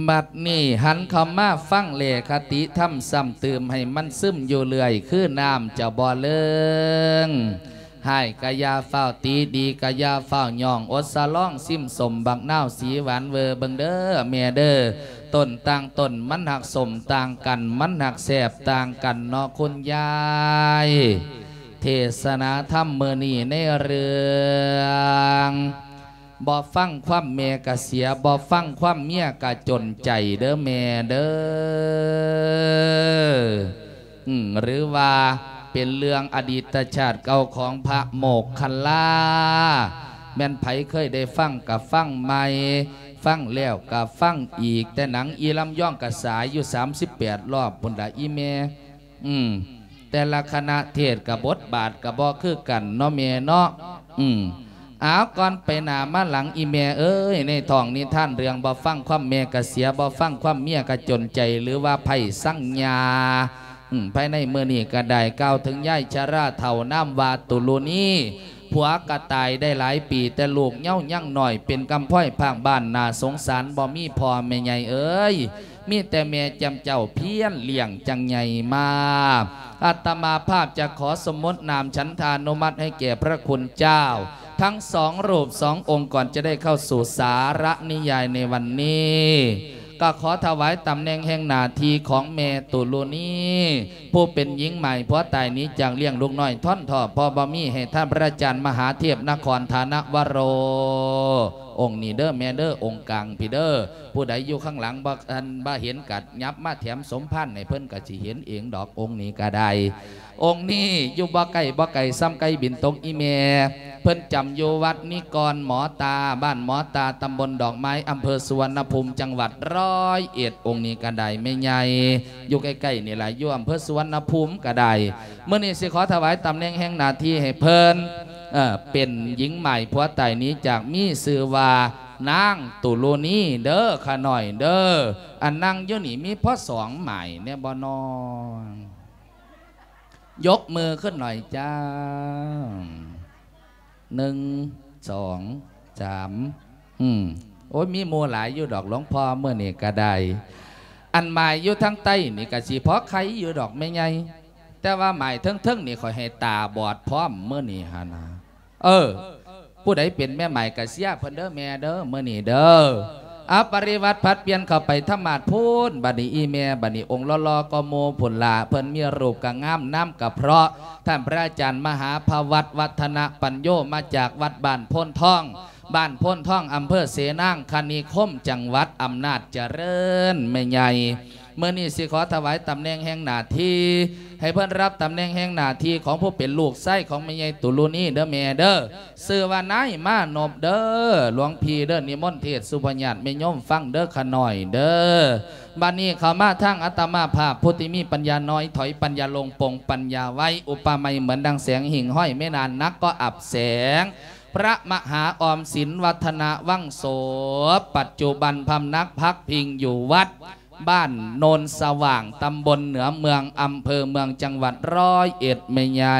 ບັດນີ້ຫັນເຂົ້າມາຟັງແລຄະຕິທຳຊ້ຳຕື່ມໃຫ້ມັນຊຶມຢູ່ເລື້ອຍ ຄືນ້ຳຈະບໍ່ເລີງ. ຮ້າຍກະຢ່າຟ້າວຕິ ດີກະຢ່າຟ້າວຍ້ອງ ອົດສະຫຼອງຊິມສົ້ມບັກນາວສີຫວານເວີເບິ່ງເດີແມ່ເດີ. ຕົ້ນຕ່າງຕົ້ນມັນຫັກສົ້ມຕ່າງກັນ ມັນຫັກແຊບຕ່າງກັນເນາະຄຸນຍາຍ. ເທດສະໜາທຳມື້ນີ້ໃນເລື່ອງ ບໍ່ຟັງຄວາມແມ່ກະເສຍ ບໍ່ຟັງຄວາມເມຍກະຈົນໃຈເດີແມ່ເດີ. ອືມ ຫຼືວ່າເປັນເລື່ອງອະດີດຕະຊາດເກົ່າຂອງພະໂມກຄັນລາ ແມ່ນໃຜເຄີຍໄດ້ຟັງກະຟັງໃໝ່ ຟັງແລ້ວກະຟັງອີກ. ແຕ່ໜັງອີລຳຍອງກະສາຍຢູ່ສາມສິບແປດລອບພຸ້ນລະອີແມ່. ອືມ ແຕ່ລະຄະນະເທດກະບົດບາດກະບໍ່ຄືກັນເນາະແມ່ເນາະ. ອືມ ເອົາ ກ່ອນໄປໜ້າມາຫຼັງ ອີແມ່ເອີຍ ໃນທ້ອງນິທານເລື່ອງບໍ່ຟັງຄວາມແມ່ກະເສຍ ບໍ່ຟັງຄວາມເມຍກະຈົນໃຈ ຫຼືວ່າໄພສັງຍາ ອືມ ພາຍໃນມື້ນີ້ກະໄດ້ກ່າວເຖິງຍາຍຊະລາເຖົ້ານາມວ່າຕຸລຸນີ ຜົວກະຕາຍໄດ້ຫຼາຍປີ ແຕ່ລູກເຍົາຍັງນ້ອຍ ເປັນກຳພ້ອຍພາກບ້ານ ໜ້າສົງສານ ບໍ່ມີພໍ່ແມ່ໃຫຍ່ເອີຍ ມີແຕ່ແມ່ຈຳເຈົ້າພຽນລ້ຽງຈັ່ງໃຫຍ່ມາ. ອາດຕະມາພາບຈະຂໍສົມມຸດນາມສັນທານຸມັດໃຫ້ແກ່ພະຄຸນເຈົ້າທັງສອງຮູບສອງອົງ ກ່ອນຈະໄດ້ເຂົ້າສູ່ສາລະນິຍາຍໃນວັນນີ້. ກໍຂໍຖວາຍຕຳແໜ່ງແຫ່ງໜ້າທີ່ຂອງແມ່ຕຸລຸນີ ຜູ້ເປັນຍິງໝ້າຍຜົວຕາຍໜີຈາກລ້ຽງລູກນ້ອຍທ້ອນທໍ້ ເພາະບໍ່ມີ ໃຫ້ທ່ານພະອາຈານມະຫາເທບນະຄອນທານະວະໂຣ ອົງນີ້ເດີແມ່ເດີ ອົງກາງພີ້ເດີ. ຜູ້ໃດຢູ່ຂ້າງຫຼັງບໍ່ ອັນ ບໍ່ເຫັນກະຫຍັບມາແຖມສົມພານໃຫ້ເພິ່ນກະຊິເຫັນເອງດອກ ອົງນີ້ກະໄດ້. ອົງນີ້ຢູ່ບໍ່ໄກບໍ່ໄກ ຊ່ຳໄກບິນຕົກອີແມ່. ເພິ່ນຈຳຢູ່ວັດນິກອນໝໍຕາ ບ້ານໝໍຕາ ຕຳບົນດອກໄມ້ ອຳເພີສຸວັນນະພູມ ຈັງຫວັດຮ້ອຍເອັດ. ອົງນີ້ກະໄດ້ແມ່ໃຫຍ່ ຢູ່ໃກ້ໆນີ້ລະ ຢູ່ອຳເພີສຸວັນນະພູມກະໄດ້. ມື້ນີ້ຊິຂໍຖວາຍຕຳແໜ່ງແຫ່ງໜ້າທີ່ໃຫ້ເພິ່ນ ເອີ ເປັນຍິງໝ້າຍຜົວຕາຍໜີຈາກ ມີຊື່ວ່ານາງຕຸລຸນີເດີ ຂະນ້ອຍເດີ. ອັນນັ່ງຢູ່ນີ້ມີພໍສອງໝ້າຍແນ່ບໍ່ນ້ອງ? ຍົກມືຂຶ້ນໜ້ອຍຈ້າ. ໜຶ່ງ ສອງ ສາມ. ອືມ ໂອ້ຍ ມີໝູ່ຫຼາຍຢູ່ດອກ ຫຼວງພໍ່ມື້ນີ້ກະໄດ້. ອັນໝ້າຍຢູ່ທາງໃຕ້ນີ້ກະຊິພໍໄຄຢູ່ດອກແມ່ໃຫຍ່ ແຕ່ວ່າໝ້າຍເທິງໆນີ້ຂ້ອຍໃຫ້ຕາບອດພ້ອມມື້ນີ້ຫັ້ນນະ. ເອີ ຜູ້ໃດເປັນແມ່ໝ້າຍກະເຊຍເພິ່ນເດີແມ່ເດີ ມື້ນີ້ເດີ. ອາ ປະລິວັດຜັດປ່ຽນເຂົ້າໄປທຳມາດພຸ້ນ. ບັດນີ້ອີແມ່ ບັດນີ້ອົງຫຼໍ່ໆກໍໝູ່ພຸ້ນລະ ເພິ່ນມີຮູບກະງາມ ນາມກະເພາະ. ທ່ານພະອາຈານມະຫາພະວັດ ວັດທະນະປັນໂຍ ມາຈາກວັດບ້ານໂພນທອງ ບ້ານໂພນທອງ ອຳເພີເສນາງຄະນິຄົມ ຈັງຫວັດອຳນາດຈະເລີນ ແມ່ໃຫຍ່. ມື້ນີ້ຊິຂໍຖວາຍຕຳແໜ່ງແຫ່ງໜ້າທີ່ ໃຫ້ເພິ່ນຮັບຕຳແໜ່ງແຫ່ງໜ້າທີ່ຂອງຜູ້ເປັນລູກຊາຍຂອງແມ່ໃຫຍ່ຕຸລຸນີເດີແມ່ເດີ. ຊື່ວ່ານາຍມານົບເດີ ຫຼວງພີ່ເດີ ນິມົນເທດສຸພະຍາດແມ່ໂຍມຟັງເດີ ຂະນ້ອຍເດີ. ບັດນີ້ເຂົ້າມາທາງອາດຕະມາພາບ ຜູ້ທີ່ມີປັນຍານ້ອຍ ຖອຍປັນຍາລົງ ປົງປັນຍາໄວ ອຸປະໄມເໝືອນດັ່ງແສງຫິ່ງຫ້ອຍແມ່ນານ ໜັກກໍອັບແສງ ພະມະຫາອອມສິນ ວັດທະນະວັງໂສ ປັດຈຸບັນພຳນັກພັກພິງຢູ່ວັດ ບ້ານໂນນສະຫວ່າງ ຕຳບົນເໜືອເມືອງ ອຳເພີເມືອງ ຈັງຫວັດຮ້ອຍເອັດ ແມ່ໃຫຍ່.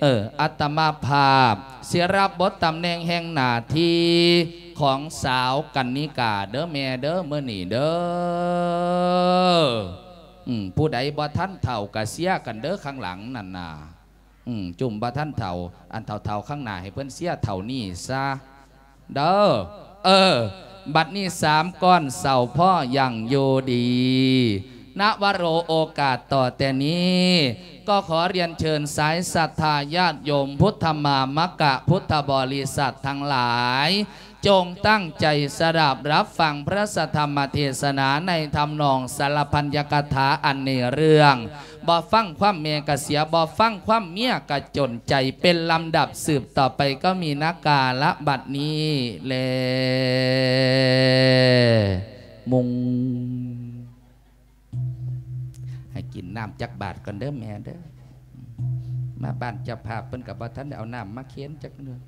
ເອີ ອາດຕະມາພາບຊິຮັບບົດຕຳແໜ່ງແຫ່ງໜ້າທີ່ຂອງສາວກັນນິກາເດີແມ່ເດີ ມື້ນີ້ເດີ. ອືມ ຜູ້ໃດບໍ່ທັນເຖົ້າກະເຊຍກັນເດີ ຂ້າງຫຼັງນັ້ນນະ. ອືມ ຈຸ້ມບໍ່ທັນເຖົ້າ ອັນເຖົ້າໆຂ້າງໜ້າໃຫ້ເພິ່ນເຊຍເທົ່ານີ້ຊະເດີ. ເອີ ບັດນີ້ສາມກ້ອນເຊົາພໍຍັງຢູ່ດີ ນະວະໂຣ ໂອກາດຕໍ່ແຕ່ນີ້ ກໍຂໍລຽນເຊີນສາຍສັດທາຍາດໂຍມ ພຸດທະມາມະກະ ພຸດທະບໍລິສັດທັງຫຼາຍ ຈົ່ງຕັ້ງໃຈສະດັບຮັບຟັງພະທຳມະເທສະໜາໃນທຳນອງສາລະພັນຍະກະຖາ ອັນໃນເລື່ອງ ບໍ່ຟັງຄວາມແມ່ກະເສຍ ບໍ່ຟັງຄວາມເມຍກະຈົນໃຈ ເປັນລຳດັບສືບຕໍ່ໄປ ກໍມີນະກາລະບັດນີ້ແລ. ມຸງ ໃຫ້ກິນນ້ຳຈັກບາດກ່ອນເດີແມ່ເດີ. ມາບ້ານເຈົ້າພາບເພິ່ນກໍບໍ່ທັນໄດ້ເອົານ້ຳມາເຄນຈັກເທື່ອ.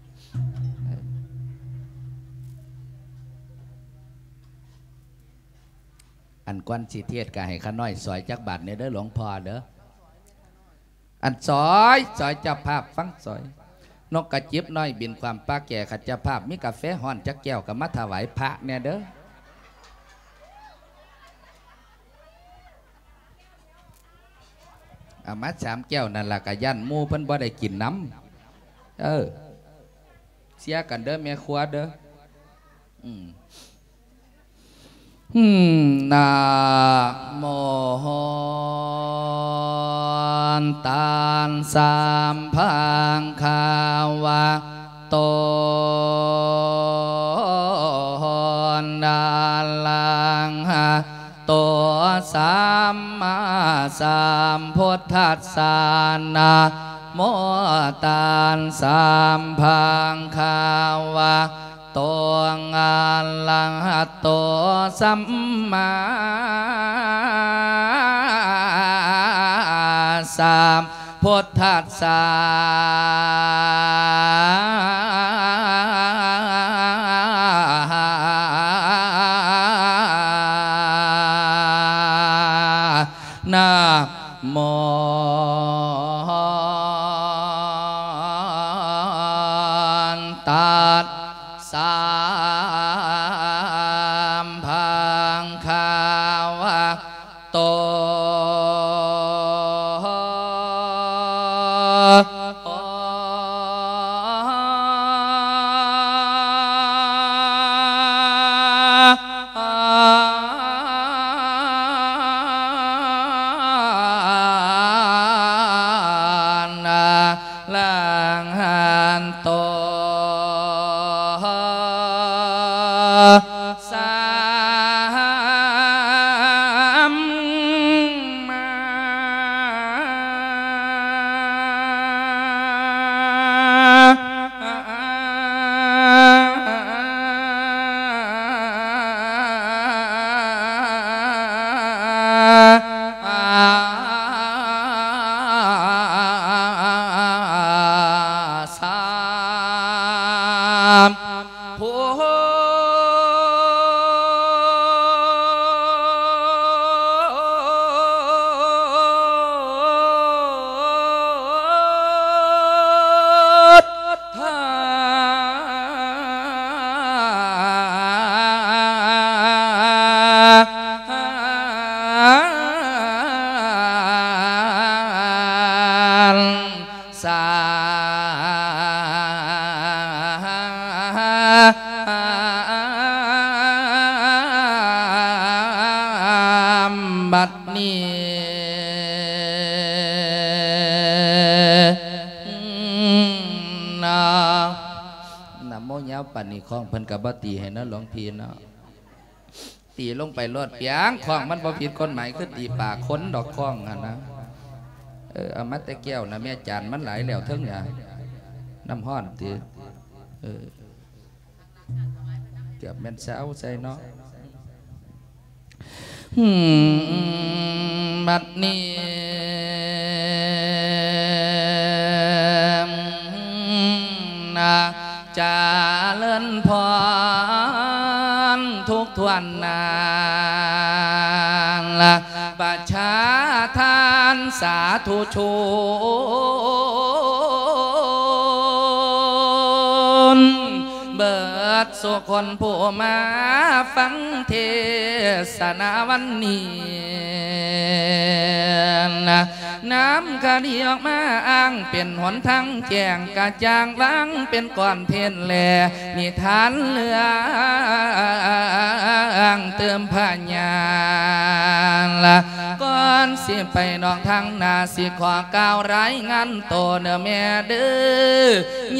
ອັນກ່ອນຊິເທດກໍໃຫ້ຂ້ານ້ອຍສອຍຈັກບາດແດ່ເດີ ຫຼວງພໍ່ເດີ. ອັນສອຍ ສອຍເຈົ້າພາບຟັງສອຍ. ນົກກະຈິບນ້ອຍບິນຂ້າມປ່າແກ່ ຄັນເຈົ້າພາບມີກາແຟຮ້ອນຈັກແກ້ວກໍມາຖວາຍພະແດ່ເດີ. ເອົາມາສາມແກ້ວນັ້ນລະ ກະຢ້ານໝູ່ເພິ່ນບໍ່ໄດ້ກິນນຳ. ເອີ ເຊຍກັນເດີແມ່ຄົວເດີ. ອືມ ນະໂມ ຕັດສະ ພະຄະວະໂຕ ອະລະຫະໂຕ ສຳມາສຳພຸດທັດສະ ນະໂມ ຕັດສະ ພະຄະວະ ໂຕ ອະລະຫະໂຕ ສຳມາສຳພຸດທັດສະ ນະໂມ ຕັດສະ ພະຄະວະໂຕ. ອະລະຫະໂຕ ສຳມາ ສຳພຸດສະ ບັດນີ້ນະ ນະໂມຍາວປານນີ້ ຄ້ອງເພິ່ນກໍບໍ່ຕີໃຫ້ເນາະ ຫຼວງພີ່ເນາະ. ຕີລົງໄປໂລດປຽງ ຄ້ອງມັນບໍ່ຜິດກົດໝາຍ ຄືຕີປາກຄົນດອກ ຄ້ອງຫັ້ນນະ. ເອີ ເອົາມາແຕ່ແກ້ວນະແມ່ ຈານມັນຫຼາຍແລ້ວເທິງນະ ນ້ຳຮ້ອນຕິ. ເອີ ເກືອບແມ່ນຊາວໃສ່ເນາະ. ບັດນີ້ນະ ຈະເລີນພອນທຸກຖ້ວນໜ້າ ປະຊາທານສາທຸຊົນ ເບີດສູ່ຄົນຜູ້ມາຟັງເທສະນາວັນນີ້ນະ. ນ້ຳຄະດີອອກມາອ້າງເປັນຫົນທາງແຈ້ງກະຈ່າງ ວາງເປັນກ້ອນເພນແລ ນິທານເລື່ອງຕື່ມພະຍານລະ. ກ່ອນຊິໄປນອກທາງໜ້າ ຊິຂໍກ່າວລາຍງານໂຕເດີແມ່ເດີ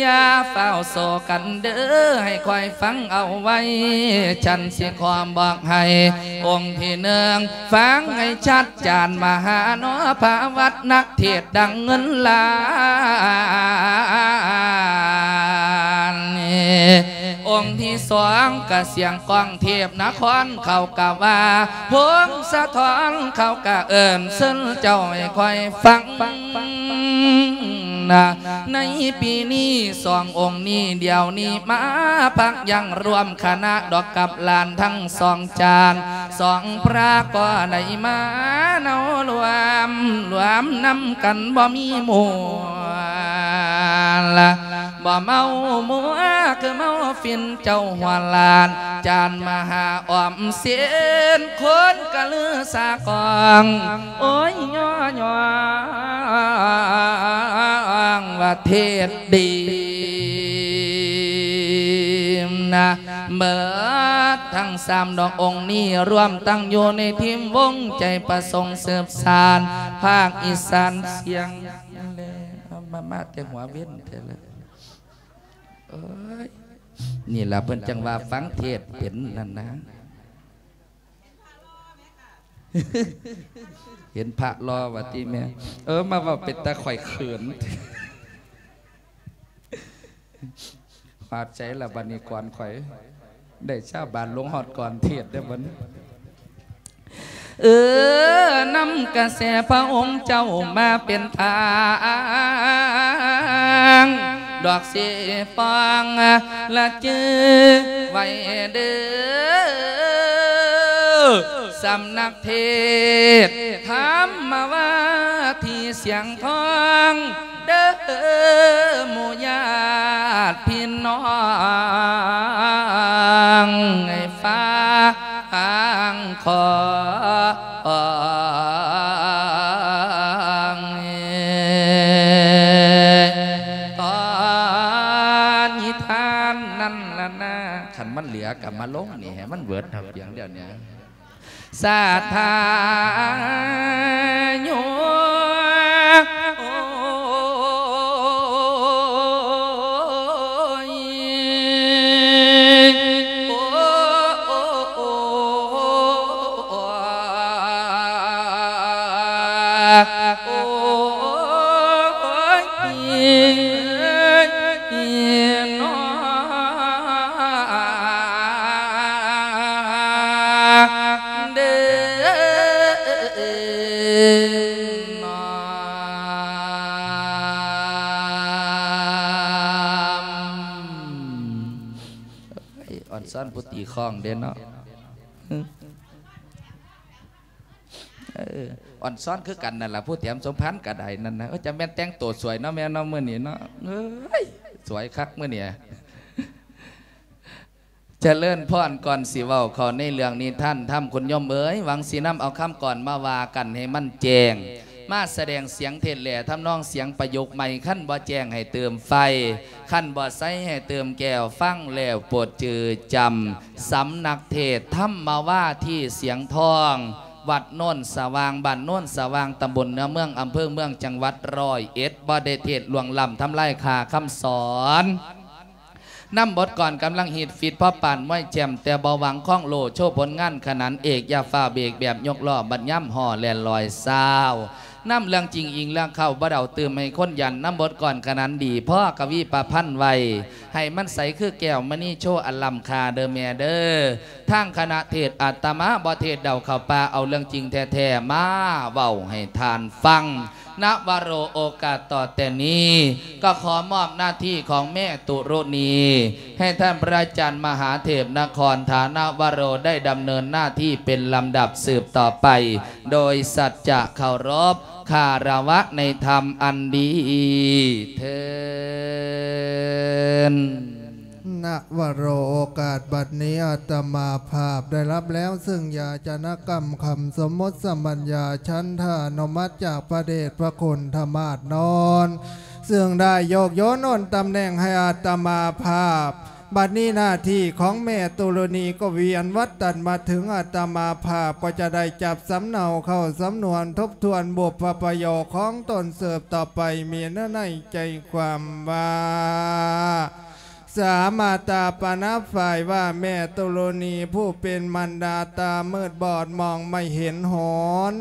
ຢ່າຟ້າວໂສກັນເດີ ໃຫ້ຄອຍຟັງເອົາໄວ້ ສັນຊິຂໍບອກໃຫ້ອົງທີໜຶ່ງ ຟັງໃຫ້ຊັດ ຈານມະຫາເນາະ ພະວັດນັກເທດດັງເງິນລ້ານ. ອົງທີສອງກະສຽງກ້ອງເທບນະຄອນ ເຂົາກະວ່າພົງສະທ້ອນ ເຂົາກະເອີ້ນເຊີນເຈົ້າໃຫ້ຄອຍຟັງນະ. ໃນປີນີ້ສອງອົງນີ້ ດຽວນີ້ມາພັກຢັ້ງຮ່ວມຄະນະດອກກັບຫຼານທັງສອງຈານ ສອງພະກໍໄດ້ມາເນົາລວມ ລວມນຳກັນບໍ່ມີໝູ່ລະ ບໍ່ເມົາມົວຄືເມົາຝິ່ນເຈົ້າຫົວຫຼານ ຈານມະຫາອອມສິນ ຄົນກະລືສາກອງ ໂອ້ຍ ຍໍໆ. ງວ່າເທດດີນະ ເໝິດທັງສາມດອກອົງນີ້ ລວມຕັ້ງຢູ່ໃນທີມວົງໃຈປະສົງສືບສານພາກອີສານສຽງ ມາ ມາແຕ່ຫົວເວັນແທ້ລະ ໂອ້ຍ ນີ້ລະເພິ່ນຈັ່ງວ່າຟັງເທດເປັນນັ້ນນະ. ເຫັນພະຫຼໍ່ວ່າຕິແມ່ ເອີ ມາເວົ້າເປັນຕາຂ້ອຍເຂີນ ຮອດໃສລະບັດນີ້ກ່ອນຂ້ອຍ ໄດ້ຊາວບ້ານລົງຮອດກ່ອນເທດເດີ້ບັດນີ້ ເອີ ນຳກະແສພະອົງເຈົ້າມາເປັນທາງ ດອກສີຟອງລະຈື່ໄວ້ເດີ້ ສຳນັກເທດທຳມະວາທີສຽງທອງ ເດີໝູ່ຍາດພີ່ນ້ອງໃນຟາງຂອງ ຕອນນິທານນັ້ນລະນາ ຄັນມັນເຫຼືອກະມາລົງນີ້ໃຫ້ມັນເບີດເອົາພຽງດຽວນີ້. ສາທາໂຍ ໂອ້ຍ ໂອ້ ໂອ້ ໂອ້ ໂອ້ຍ ເດີ ອອນຊອນຜູ້ຕີຄ້ອງເດ້ເນາະ ເອີ ອອນຊອນຄືກັນນັ້ນລະ ຜູ້ແຖມສົມພັນກະໄດ້ນັ້ນນະ ເອີ ຈະແມ່ນແຕ່ງໂຕສວຍເນາະແມ່ເນາະ ມື້ນີ້ເນາະ ເອີຍ ສວຍຄັກມື້ນີ້ ຈະເລີນພອນ ກ່ອນຊິເວົ້າເຂົ້າໃນເລື່ອງນິທານທຳ ຄຸນໂຍມເອີຍ ຫວັງຊິນຳເອົາຄຳກອນມາວ່າກັນໃຫ້ມັນແຈ້ງ ມາສະແດງສຽງເທດແຫຼະ ທຳນອງສຽງປະຍຸກໃໝ່ ຄັນບໍ່ແຈ້ງໃຫ້ເຕີມໄຟ ຄັນບໍ່ໃສໃຫ້ເຕີມແກ້ວ ຟັງແລ້ວໂປດຈື່ຈຳ ສຳນັກເທດທຳມະວາທີສຽງທອງ ວັດໂນນສະຫວ່າງ ບ້ານໂນນສະຫວ່າງ ຕຳບົນເໜືອເມືອງ ອຳເພີເມືອງ ຈັງຫວັດຮ້ອຍເອັດ ບໍ່ໄດ້ເທດລ່ວງລ້ຳທຳລາຍຄ່າຄຳສອນ. ນຳບົດກອນກຳລັງຮີດຟີດ ພໍປານມວຍແຈມ ແຕ່ບໍ່ຫວັງຄອງໂລ ໂຊຜົນງານຂະໜານເອກ ຢ່າຟ້າວເບກແບບຍົກລໍ້ ບັດຍາມຫໍ່ແລ່ນລອຍຊາວ ນຳເລື່ອງຈິງອີງເລື່ອງເຄົ້າ ບໍ່ເດົາຕື່ມໃຫ້ຄົນຢັນ ນຳບົດກອນຂະໜານດີ ພໍກະວີປະພັນໄວ້ ໃຫ້ມັນໃສຄືແກ້ວມະນີໂຊ ອັນລ້ຳຄ່າເດີແມ່ເດີ ທາງຄະນະເທດອາດຕະມາບໍ່ເທດເດົາເຂົ້າປ່າ ເອົາເລື່ອງຈິງແທ້ໆມາເວົ້າໃຫ້ທ່ານຟັງ. ນະວະໂຣ ໂອກາດຕໍ່ແຕ່ນີ້ ກໍຂໍມອບໜ້າທີ່ຂອງແມ່ຕຸລຸນີ ໃຫ້ທ່ານພະອາຈານມະຫາເທບນະຄອນ ຖານະວະໂຣ ໄດ້ດຳເນີນໜ້າທີ່ເປັນລຳດັບສືບຕໍ່ໄປ ໂດຍສັດຈະເຄົາລົບຄາລະວະໃນທຳອັນດີເທີ້ນ. ນະວະໂຣ ໂອກາດບັດນີ້ ອາດຕະມາພາບໄດ້ຮັບແລ້ວເຊິ່ງຢາຈະນະກຳຄຳສົມມຸດສະບັນຍາ ສັນທານຸມັດຈາກພະເດດພະຄຸນທະມາດໂນນ ເຊິ່ງໄດ້ໂຍກໂຍນໂອນຕຳແໜ່ງໃຫ້ອາດຕະມາພາບ ບັດນີ້ໜ້າທີ່ຂອງແມ່ຕຸລຸນີກໍວຽນວັດຕັນມາເຖິງອາດຕະມາພາບ ກໍຈະໄດ້ຈັບສຳເນົາເຂົ້າສຳນວນທົບທວນບຸບພະປະໂຫຍກຂອງຕົນສືບຕໍ່ໄປ ມີໃນໃຈຄວາມວ່າ ສາມາຕາປະນະຝ່າຍວ່າ ແມ່ຕຸລຸນີຜູ້ເປັນມານດາຕາມືດບອດມອງໄມ່ເຫັນຫົນ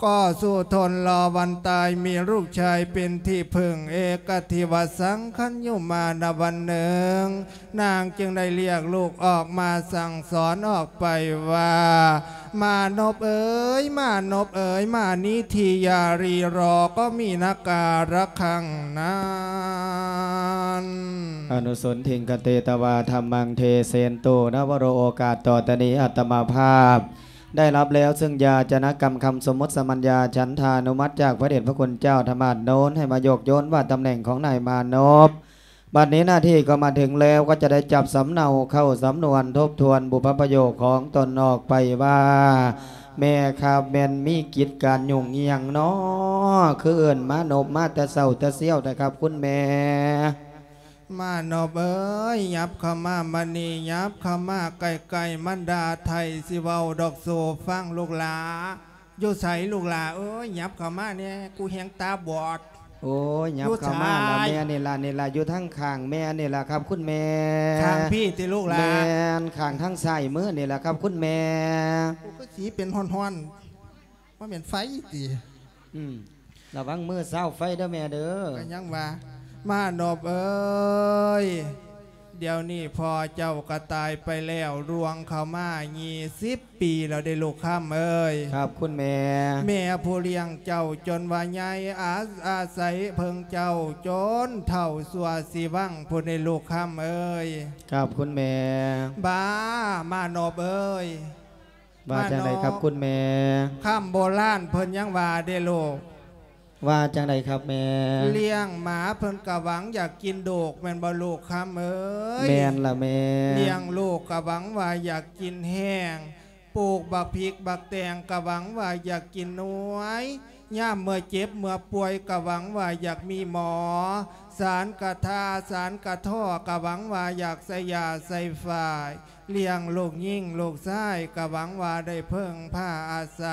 ກໍສູ້ທົນລໍວັນຕາຍ ມີລູກຊາຍເປັນທີ່ເພິ່ງ ເອກະທິວະສັງ ຄັນຢູ່ມານະວັນໜຶ່ງ ນາງຈຶ່ງໄດ້ລຽກລູກອອກມາສັ່ງສອນອອກໄປວ່າ ມານົບເອີຍ ມານົບເອີຍ ມານີ້ທີຢ່າຣີລໍ ກໍມີນະກາລະຄັງນັ້ນ. ອະນຸສົນທິງຄະເຕ ຕະວາ ທຳມັງ ເທເສນຕຸ ນະວະໂຣ ໂອກາດຕໍ່ແຕ່ນີ້ ອາດຕະມາພາບ ໄດ້ຮັບແລ້ວເຊິ່ງຢາຈະນະກຳຄຳສົມມຸດສະບັນຍາ ສັນທານຸມັດຈາກພະເດດພະຄຸນເຈົ້າທະມາດໂນນ ໃຫ້ມາໂຍກໂຍນວ່າຕຳແໜ່ງຂອງນາຍມານົບ ບັດນີ້ໜ້າທີ່ກໍມາເຖິງແລ້ວ ກໍຈະໄດ້ຈັບສຳເນົາເຂົ້າສຳນວນ ທົບທວນບຸບພະປະໂຫຍກຂອງຕົນອອກໄປວ່າ ແມ່ຄັບແມ່ນມີກິດການຫຍຸ້ງອີ່ຫຍັງນໍ ຄືເອີ້ນມານົບມາແຕ່ເຊົ້າແຕ່ຊຽວແທ້ຄັບຄຸນແມ່? ມານົບເອີຍ ຫຍັບເຂົ້າມາບັດນີ້ ຫຍັບເຂົ້າມາໃກ້ໆ ມັນດາໄທຊິເວົ້າດອກສູ່ຟັງລູກຫຼາ. ຢູ່ໃສລູກຫຼາເອີຍ ຫຍັບເຂົ້າມາແດ່ ກູແຮ່ງຕາບອດ. ໂອ້ຍ ຫຍັບເຂົ້າມາລະແມ່ ນີ້ລະ ນີ້ລະ ຢູ່ທາງຂ້າງແມ່ນີ້ລະຄັບຄຸນແມ່. ຂ້າງພີ້ຕິລູກຫຼາ? ແມ່ນ ຂ້າງທາງຊ້າຍມືນີ້ລະຄັບຄຸນແມ່. ໂອ້ ຄືສີເປັນຮ້ອນໆ ບໍ່ແມ່ນໄຟຕິ? ອືມ ລະວັງມືຊາວໄຟເດີແມ່ເດີ. ກໍຍັງວ່າ ມານົບເອີຍ ດຽວນີ້ພໍ່ເຈົ້າກໍຕາຍໄປແລ້ວ ລ່ວງເຂົ້າມາຊາວປີແລ້ວເດ້ລູກຄຳເອີຍ. ຄັບຄຸນແມ່. ແມ່ຜູ້ລ້ຽງເຈົ້າຈົນວ່າໃຫຍ່ ອາ ອາໄສເພິ່ງເຈົ້າຈົນເຖົ້າຊົ່ວຊີວັງພຸ້ນເດ້ລູກຄຳເອີຍ. ຄັບຄຸນແມ່. ບາ ມານົບເອີຍ. ວ່າຈັ່ງໃດຄັບຄຸນແມ່? ຄຳໂບລານເພິ່ນຍັງວ່າເດ້ລູກ. ວ່າຈັ່ງໃດຄັບແມ່? ລ້ຽງໝາເພິ່ນກະຫວັງຢາກກິນດູກ ແມ່ນບໍ່ລູກຄຳເອີຍ? ແມ່ນລະແມ່. ລ້ຽງລູກກະຫວັງວ່າຢາກກິນແຫ້ງ ປູກບັກພິກບັກແຕງກະຫວັງວ່າຢາກກິນໜ່ວຍ ຍາມເມື່ອເຈັບເມື່ອປ່ວຍກະຫວັງວ່າຢາກມີໝໍ ສານກະທາສານກະທໍ້ກະຫວັງວ່າຢາກໃສ່ຢາໃສ່ຝ້າຍ. ລ້ຽງລູກຍິງລູກຊາຍກະຫວັງວ່າໄດ້ເພິ່ງພາອາໄສ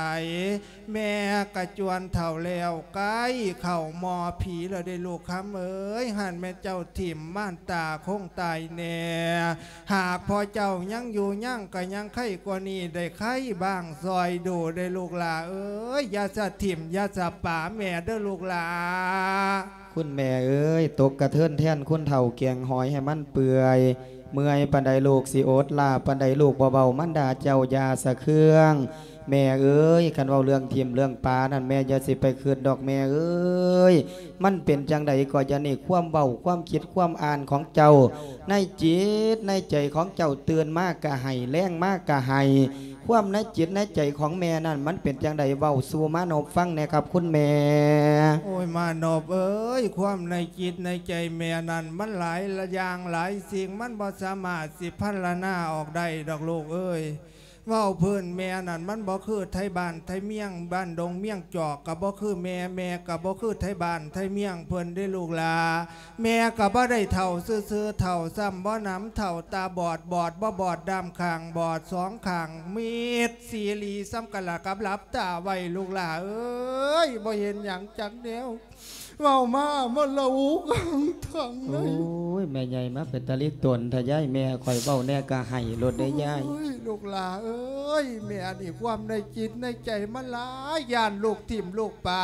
ແມ່ກະຈວນເຖົ້າແລ້ວ ໃກ້ເຂົ້າໝໍ່ຜີແລ້ວເດ້ລູກຄຳເອີຍ. ຫັ້ນແມ່ນເຈົ້າຖິ້ມມານຕາຄົງຕາຍແນ່ ຫາກພໍ່ເຈົ້າຍັງຢູ່ຍັງກະຍັງໄຄກວ່ານີ້ ໄດ້ໄຄບ້າງຊ່ອຍດູເດ້ລູກຫຼ້າເອີຍ. ຢ່າສະຖິ້ມຢ່າສະປາແມ່ເດີລູກຫຼ້າ. ຄຸນແມ່ເອີຍ ຕົກກະເທີນແທນຄົນເຖົ້າແກງຫອຍໃຫ້ມັນເປື່ອຍ ເມື່ອຍປານໃດລູກຊິອົດ ລ້າປານໃດລູກບໍ່ເວົ້າ ມັນດ່າເຈົ້າຢ່າສະເຄືອງ. ແມ່ເອີຍ ຄັນເວົ້າເລື່ອງຖິ້ມເລື່ອງປານັ້ນ ແມ່ຢ່າຊິໄປຄິດດອກແມ່ເອີຍ. ມັນເປັນຈັ່ງໃດກໍຢ່ານີ້ ຄວາມເວົ້າ ຄວາມຄິດ ຄວາມອ່ານຂອງເຈົ້າ ໃນຈິດໃນໃຈຂອງເຈົ້າ ຕື່ນມາກະໄຫ້ ແລງມາກະໄຫ້ ຄວາມໃນຈິດໃນໃຈຂອງແມ່ນັ້ນ ມັນເປັນຈັ່ງໃດ ເວົ້າສູ່ມານົບຟັງແດ່ຄັບຄຸນແມ່. ໂອ້ຍ ມານົບເອີຍ ຄວາມໃນຈິດໃນໃຈແມ່ນັ້ນ ມັນຫຼາຍຢ່າງຫຼາຍສິ່ງ ມັນບໍ່ສາມາດຊິພັນລະນາອອກໄດ້ດອກລູກເອີຍ. ເວົ້າພື້ນແມ່ນັ້ນ ມັນບໍ່ຄືໄທບ້ານໄທເມືອງ ບ້ານດົງເມືອງຈອກ ກະບໍ່ຄືແມ່ ແມ່ກະບໍ່ຄືໄທບ້ານໄທເມືອງເພິ່ນເດ້ລູກຫຼ້າ. ແມ່ກະບໍ່ໄດ້ເຖົ້າຊື່ໆ ເຖົ້າຊ້ຳບໍ່ໜຳ ເຖົ້າຕາບອດ ບອດບໍ່ບອດ ດ້າມຂ້າງບອດ ສອງຂ້າງມິດຊີລີສ່ຳກັນລະກັບຫຼັບຕາໄວ້ລູກຫຼ້າເອີຍ. ບໍ່ເຫັນຫຍັງຈັກແນວ ເວົ້າມາ ມະລະອຸກາງທັງໃນ. ໂອ້ຍ ແມ່ໃຫຍ່ມາເປັນຕາລິຕົນແທ້ຍາຍ ແມ່ຂ້ອຍເວົ້າແດ່ກະໄຫ້ໂລດເດ້ຍາຍ. ໂອ້ຍ ລູກຫຼ້າເອີຍ ແມ່ນີ້ຄວາມໃນຈິດໃນໃຈມັນຫຼາຍ ຢ້ານລູກຖິ້ມລູກປາ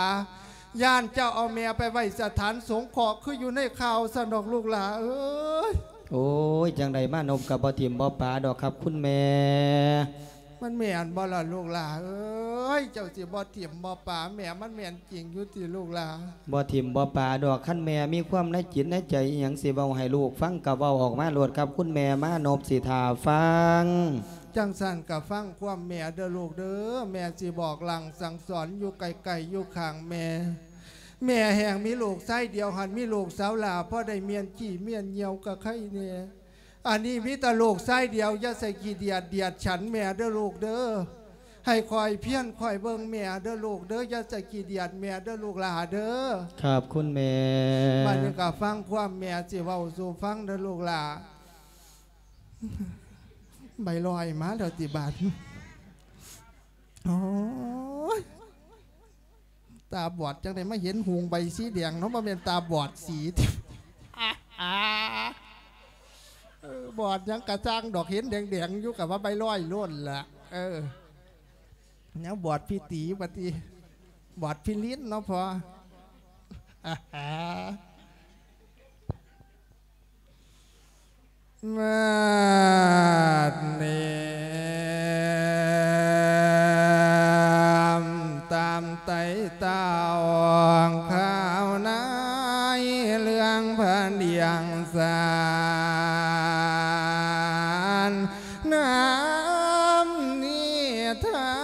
ຢ້ານເຈົ້າເອົາແມ່ໄປໄວ້ສະຖານສົງເຄາະ ຄືຢູ່ໃນຂ່າວຊັ້ນດອກລູກຫຼ້າເອີຍ. ໂອ້ຍ ຈັ່ງໃດມານົບກະບໍ່ຖິ້ມບໍ່ປາດອກຄັບຄຸນແມ່. ມັນແມ່ນບໍ່ລະລູກຫຼ້າເອີຍ ເຈົ້າຊິບໍ່ຖິ້ມບໍ່ປາແມ່ ມັນແມ່ນຈິງຢູ່ຕິລູກຫຼ້າ? ບໍ່ຖິ້ມບໍ່ປາດອກ ຄັນແມ່ມີຄວາມໃນຈິດໃນໃຈອີ່ຫຍັງຊິເວົ້າໃຫ້ລູກຟັງກະເວົ້າອອກມາໂລດຄັບຄຸນແມ່ ມານົບຊິຖ້າຟັງ. ຈັ່ງຊັ້ນກະຟັງຄວາມແມ່ເດີລູກເດີ ແມ່ຊິບອກລາງສັ່ງສອນຢູ່ໃກ້ໆ ຢູ່ຂ້າງແມ່. ແມ່ແຮ່ງມີລູກຊາຍດຽວ ຫັ້ນມີລູກສາວຫຼ້າ ພໍໄດ້ມ້ຽນຂີ້ມ້ຽນຍ່ຽວກະໄຄແນ່. ອັນນີ້ມີແຕ່ລູກຊາຍດຽວ ຢ່າໃສ່ຂີ້ດຽດດຽດສັນແມ່ເດີລູກເດີ ໃຫ້ຄອຍພຽນຄອຍເບິ່ງແມ່ເດີລູກເດີ ຢ່າໃສ່ຂີ້ດຽດແມ່ເດີລູກຫຼ້າເດີ. ຄັບຄຸນແມ່. ບັດນີ້ກະຟັງຄວາມແມ່ຊິເວົ້າສູ່ຟັງເດີລູກຫຼ້າ. ໃບລອຍມາແລ້ວຕິບາດ. ໂອ້ຍ ຕາບອດຈັ່ງໃດມາເຫັນຫຸງໃບສີແດງເນາະ ບໍ່ແມ່ນຕາບອດສີ. ເອີ ບອດຫຍັງກະຊ່າງດອກ ເຫັນແດງໆຢູ່ກະວ່າໃບລອຍໂລດລະ. ເອີ ແນວບອດພິຕີວ່າຕິ ບອດພິລິນເນາະພໍ່. ບາດນີ້ ຕາມໄຕ່ຕ້ອງຂ່າວໃນເລື່ອງພະດຽງສານ ນຳນິທາ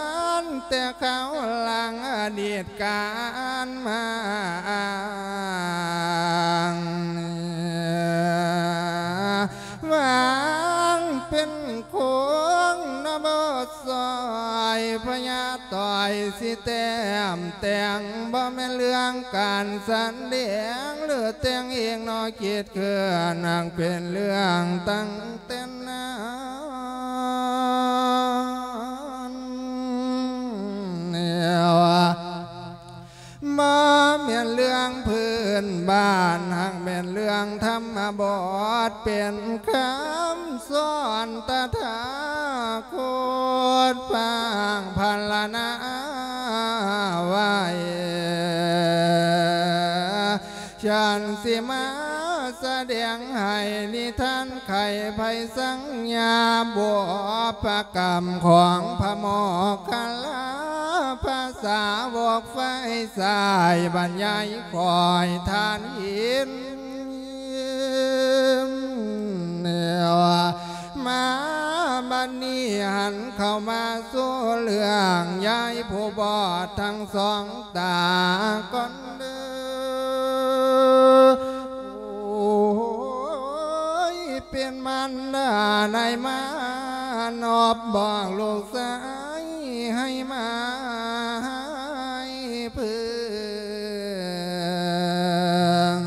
ນແຕ່ຄາວຫຼັງອະດີດການມາອ້າງ ຍາຕ່ອຍຊິແຕ້ມແຕ່ງ ບໍ່ແມ່ນເລື່ອງການສະແດງ ຫຼືແຕ່ງເອງເນາະ ຄິດເຄື່ອນ ຫາກເປັນເລື່ອງຕັ້ງແຕ່ນານແລ້ວ. ບໍ່ແມ່ນເລື່ອງພື້ນບ້ານ ຫາກແມ່ນເລື່ອງທຳມະບົດ ເປັນຄຳສອນຕະຖາຄົດ ພາກພັນລະນາໄວ້. ສັນຊິມາສະແດງໃຫ້ນິທານໄຂໄພສັງຍາ ບຸບພະກຳຂອງພະໂມກຄະລາ ພະສາວົກຝ່າຍຊ້າຍ ບັນຍາຍຂ້ອຍທ່ານເຫັນ. ມາບັດນີ້ຫັນເຂົ້າມາສູ່ເລື່ອງ ຍາຍຜູ້ບອດທັງສອງຕາກ່ອນເດີ. ໂອ້ຍ ເປັນມານດາໃນມານອບ ບອກລູກຊາຍໃຫ້ມາໃຫ້ເພິ່ງ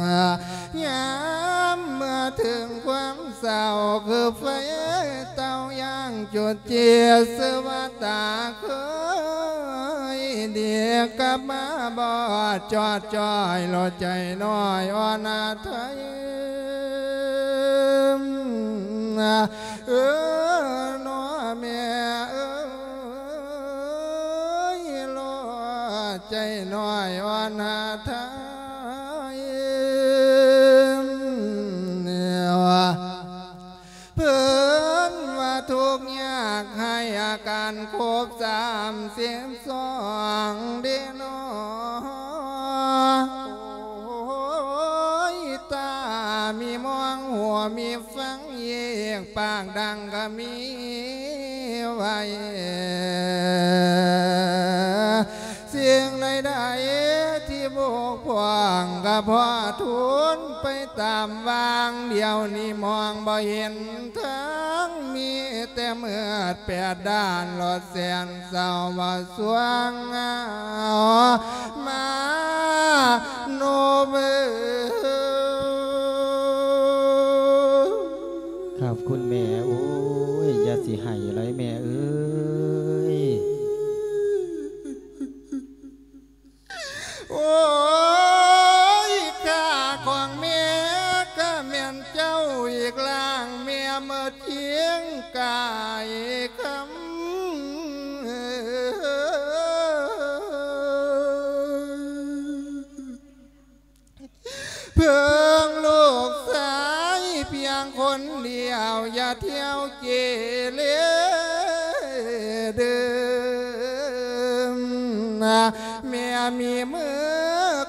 ຍາມເມື່ອເຖິງຄວາມເສົ້າ ຄືໄຟເຕົາຢ່າງຈຸດຈີດ ຊື່ວ່າຕາເຄີຍດີກັບມາບອດຈອດຈ້ອຍ ໂລດໃຈນ້ອຍອ່ອນອາໄທ ເອີ ເນາະແມ່ເອີຍ ໂລດໃຈນ້ອຍອ່ອນອາໄທ. ເພິ່ນວ່າທຸກຍາກໄຮ້ ອາການຄົບສາມສິບສອງເດເນາະ. ໂອ້ຍ ຕາມີມອງ ຫົວມີຟັງ ເຍກປາກດັງກະມີໄວ້. ສິ່ງໃດໆທີ່ບົກຜ່ອງກະພໍທູນໄປຕາມຫວ່າງ ດຽວນີ້ມອງບໍ່ເຫັນທາງ ມີແຕ່ມືດແປດດ້ານ ໂລດແສນເສົ້າບໍ່ສວ່າງ ມາໂນເບີ. ຂອບຄຸນແມ່ ໂອ້ຍ ຢ່າຊິໄຫ້ເລີຍແມ່ເອີຍ. ໂອ້ຍ ຂ້າຂອງແມ່ກະແມ່ນເຈົ້າອີກລ່າງ ແມ່ໝົດຄຽງກາຍຄຳ ເພິ່ງລູກຊາຍພຽງຄົນດຽວ ຢ່າທ່ຽວເກເລເດີ. ແມ່ມີມື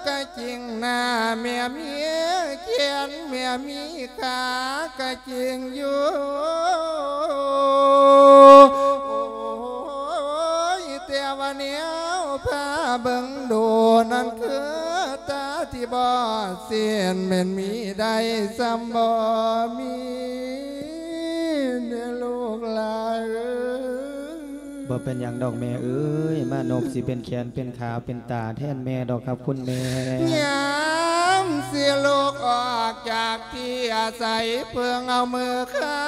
ກະຈິງນາ ແມ່ມີແຂນ ແມ່ມີຂາກະຈິງຢູ່ ໂອ້ຍ ແຕ່ວ່າແນວພາເບິ່ງດູນັ້ນ ຄືຕາທີ່ບອດສິ້ນ ແມ່ນມີໄດ້ສ່ຳບໍ່ມີເດີລູກຫຼາເອີຍ. ບໍ່ເປັນຫຍັງດອກແມ່ເອີຍ ມານົບຊິເປັນແຂນເປັນຂາເປັນຕາແທນແມ່ດອກຄັບຄຸນແມ່. ຍາມຊິລຸກອອກຈາກທີ່ອາໄສ ເພິ່ງເອົາມືຄ້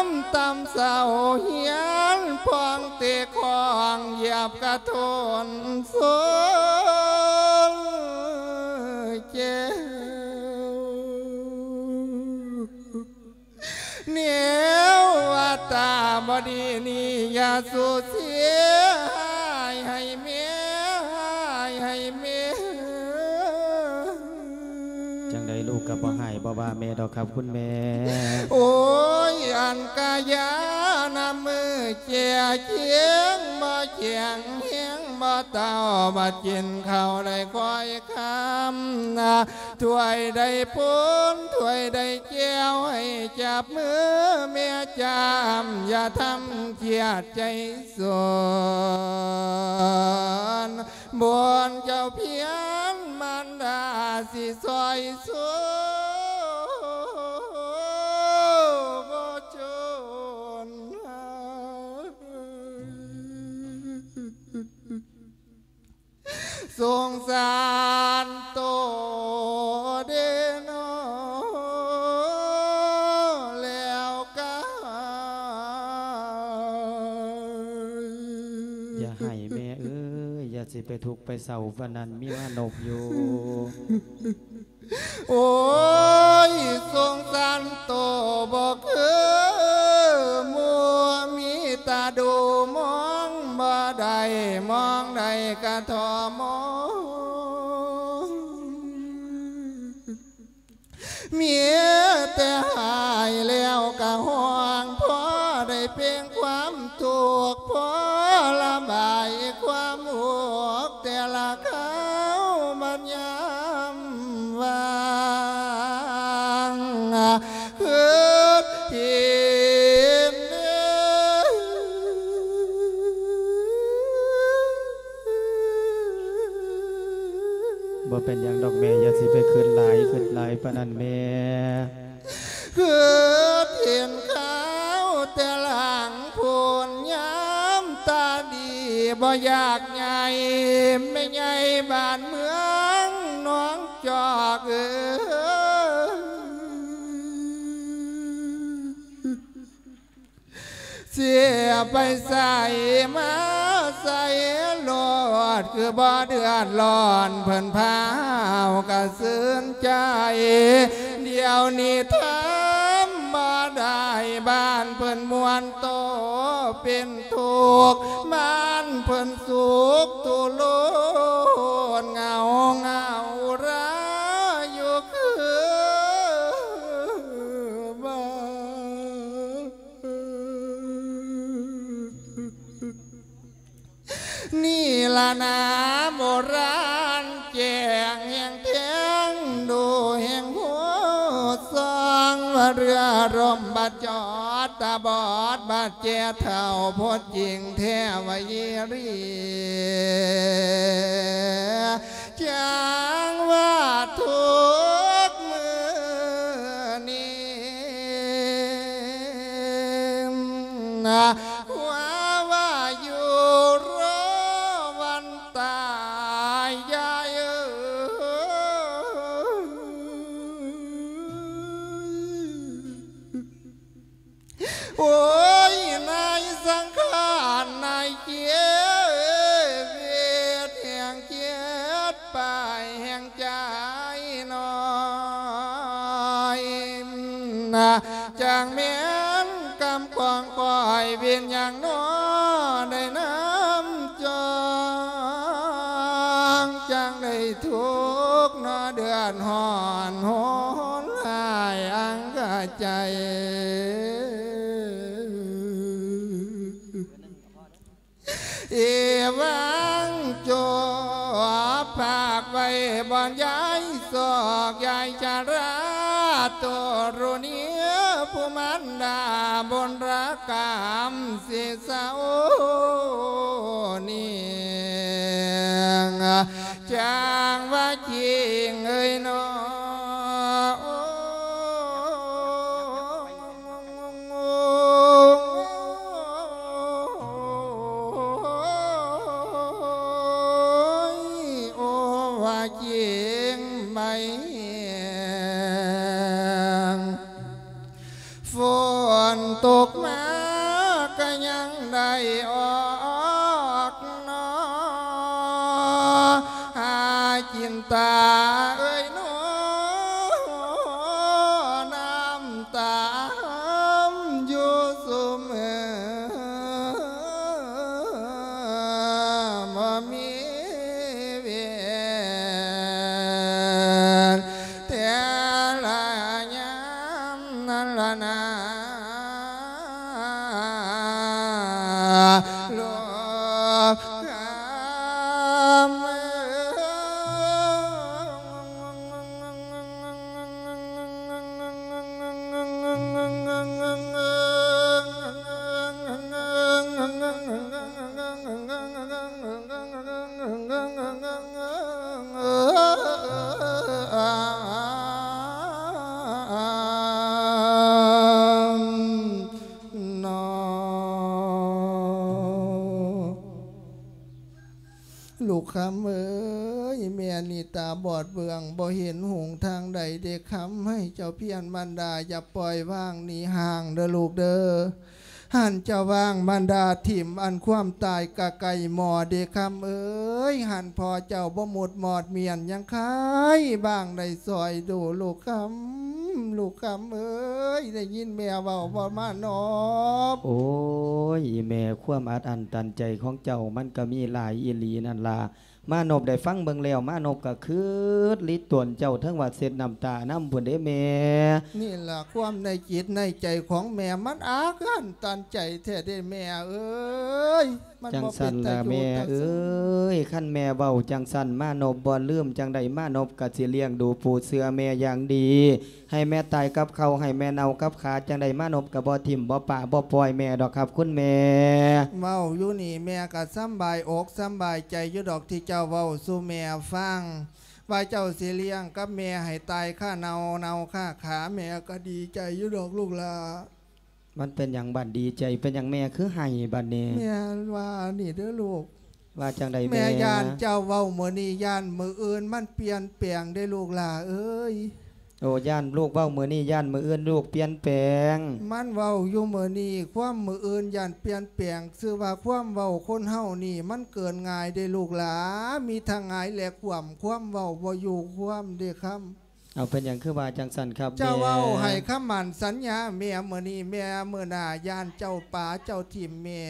ຳຕຳເສົາຮຽນ ພອງເຕະຂອງຢຽບກະໂທນໂຊນແຈວ. ແນວວ່າຕາບໍ່ດີນີ້ ຢ່າສູ່ເສຍຫາຍໃຫ້ແມ່ ຫາຍໃຫ້ແມ່. ຈັ່ງໃດລູກກະບໍ່ຫາຍບໍ່ວ່າແມ່ດອກຄັບຄຸນແມ່. ໂອ້ຍ ອັນກະຢານຳມືແຈງ ບໍ່ແຂງແຮງບໍ່ເຕົ່າ ບໍ່ກິນເຂົ້າໄດ້ຄ່ອຍຄຳນະ ຖ້ວຍໄດ້ປົນ ຖ້ວຍໄດ້ແກ້ວ ໃຫ້ຈັບມືແມ່ຈາມ ຢ່າທຳຄຽດໃຈສົນ ບຸນເຈົ້າພຽນມານດາຊິຊ່ອຍຊູບໍ່ຈົນ. ສົງສານໂຕເດເນາະ ແລ້ວກະ ຢ່າໄຫ້ແມ່ເອີຍ ຢ່າຊິໄປທຸກໄປເສົ້າປານນັ້ນ ມີມານົບຢູ່. ໂອ້ຍ ສົງສານໂຕບໍ່ຄືໝູ່ ມີຕາດູມອງບໍ່ໄດ້ ມອງໄດ້ກະທໍມອງ ມີແຕ່ຫາຍແລ້ວກະຮ້ອງ ພໍໄດ້ເປັ່ງຄວາມທຸກ ພໍລະບາຍຄວາມທຸກ ແຕ່ລະຄາວບັດຍາມວ່າງ ຄຶດເຫັນ ບໍ່ເປັນຫຍັງດອກແມ່ ຢ່າຊິໄປຄຶດຫຼາຍ ຄຶດຫຼາຍປານນັ້ນແມ່. ຄືເຫັນຂາວແຕ່ຫຼັງພຸ້ນຍາມຕາດີ ບໍ່ຢາກໃຫຍ່ແມ່ໃຫຍ່ບ້ານເມືອງໜອງຈອກເອີຍ ເສຍໄປໃສມາໃສໂລດ ຄືບໍ່ເດືອດຮ້ອນ ເພິ່ນພາວກະຊື່ນໃຈ ດຽວນີ້ທຳບໍ່ໄດ້ ບ້ານເພິ່ນມ່ວນໂຕເປັນທຸກ ບ້ານເພິ່ນສຸກທຸລົນ ເຫງົາເຫງົາລາຢູ່ຄືບໍ່ ນີ້ລະນາໂບລານແຈ້ງແຫ່ງແທງ ດູແຫ່ງໂຫດຊ່ອງ ວ່າເຮືອລົມບາດຈອດ ຕາບອດບາດແຈ້ເຖົ້າ ໂພດຈິງແທ້ວ່າອີ່ຫຼີ ຈັ່ງວ່າທຸກມື້ນີ້ ວ່າ ວ່າຢູ່ລໍວັນຕາຍ ຍາຍເອີຍ. ໂອ້ຍ ນາຍສັງຂານນາຍເຈັບ ເວດແຫ່ງເຈັບປາຍແຫ່ງໃຈນ້ອຍ ຈັ່ງແມ່ນກຳຂອງຂ້ອຍ ເວນຫຍັງນໍໄດ້ນຳຈອງ ຈັ່ງໄດ້ທຸກນໍ ເດືອດຮ້ອນໂຫດຮ້າຍອັງກະໃຈ. ເອວັງ ໂຈບພາກໄວ້ບ່ອນຍາຍສອກ ຍາຍຊະລາ ໂຕຣະນີ ຜູ້ມານດາບຸນລະກຳ ເສສະໂອນິງ ຈັ່ງວ່າຈິງເອີຍນໍ ໂອ້ຍ ໂອ້ ວ່າຈິງໃບແຮງ ຝົນຕົກມາກະຍັງໄດ້ອອກນໍ ຫາຈິນຕາເອີຍນໍ ນ້ຳຕາຫອມຢູ່ຊຸມເອີ ບໍ່ມີເວນ ແຕ່ລະຍາມນັ້ນລະນາ ລູກຄຳເອີຍ. ລູກຄຳເອີຍ ແມ່ນີ້ຕາບອດເບື້ອງ ບໍ່ເຫັນຫົງທາງໃດເດ້ຄຳ ໃຫ້ເຈົ້າພຽນມານດາ ຢ່າປ່ອຍວາງໜີຫ່າງເດີລູກເດີ. ຫັ້ນເຈົ້າວາງມານດາຖິ້ມ ອັນຄວາມຕາຍກະໄກໝໍເດ້ຄຳເອີຍ. ຫັ້ນພໍ່ເຈົ້າບໍ່ມຸດມອດມຽນ ຍັງຄາຍບາງໄດ້ຊ່ອຍດູລູກຄຳ. ລູກຄຳເອີຍ ໄດ້ຍິນແມ່ເວົ້າບໍ່ມານອບ? ໂອ້ຍ ອີແມ່ ຄວາມອັດອັ້ນຕັນໃຈຂອງເຈົ້າມັນກໍມີຫຼາຍອີຫຼີນັ້ນລະ. ມານົບໄດ້ຟັງເບິ່ງແລ້ວ ມານົບກໍຄຶດລິຕົນເຈົ້າ ເຖິງວ່າເຊັດນ້ຳຕານຳພຸ້ນເດ້ແມ່. ນີ້ລະຄວາມໃນຈິດໃນໃຈຂອງແມ່ ມັນອັດອັ້ນຕັນໃຈແທ້ເດ້ແມ່ເອີຍ. ມັນບໍ່ເປັນຕາຢູ່ຕາສົນ ຈັ່ງຊັ້ນລະແມ່ເອີຍ. ຄັນແມ່ເວົ້າຈັ່ງຊັ້ນ ມານົບບໍ່ລືມ ຈັ່ງໃດມານົບກໍຊິລ້ຽງດູປູເຊື່ອແມ່ຢ່າງດີ. ໃຫ້ແມ່ຕາຍກັບເຂົ້າ ໃຫ້ແມ່ເນົບກັບຂາ ຈັ່ງໃດມານົບກໍບໍ່ຖິ້ມບໍ່ປະບໍ່ປ່ອຍແມ່ດອກຄັບຄຸນແມ່. ເວົ້າຢູ່ນີ້ແມ່ກໍສຳບາຍອົກສຳບາຍໃຈຢູ່ດອກ ທີ່ເຈົ້າເວົ້າສູ່ແມ່ຟັງ ວ່າເຈົ້າຊິລ້ຽງກັບແມ່ໃຫ້ຕາຍຄາເນົ່າເນົ່າຄາຂາ ແມ່ກໍດີໃຈຢູ່ດອກລູກຫຼ້າ. ມັນເປັນຫຍັງບັດ ດີໃຈເປັນຫຍັງແມ່ຄືໄຫ້ບັດນີ້? ແມ່ວ່ານີ້ເດີລູກ. ວ່າຈັ່ງໃດແມ່? ແມ່ຢ້ານເຈົ້າເວົ້າມື້ນີ້ ຢ້ານມື້ອື່ນມັນປ່ຽນແປງເດ້ລູກຫຼ້າເອີຍ. ໂອ້ ຢ້ານລູກເວົ້າມື້ນີ້ ຢ້ານມື້ອື່ນລູກປ່ຽນແປງ. ມັນເວົ້າຢູ່ມື້ນີ້ ຄວາມມື້ອື່ນຢ້ານປ່ຽນແປງ. ຊື່ວ່າຄວາມເວົ້າຄົນເຮົານີ້ມັນເກີນງ່າຍເດ້ລູກຫຼ້າ ມີທັງຫງາຍແລະຂວ້ຳ ຄວາມເວົ້າບໍ່ຢູ່ຄວາມເດ້ຄຳ. ເອົາ ເປັນຫຍັງຄືວ່າຈັ່ງຊັ້ນຄັບແມ່? ເຈົ້າເວົ້າໃຫ້ຄຳໝັ້ນສັນຍາແມ່ມື້ນີ້ ແມ່ມື້ໜ້າຢ້ານເຈົ້າປະເຈົ້າຖິ້ມແມ່.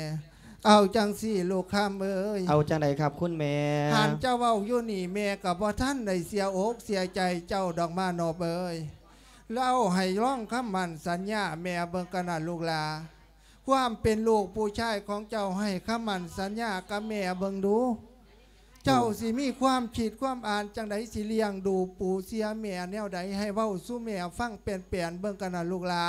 ເອົາຈັ່ງຊີ້ລູກຄຳເອີຍ. ເອົາຈັ່ງໃດຄັບຄຸນແມ່? ຫັ້ນເຈົ້າເວົ້າຢູ່ນີ້ ແມ່ກໍບໍ່ທັນໄດ້ເສຍອົກເສຍໃຈເຈົ້າດອກມານອບເອີຍ. ເວົ້າໃຫ້ລອງຄຳໝັ້ນສັນຍາແມ່ເບິ່ງກັນນະລູກຫຼ້າ. ຄວາມເປັນລູກຜູ້ຊາຍຂອງເຈົ້າ ໃຫ້ຄຳໝັ້ນສັນຍາກັບແມ່ເບິ່ງດູ. ເຈົ້າ ໂອ້ ຊິມີຄວາມຄິດຄວາມອ່ານຈັ່ງໃດ ຊິລ້ຽງດູປູເຊື່ອແມ່ແນວໃດ ໃຫ້ເວົ້າສູ່ແມ່ຟັງແປນໆເບິ່ງກັນນະລູກຫຼ້າ.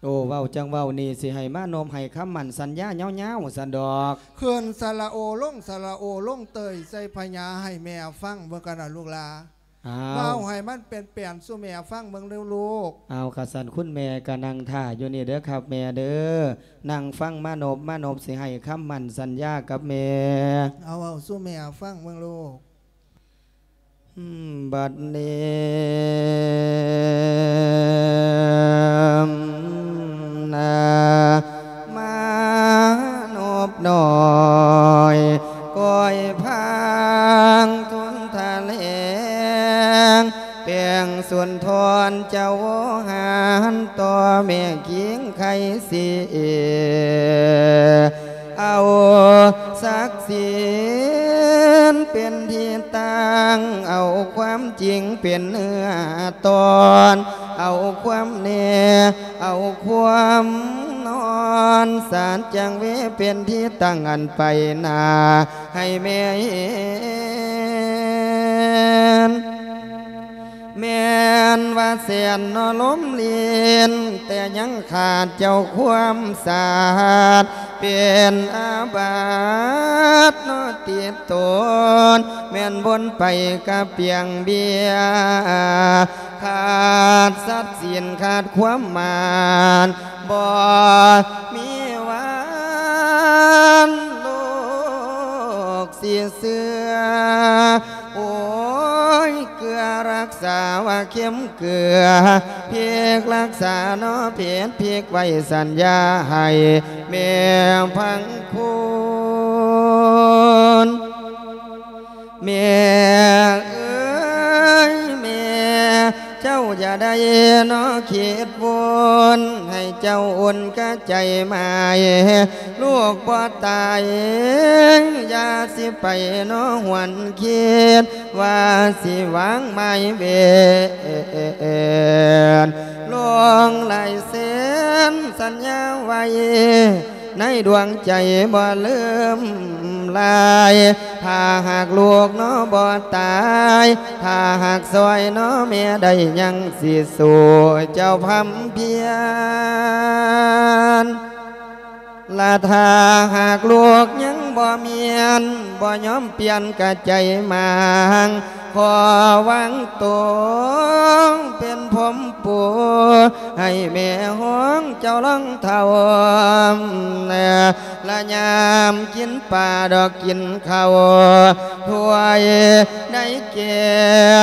ໂອ້ ເວົ້າຈັ່ງເວົ້ານີ້ ຊິໃຫ້ມານົບໃຫ້ຄຳໝັ້ນສັນຍາຍາວໆຊັ້ນດອກ. ຂຶ້ນສະຫຼະໂອ ລົງສະຫຼະໂອ ລົງເຕີຍໃສ່ພະຍາ ໃຫ້ແມ່ຟັງເບິ່ງກັນນະລູກຫຼ້າ. ອ້າວ ເວົ້າໃຫ້ມັນແປນໆສູ່ແມ່ຟັງເບິ່ງເດີລູກ. ເອົາ ຄັນຊັ້ນຄຸນແມ່ກໍນັ່ງຖ້າຢູ່ນີ້ເດີຄັບແມ່ເດີ. ນັ່ງຟັງມານົບ ມານົບຊິໃຫ້ຄຳໝັ້ນສັນຍາກັບແມ່. ເອົາ ເວົ້າສູ່ແມ່ຟັງເບິ່ງລູກ. ບັດນີ້ນາ ມານົບນ້ອຍ ກ້ອຍພາງສຸນທະແລງ ແປງສຸນທອນເຈົ້າຫານ ຕໍ່ແມ່ຄິງໄຄສີ ເອົາສັກສິນເປັນທີ່ຕັ້ງ ເອົາຄວາມຈິງເປັນເນື້ອຕອນ ເອົາຄວາມແນ່ ເອົາຄວາມນອນ ສາດຈັງເວເປັນທີ່ຕັ້ງ ອັນໄປໜ້າໃຫ້ແມ່ເຫັນ. ແມ່ນວ່າແສນເນາະລົມລີນ ແຕ່ຍັງຂາດເຈົ້າຄວາມສາດ ເປັນອາບັດເນາະຕິດຕົນ ແມ່ນບົນໄປກະປ່ຽງເບຍ ຂາດສັດສິນຂາດຄວາມໝານ ບໍ່ມີຫວັງໂລກຊິເຊື່ອ ໂອ້ຍ ເກືອຮັກສາວ່າເຂັມເກືອ ພິກຮັກສາເນາະເພັດ ພິກໄວ້ສັນຍາໃຫ້ແມ່ພັງຄຸນ. ແມ່ເອີຍແມ່ ເຈົ້າຢ່າໄດ້ເນາະຄິດວົນ ໃຫ້ເຈົ້າອຸ່ນກະໃຈໝາຍ ລູກບໍ່ຕາຍ ຢ່າຊິໄປເນາະຫວນຄິດ ວ່າຊິວາງໝາຍເວນ ລົງລາຍເຊັນສັນຍາໄວ້ ໃນດວງໃຈບໍ່ລືມລາຍ ຖ້າຫາກລູກເນາະບໍ່ຕາຍ ຖ້າຫາກຊ່ອຍເນາະແມ່ໄດ້ ຍັງຊິສູ້ເຈົ້າພຳພຽນ ລະຖ້າຫາກລູກຍັງບໍ່ມຽນ ບໍ່ຍອມປ່ຽນກະໃຈໝາງ ຂໍວາງໂຕເປັນພົມປູ ໃຫ້ແມ່ຮອງເຈົ້າລອງເທົ້າ ລະຍາມກິນປາດອກກິນເຂົ້າ ຖ້ວຍໃດແກ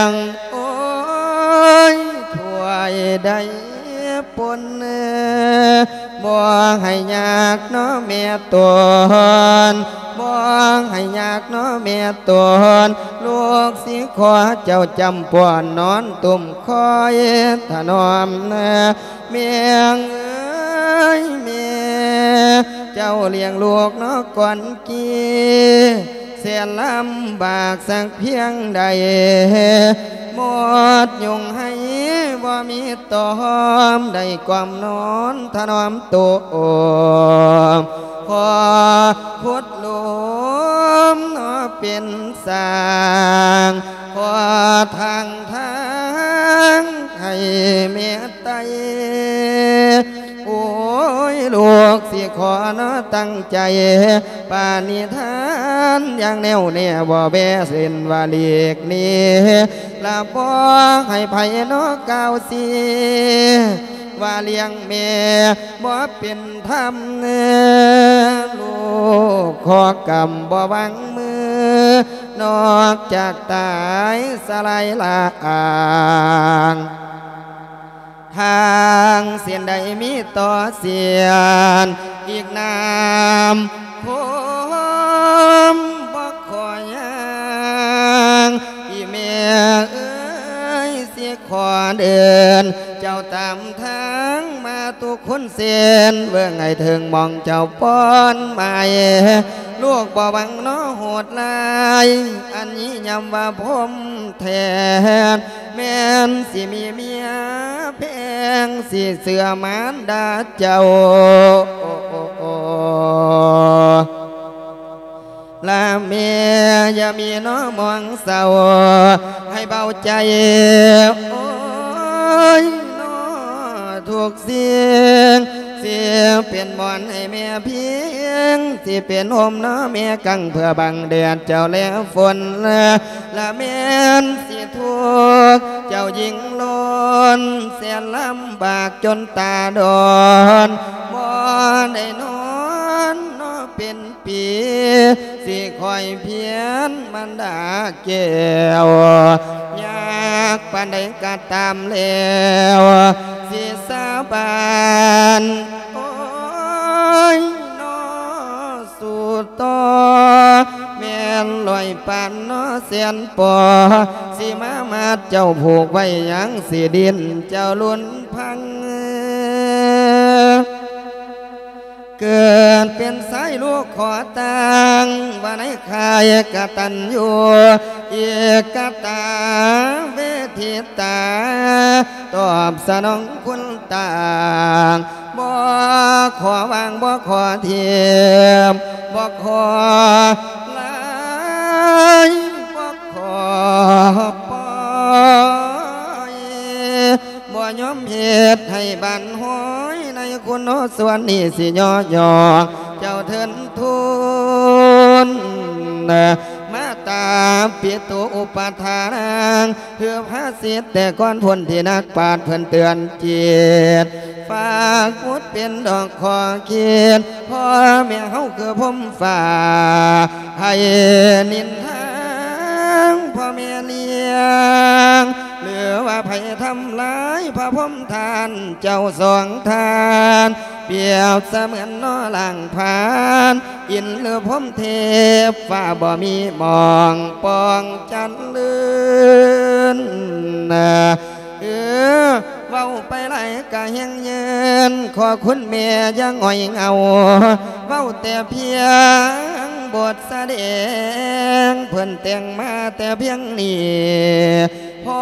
ງ ໂອ້ຍ ຖ້ວຍໃດປົນ ບໍ່ໃຫ້ຍາກເນາະແມ່ຕົນ ບໍ່ໃຫ້ຍາກເນາະແມ່ຕົນ ລູກຊິຂໍເຈົ້າຈ້ຳປ້ອນນອນຕຸ້ມຄອຍຖະໜອມ ແມ່ເອີຍແມ່ ເຈົ້າລ້ຽງລູກເນາະກ່ອນກີ້ ແສນລຳບາກສັກພຽງໃດ ໝົດຍຸງໄຫ້ບໍ່ມີຕອມ ໄດ້ກ່ອມນອນຖະໜອມໂຕ ຂໍຂຸດຫຼຸມເນາະເປັນສ້າງ ຂໍທາງທາງໃຫ້ແມ່ໄຕ ໂອ້ຍ ລູກຊິຂໍເນາະຕັ້ງໃຈ ປະນິທານຢ່າງແນ່ວແນ່ ບໍ່ແວເວັ້ນວ່າຫຼີກໜີ ລະບໍ່ໃຫ້ໃຜເນາະກ່າວຊີ້ ວ່າລ້ຽງແມ່ບໍ່ເປັນທຳ ລູກຂໍກຳບໍ່ວາງມື ນອກຈາກຕາຍສະລາຍລາງ ທາງເສັ້ນໃດມີຕໍ່ເສັ້ນ ອີກນ້ຳຄົມບໍ່ຂໍຍ່າງ ອີແມ່ເອີຍ ຊິຂໍເດີນ ເຈົ້າຕາມທາງມາທຸກຄົນເສັ້ນ ເບິ່ງໃຫ້ເຖິງໝ່ອງເຈົ້າປ້ອນໝາຍ ລູກບໍ່ຫວັງເນາະໂຫດຮ້າຍ ອັນນີ້ຍ້ຳວ່າພົມແທນ ແມ່ນຊິມີເມຍແພງ ຊິເຊື່ອມານດາເຈົ້າ ລະແມ່ຢ່າມີເນາະມອງເສົ້າ ໃຫ້ເບົາໃຈ ໂອ້ຍ ເນາະ ທຸກສິ່ງ ຊິເປັນໝອນໃຫ້ແມ່ພິງ ຊິເປັນຮົ່ມເນາະແມ່ກັງ ເພື່ອບັງແດດເຈົ້າແລຝົນ ລະແມ່ນຊິທຸກ ເຈົ້າຍິ່ງລົ້ນ ແສນລຳບາກຈົນຕາດອນ ບໍ່ໄດ້ນອນເນາະເປັນ ປີ ຊິຄອຍພຽນມານດາແກ້ວ ຍາກປານໃດກະຕາມແລ້ວ ຊິສາບານ ໂອ້ຍ ເນາະ ສູ້ຕໍ່ ແມ່ນຮ້ອຍປານເນາະແສນປໍ ຊິມາມັດເຈົ້າຜູກໄວ້ຫຍັງ ຊິດີ້ນເຈົ້າລຸນພັງ ເກີດເປັນຊາຍລູກຂໍຕັ້ງ ວ່າໃນຄ້າຍກະຕັນຍູ ເອກະຕາເວທິຕາ ຕອບສະໜອງຄຸນຕ່າງ ບໍ່ຂໍວາງ ບໍ່ຂໍຖິ້ມ ບໍ່ຂໍຫຼາຍ ບໍ່ຂໍປ່ອຍ ບໍ່ຍອມເຮັດໃຫ້ບັນຫອຍ ໃນຄຸນໂອສ່ວນນີ້ຊິຍໍຍ້ອງເຈົ້າເທີນທູນ ມາຕາປິໂຕອຸປະທານັງ ຄືພາສິດແຕ່ກ່ອນພຸ້ນທີ່ນັກປາດເພິ່ນເຕືອນຈິດ ຝາກບຸດເປັນດອກຂໍ້ຄິດ ພໍ່ແມ່ເຮົາຄືພົມຟ້າ ໃຫ້ນິນທາງພໍ່ແມ່ລ້ຽງ ຫຼືວ່າໃຜທຳລາຍພະພົມທ່ານເຈົ້າສອງທ່ານ ປຽບສະເໝືອນໜໍ່ລ້າງຜານ ອິນຫຼືພົມເທບ ຟ້າບໍ່ມີໝ່ອງປ່ອງຈັນເລີນ ເອີ ເວົ້າໄປຫຼາຍກະແຮງເຍີນ ຂໍຄຸນແມ່ຢ່າຫງອຍເຫງົາ ເວົ້າແຕ່ພຽງບົດສະແດງ ເພິ່ນແຕ່ງມາແຕ່ພຽງນີ້ ພໍ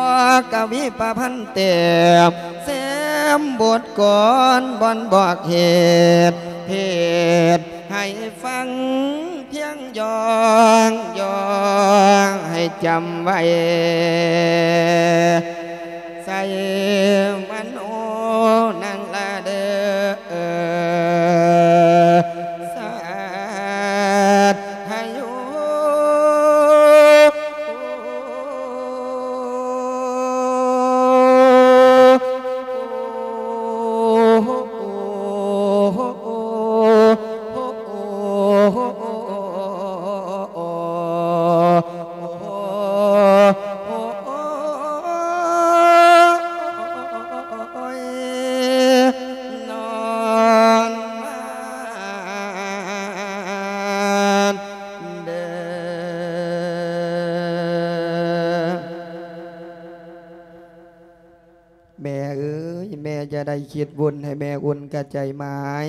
ກະວີປະພັນແຕ້ມ ແຊມບົດກອນບ່ອນບອກເຫດ ເຫດໃຫ້ຟັງ ພຽງຢ່ອງ ຢ່ອງໃຫ້ຈຳໄວ້ ໃສ່ມະໂນນັ້ນລະເດີ ສັດທະໂຍ. ຢ່າໄດ້ຄິດວຸ່ນໃຫ້ແມ່ອຸ່ນກະໃຈໝາຍ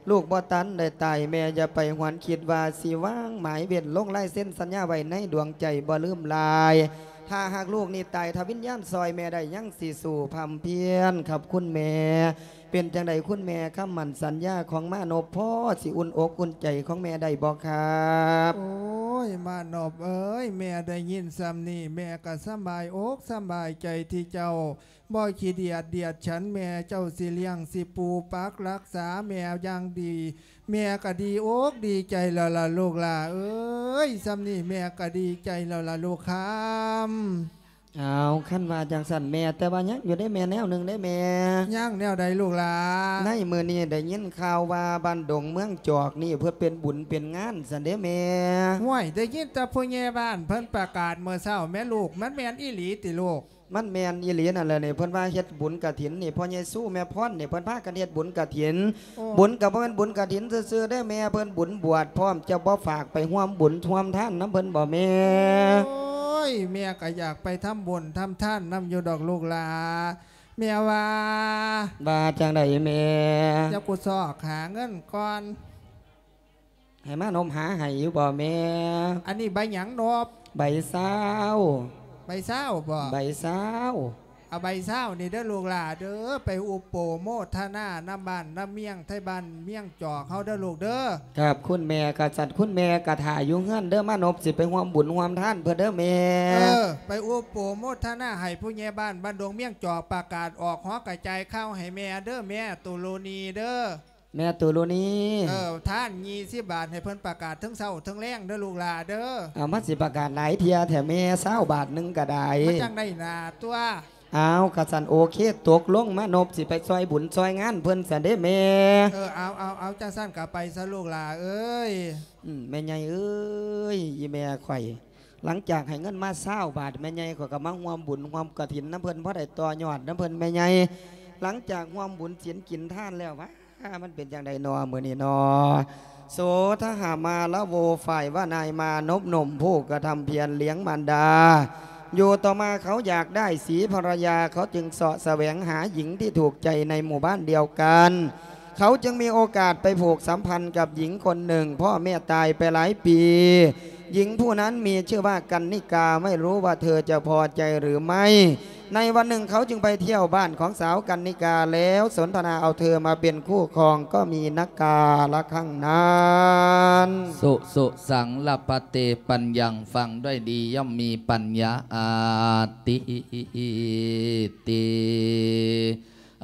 ລູກບໍ່ທັນໄດ້ຕາຍ ແມ່ຢ່າໄປຫວນຄິດວ່າຊິວາງໝາຍເວັ້ນ ລົງລາຍເຊັນສັນຍາໄວ້ໃນດວງໃຈບໍ່ລືມລາຍ ຖ້າຫາກລູກນີ້ຕາຍ ຖ້າວິນຍານຊ່ອຍແມ່ໄດ້ ຍັງຊິສູ້ພຳພຽນຄັບຄຸນແມ່. ເປັນຈັ່ງໃດຄຸນແມ່ ຄຳໝັ້ນສັນຍາຂອງມານົບ ພໍຊິອຸ່ນອົກອຸ່ນໃຈຂອງແມ່ໄດ້ບໍ່ຄັບ? ໂອ້ຍ ມານົບເອີຍ ແມ່ໄດ້ຍິນສ່ຳນີ້ ແມ່ກະສຳບາຍອົກສຳບາຍໃຈທີ່ເຈົ້າ ບໍ່ຂີ້ດຽດດຽດສັນແມ່ ເຈົ້າຊິລ້ຽງຊິປູປັກລັກສາແມ່ຢ່າງດີ ແມ່ກະດີອົກດີໃຈແລ້ວລະລູກຫຼ້າເອີຍ ສ່ຳນີ້ແມ່ກະດີໃຈແລ້ວລະລູກຄຳ. ອ້າວ ຄັນວ່າຈັ່ງຊັ້ນແມ່ ແຕ່ວ່າຍັງຢູ່ເດ້ແມ່ ແນວໜຶ່ງເດ້ແມ່. ຍັງແນວໃດລູກຫຼ້າ? ໃນມື້ນີ້ໄດ້ຍິນຂ່າວວ່າບ້ານດົງເມືອງຈອກນີ້ ເພິ່ນເປັນບຸນເປັນງານຊັ້ນເດ້ແມ່. ຫ້ວຍ ໄດ້ຍິນແຕ່ຜູ້ໃຫຍ່ບ້ານເພິ່ນປະກາດມື້ເຊົ້າແມ່ລູກ ມັນແມ່ນອີ່ຫຼີຕິລູກ? ມັນແມ່ນອີ່ຫຼີນັ້ນແຫຼະນີ້ ເພິ່ນວ່າເຮັດບຸນກະຖິນນີ້ ພໍ່ໃຫຍ່ຊູແມ່ພອນນີ້ ເພິ່ນພາກັນເຮັດບຸນກະຖິນ. ໂອ້ ບຸນກະບໍ່ແມ່ນບຸນກະຖິນຊື່ໆເດ້ແມ່ ເພິ່ນບຸນບວດພ້ອມ. ເຈົ້າບໍ່ຝາກໄປຮ່ວມບຸນຮ່ວມທານນຳເພິ່ນບໍ່ແມ່? ໂອ້ຍ ແມ່ກະຢາກໄປທຳບຸນທຳທານນຳຢູ່ດອກລູກຫຼ້າ ແມ່ວ່າ. ວ່າຈັ່ງໃດແມ່? ດຽວກູຊອກຫາເງິນກ່ອນ. ໃຫ້ມານົບຫາໃຫ້ຢູ່ບໍ່ແມ່? ອັນນີ້ໃບຫຍັງນົບ? ໃບຊາວ. ໃບຊາວບໍ່? ໃບຊາວ. ເອົາໃບຊາວນີ້ເດີລູກຫຼ້າເດີ ໄປອຸບໂປໂມທະນານຳບ້ານນຳເມືອງ ໄທບ້ານເມືອງຈອກເຮົາເດີລູກເດີ. ຄັບ ຄຸນແມ່ ກະສັດຄຸນແມ່ກະຖ້າຢູ່ເຮືອນເດີ ມານົບຊິໄປຮ່ວມບຸນຮ່ວມທານເພິ່ນເດີແມ່. ເອີ ໄປອຸບໂປໂມທະນາໃຫ້ຜູ້ໃຫຍ່ບ້ານບ້ານດົງເມືອງຈອກ ປະກາດອອກຫໍກະຈາຍຂ່າວໃຫ້ແມ່ເດີ ແມ່ຕຸລຸນີເດີ. ແມ່ຕຸລຸນີ. ເອີ ທານ ຊາວບາດ ໃຫ້ເພິ່ນປະກາດເຖິງເຊົ້າເຖິງແລງເດີລູກຫຼ້າເດີ. ເອົາ ມັນຊິປະກາດຫຼາຍເທື່ອແທ້ແມ່ ຊາວບາດໜຶ່ງກະໄດ້. ມັນຈັ່ງໄດ້ໜ້າຕົວະ. ເອົາ ກະຊັ້ນໂອເຄ ຕົກລົງ ມານົບຊິໄປຊ່ອຍບຸນຊ່ອຍງານເພິ່ນຊັ້ນເດ້ແມ່. ເອີ ເອົາ ເອົາ ເອົາ ຈັ່ງຊັ້ນກະໄປຊະລູກຫຼ້າເອີຍ. ອືມ ແມ່ໃຫຍ່ເອີຍ ອີ່ແມ່ຂ້ອຍ ຫຼັງຈາກໃຫ້ເງິນມາຊາວບາດ ແມ່ໃຫຍ່ຂ້ອຍກະມາຮ່ວມບຸນຮ່ວມກະຖິນນຳເພິ່ນ ພໍໄດ້ຕໍ່ຍອດນຳເພິ່ນແມ່ໃຫຍ່. ຫຼັງຈາກຮ່ວມບຸນສິນກິນທານແລ້ວ ຫວາ ມັນເປັນຈັ່ງໃດນໍມື້ນີ້ນໍ? ໂສທະຫະມາລະໂວ ຝ່າຍວ່ານາຍມານົບໜຸ່ມຜູ້ກະທຳພຽນລ້ຽງມານດາ ຢູ່ຕໍ່ມາເຂົາຢາກໄດ້ສີພັນລະຍາ ເຂົາຈຶ່ງເສາະສະແຫວງຫາຍິງທີ່ຖືກໃຈໃນໝູ່ບ້ານດຽວກັນ ເຂົາຈຶ່ງມີໂອກາດໄປຜູກສຳພັນກັບຍິງຄົນໜຶ່ງ ພໍ່ແມ່ຕາຍໄປຫຼາຍປີ. ຍິງຜູ້ນັ້ນມີຊື່ວ່າກັນນິກາ ໄມ່ຮູ້ວ່າເທີຈະພໍໃຈຫຼືໄມ່. ໃນວັນໜຶ່ງເຂົາຈຶ່ງໄປທ່ຽວບ້ານຂອງສາວກັນນິກາ ແລ້ວສົນທະນາເອົາເທີມາເປັນຄູ່ຄອງ ກໍມີນັກກາລະຄັ້ງນັ້ນ. ສຸ ສຸ ສັງ ລະປະເຕ ປັນຍັງ ຟັງດ້ວຍດີ ຍ່ອມມີປັນຍາອາດ ຕິ ຕິ.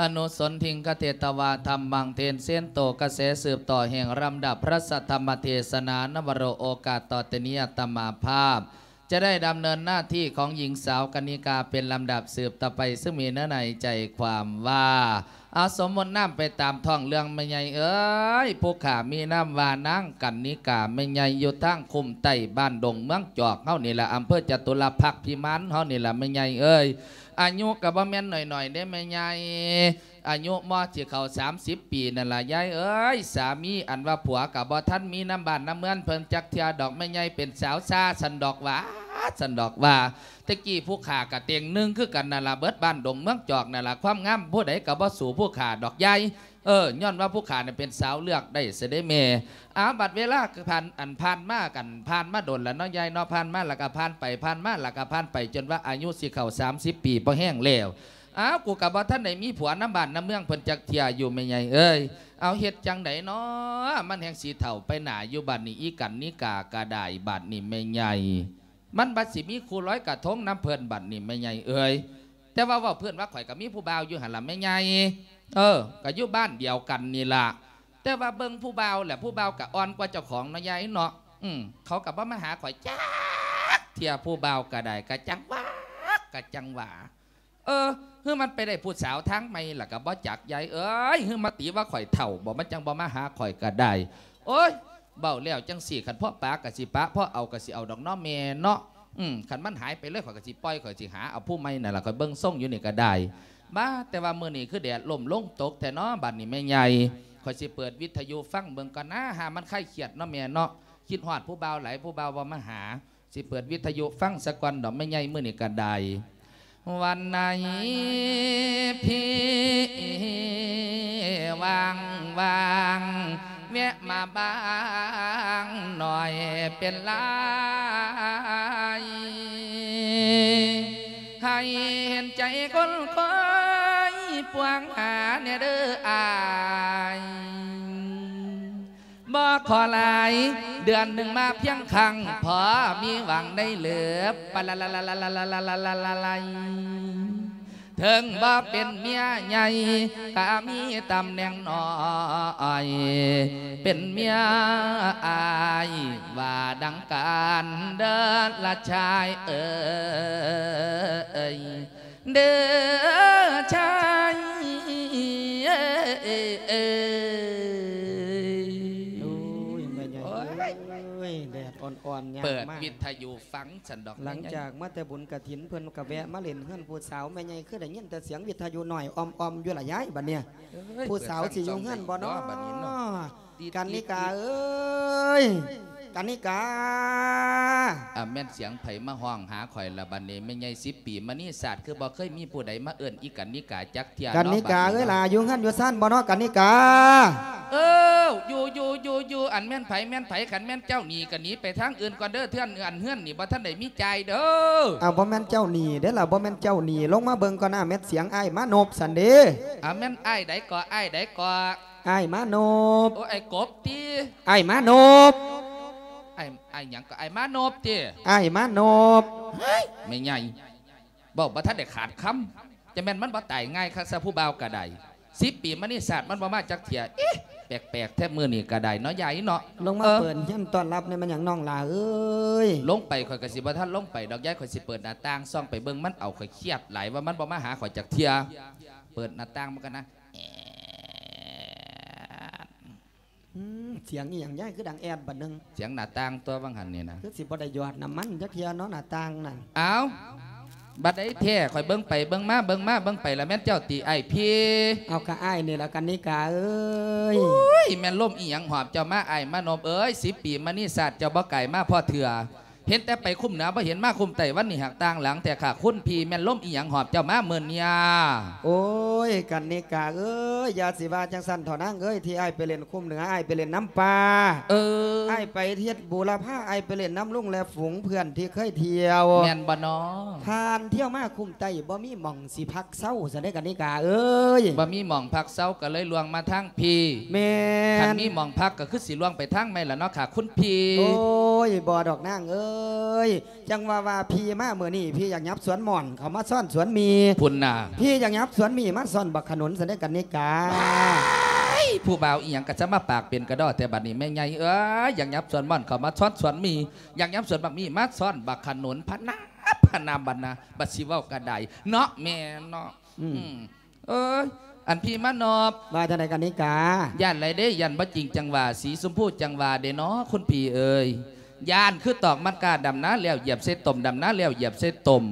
ອະນຸສົນທິງ ຄະເທຕະວາ ທຳມັງ ເທນເຊນໂຕ ກະແສສືບຕໍ່ແຫ່ງລຳດັບພະທຳມະເທສະນາ ນະວະໂຣ ໂອກາດຕໍ່ແຕ່ນີ້ ອາດຕະມາພາບຈະໄດ້ດຳເນີນໜ້າທີ່ຂອງຍິງສາວກັນນິກາເປັນລຳດັບສືບຕໍ່ໄປ ຊຶ່ງມີເນື້ອໃນໃຈຄວາມວ່າ ອາ ສົມມຸດນາມໄປຕາມທ້ອງເລື່ອງແມ່ໃຫຍ່ເອີຍ ຜູ້ຂ້າມີນາມວ່ານາງກັນນິກາ ແມ່ໃຫຍ່ຢູ່ທາງຄຸ້ມໃຕ້ບ້ານດົງເມືອງຈອກເຮົານີ້ລະ ອຳເພີຈະຕຸລະພັກພິມານເຮົານີ້ລະແມ່ໃຫຍ່ເອີຍ. ອາຍຸກະບໍ່ແມ່ນໜ້ອຍໆເດ້ແມ່ໃຫຍ່ ອາຍຸມໍຊິເຂົ້າສາມສິບປີນັ້ນລະຍາຍເອີຍ. ສາມີອັນວ່າຜົວກະບໍ່ທັນມີນຳບ້ານນຳເມືອງເພິ່ນຈັກເທື່ອດອກແມ່ໃຫຍ່ ເປັນສາວຊາຊັ້ນດອກຫວາ ຊັ້ນດອກຫວາ. ແຕ່ກີ້ຜູ້ຂ້າກະເຕັງໜຶ່ງຄືກັນນັ້ນລະ ເບິດບ້ານດົງເມືອງຈອກນັ້ນລະ ຄວາມງາມຜູ້ໃດກະບໍ່ສູ້ຜູ້ຂ້າດອກຍາຍ. ເອີ ຍ້ອນວ່າຜູ້ຂ້ານັ້ນເປັນສາວເລືອກໄດ້ຊະເດ້ແມ່. ອາ ບັດເວລາຄືຜ່ານ ອັນຜ່ານມາກັນ ຜ່ານມາດົນລະເນາະຍາຍເນາະ ຜ່ານມາລະກະຜ່ານໄປ ຜ່ານມາລະກະຜ່ານໄປ ຈົນວ່າອາຍຸຊິເຂົ້າສາມສິບປີພໍແຮງແລ້ວ. ອ້າວ ກູກະບໍ່ທັນໄດ້ມີຜົວນຳບ້ານນຳເມືອງເພິ່ນຈັກເທື່ອຢູ່ແມ່ໃຫຍ່ເອີຍ. ເອົາ ເຮັດຈັ່ງໃດເນາະ ມັນແຮ່ງຊິເຖົ້າໄປໜ້າຢູ່ບາດນີ້ ອີກັນນິກາກະໄດ້ບາດນີ້ແມ່ໃຫຍ່. ມັນບັດຊິມີຄູ່ລອຍກະທົງນຳເພິ່ນບັດນີ້ແມ່ໃຫຍ່ເອີຍ. ແຕ່ວ່າເວົ້າເພິ່ນວ່າຂ້ອຍກະມີຜູ້ບ່າວຢູ່ຫັ້ນລະແມ່ໃຫຍ່. ເອີ ກະຢູ່ບ້ານດຽວກັນນີ້ລະ ແຕ່ວ່າເບິ່ງຜູ້ບ່າວແຫຼະ ຜູ້ບ່າວກະອ່ອນກວ່າເຈົ້າຂອງເນາະຍາຍເນາະ. ອືມ ເຂົາກະບໍ່ມາຫາຂ້ອຍຈັກເທື່ອ ຜູ້ບ່າວກະໄດ້ ກະຈັ່ງຫວາ ກະຈັ່ງຫວາ. ເອີ ຫຼືມັນໄປໄດ້ຜູ້ສາວທາງໃໝ່ລະກະບໍ່ຈັກຍາຍເອີຍ ຫຼືມາຕິວ່າຂ້ອຍເຖົ້າບໍ ມັນຈັ່ງບໍ່ມາຫາຂ້ອຍກະໄດ້. ໂອ້ຍ ເວົ້າແລ້ວຈັ່ງຊີ້ ຄັນພໍປາກະຊິປາ ພໍເອົາກະຊິເອົາດອກເນາະແມ່ເນາະ. ອືມ ຄັນມັນຫາຍໄປເລີຍ ຂ້ອຍກະຊິປ່ອຍ ຂ້ອຍຊິຫາເອົາຜູ້ໃໝ່ນັ້ນລະ ຂ້ອຍເບິ່ງຊົງຢູ່ນີ້ກະໄດ້. ບາ ແຕ່ວ່າມື້ນີ້ຄືແດດລົ້ມລົງຕົກແທ້ເນາະ ບາດນີ້ແມ່ໃຫຍ່. ຂ້ອຍຊິເປີດວິທະຍຸຟັງເບິ່ງກ່ອນນາ ຫາມັນຄາຍຄຽດເນາະແມ່ເນາະ. ຄິດຮອດຜູ້ບ່າວຫຼາຍ ຜູ້ບ່າວບໍ່ມາຫາ. ຊິເປີດວິທະຍຸຟັງສາກ່ອນດອກແມ່ໃຫຍ່ ມື້ນີ້ກະໄດ້. ວັນໃນພີ່ວ່າງໆ ແວະມາບ້າງໜ້ອຍເປັນໄລ ໃຫ້ເຫັນໃຈຄົນຄອຍປວງຫາແດ່ເດີ້ອ້າຍ. ບໍ່ຂໍຫຼາຍ ເດືອນໜຶ່ງມາພຽງຄັ້ງ ພໍມີຫວັງໄດ້ເລີບ ປະລະລະລະລະລະລະລະລະລະລະ. ເຖິງບໍ່ເປັນເມຍໃຫຍ່ ກະມີຕຳແໜ່ງນ້ອຍ ເປັນເມຍອ້າຍ ວ່າດັ່ງກັນເດີ້ລະຊາຍເອີຍ. ເດີຊາຍເອີຍ. ໂອ້ຍ ແມ່ໃຫຍ່ເອີຍ ແດດອ່ອນໆ ຍາມມາ ເປີດວິທະຍຸຟັງຊັ້ນດອກ ຫຼັງຈາກມາແຕ່ບຸນກະຖິນ ເພິ່ນກໍແວະມາຫຼິ້ນເຮືອນຜູ້ສາວ. ແມ່ໃຫຍ່ຄືໄດ້ຍິນແຕ່ສຽງວິທະຍຸນ້ອຍອອມໆ ຢູ່ລະຍາຍ ບັດນີ້ ເອີຍ ຜູ້ສາວຊິຢູ່ເຮືອນບໍ່ເນາະ ບັດນີ້ເນາະ. ກັນນິກາເອີຍ ກັນນິກາ. ອ່າ ແມ່ນສຽງໃຜມາຮ້ອງຫາຂ້ອຍລະບັດນີ້ ແມ່ໃຫຍ່ສິບປີມະນີສາດ ຄືບໍ່ເຄີຍມີຜູ້ໃດມາເອີ້ນອີ່ກັນນິກາຈັກເທື່ອເນາະ. ກັນນິກາເອີຍ ບັດນີ້ເນາະ ຫຼ້າຢູ່ເຮືອນຢູ່ຊານບໍ່ເນາະ ກັນນິກາ? ເອີ ຢູ່ ຢູ່ ຢູ່ ຢູ່. ອັນແມ່ນໃຜ ແມ່ນໃຜ? ຄັນແມ່ນເຈົ້າໜີກໍໜີໄປທາງອື່ນກ່ອນເດີ້ ເທື່ອນ ອັນເຮືອນນີ້ບໍ່ທັນໄດ້ມີຈ່າຍເດີ້. ອ້າວ ບໍ່ແມ່ນເຈົ້າໜີເດ້ລະ ບໍ່ແມ່ນເຈົ້າໜີ. ລົງມາເບິ່ງກ່ອນນະ ແມ່ນສຽງອ້າຍມານົບຊັ້ນເດ້. ອ່າ ແມ່ນອ້າຍໃດເກາະ ອ້າຍໃດເກາະ? ອ້າຍມານົບ. ໂອ້ ອ້າຍກົບຕິ? ອ້າຍມານົບ. ອ້າຍ ອ້າຍຫຍັງເກາະ? ອ້າຍມານົບຕິ? ອ້າຍມານົບ. ເຮີ້ຍ ແມ່ໃຫຍ່ ເວົ້າບໍ່ທັນໄດ້ຂາດຄຳ ຈະແມ່ນມັນບໍ່ຕາຍງ່າຍຄັກຊະ ຜູ້ບ່າວກະໄດ້. ສິບປີມະນີສາດມັນບໍ່ມາຈັກເທື່ອ. ເອະ ແປກໆແທ້ມື້ນີ້ກະໄດ້ເນາະ ຍາຍເນາະ. ລົງມາເປີດເຮືອນຕ້ອນຮັບແດ່ ແມ່ນຫຍັງນ້ອງຫຼ້າເອີຍ? ລົງໄປ ຂ້ອຍກະຊິບໍ່ທັນລົງໄປດອກ ຍາຍ. ຂ້ອຍຊິເປີດໜ້າຕ່າງສ່ອງໄປເບິ່ງມັນເອົາ ຂ້ອຍຄຽດຫຼາຍວ່າມັນບໍ່ມາຫາຂ້ອຍຈັກເທື່ອ. ເປີດໜ້າຕ່າງມັນກັນນະ. ອືມ ສຽງອີ່ຫຍັງຍາຍ ຄືດັງແອດບາດໜຶ່ງ? ສຽງໜ້າຕ່າງຕົວະ ວ່າຫັ້ນນີ້ນະ. ຄືຊິບໍ່ໄດ້ຢອດນ້ຳມັນຈັກເທື່ອເນາະ ໜ້າຕ່າງນັ້ນ. ອ້າວ ບັດໃດແທ້? ຂ້ອຍເບິ່ງໄປເບິ່ງມາ ເບິ່ງມາເບິ່ງໄປລະແມ່ນເຈົ້າຕິອ້າຍພີ? ເອົາ ກະອ້າຍນີ້ລະ ກັນນິກາເອີຍ. ໂອ້ຍ ແມ່ນລົມອີ່ຫຍັງຫອບເຈົ້າມາ ອ້າຍມານົບເອີຍ? ສິບປີມະນີສາດ ເຈົ້າບໍ່ກາຍມາພໍ້ເທື່ອ. ເຫັນແຕ່ໄປຄຸ້ມເໜືອ ບໍ່ເຫັນມາຄຸ້ມໃຕ້ ວັນນີ້ຫາກຕ່າງຫຼັງແທ້ຄ່າ ຄຸນພີ່. ແມ່ນລົມອີ່ຫຍັງຫອບເຈົ້າມາມື້ນີ້? ໂອ້ຍ ກັນນິກາເອີຍ ຢ່າຊິວ່າຈັ່ງຊັ້ນເຖາະນາງເອີຍ. ທີ່ອ້າຍໄປຫຼິ້ນຄຸ້ມເໜືອ ອ້າຍໄປຫຼິ້ນນຳປ່າ. ເອີ ອ້າຍໄປເຮັດບູລະພາ ອ້າຍໄປຫຼິ້ນນຳລຸງແລະຝູງເພື່ອນທີ່ເຄີຍທ່ຽວ. ແມ່ນບໍ່ນໍ? ຜ່ານທ່ຽວມາຄຸ້ມໃຕ້ ບໍ່ມີໝ່ອງຊິພັກເຊົາຊັ້ນເດ້ ກັນນິກາເອີຍ. ບໍ່ມີໝ່ອງພັກເຊົາ ກໍເລີຍລ່ວງມາທາງພີ້. ແມ່ນ. ຄັນມີໝ່ອງພັກ ກໍຄືຊິລ່ວງໄປທາງໃໝ່ລະເນາະຄ່າ ຄຸນພີ່. ໂອ້ຍ ບໍ່ດອກນາງເອີຍ. ຈັ່ງວ່າ ວ່າພີ່ມາມື້ນີ້ ພີ່ຢາກຫຍັບສວນມ່ອນເຂົ້າມາຊ້ອນສວນໝີ່ພຸ້ນນະ. ພີ່ຢາກຫຍັບສວນໝີ່ມາຊ້ອນບັກຂະໜູນຊັ້ນເດ້ ກັນນິກາ. ວ້າຍ ຜູ້ບ່າວອີ່ຫຍັງກະຈະມາປາກເປັນກະດໍ້ແທ້ບັດນີ້ ແມ່ໃຫຍ່ເອີຍ. ຢາກຫຍັບສວນມ່ອນເຂົ້າມາຊ້ອນສວນໝີ່ ຢາກຫຍັບສວນບັກໝີ່ມາຊ້ອນບັກຂະໜູນ ພະນາ ພະນາ ບັດນະ ບັດຊິເວົ້າກະໄດ້ເນາະ ແມ່ເນາະ. ອືມ ອືມ ເອີຍ ອັນພີ່ມານອບ ວ່າຈັ່ງໃດ ກັນນິກາ? ຢ້ານຫຼາຍເດ້ ຢ້ານບໍ່ຈິງຈັ່ງຫວາ ສີຊົມພູຈັ່ງຫວາເດ້ເນາະ ຄຸນພີ່ເອີຍ. ຢ້ານຄືຕອກມັນກ້າ ດຳນາແລ້ວຢຽບໃສ່ຕົມ ດຳນາແລ້ວຢຽບໃສ່ຕົມ.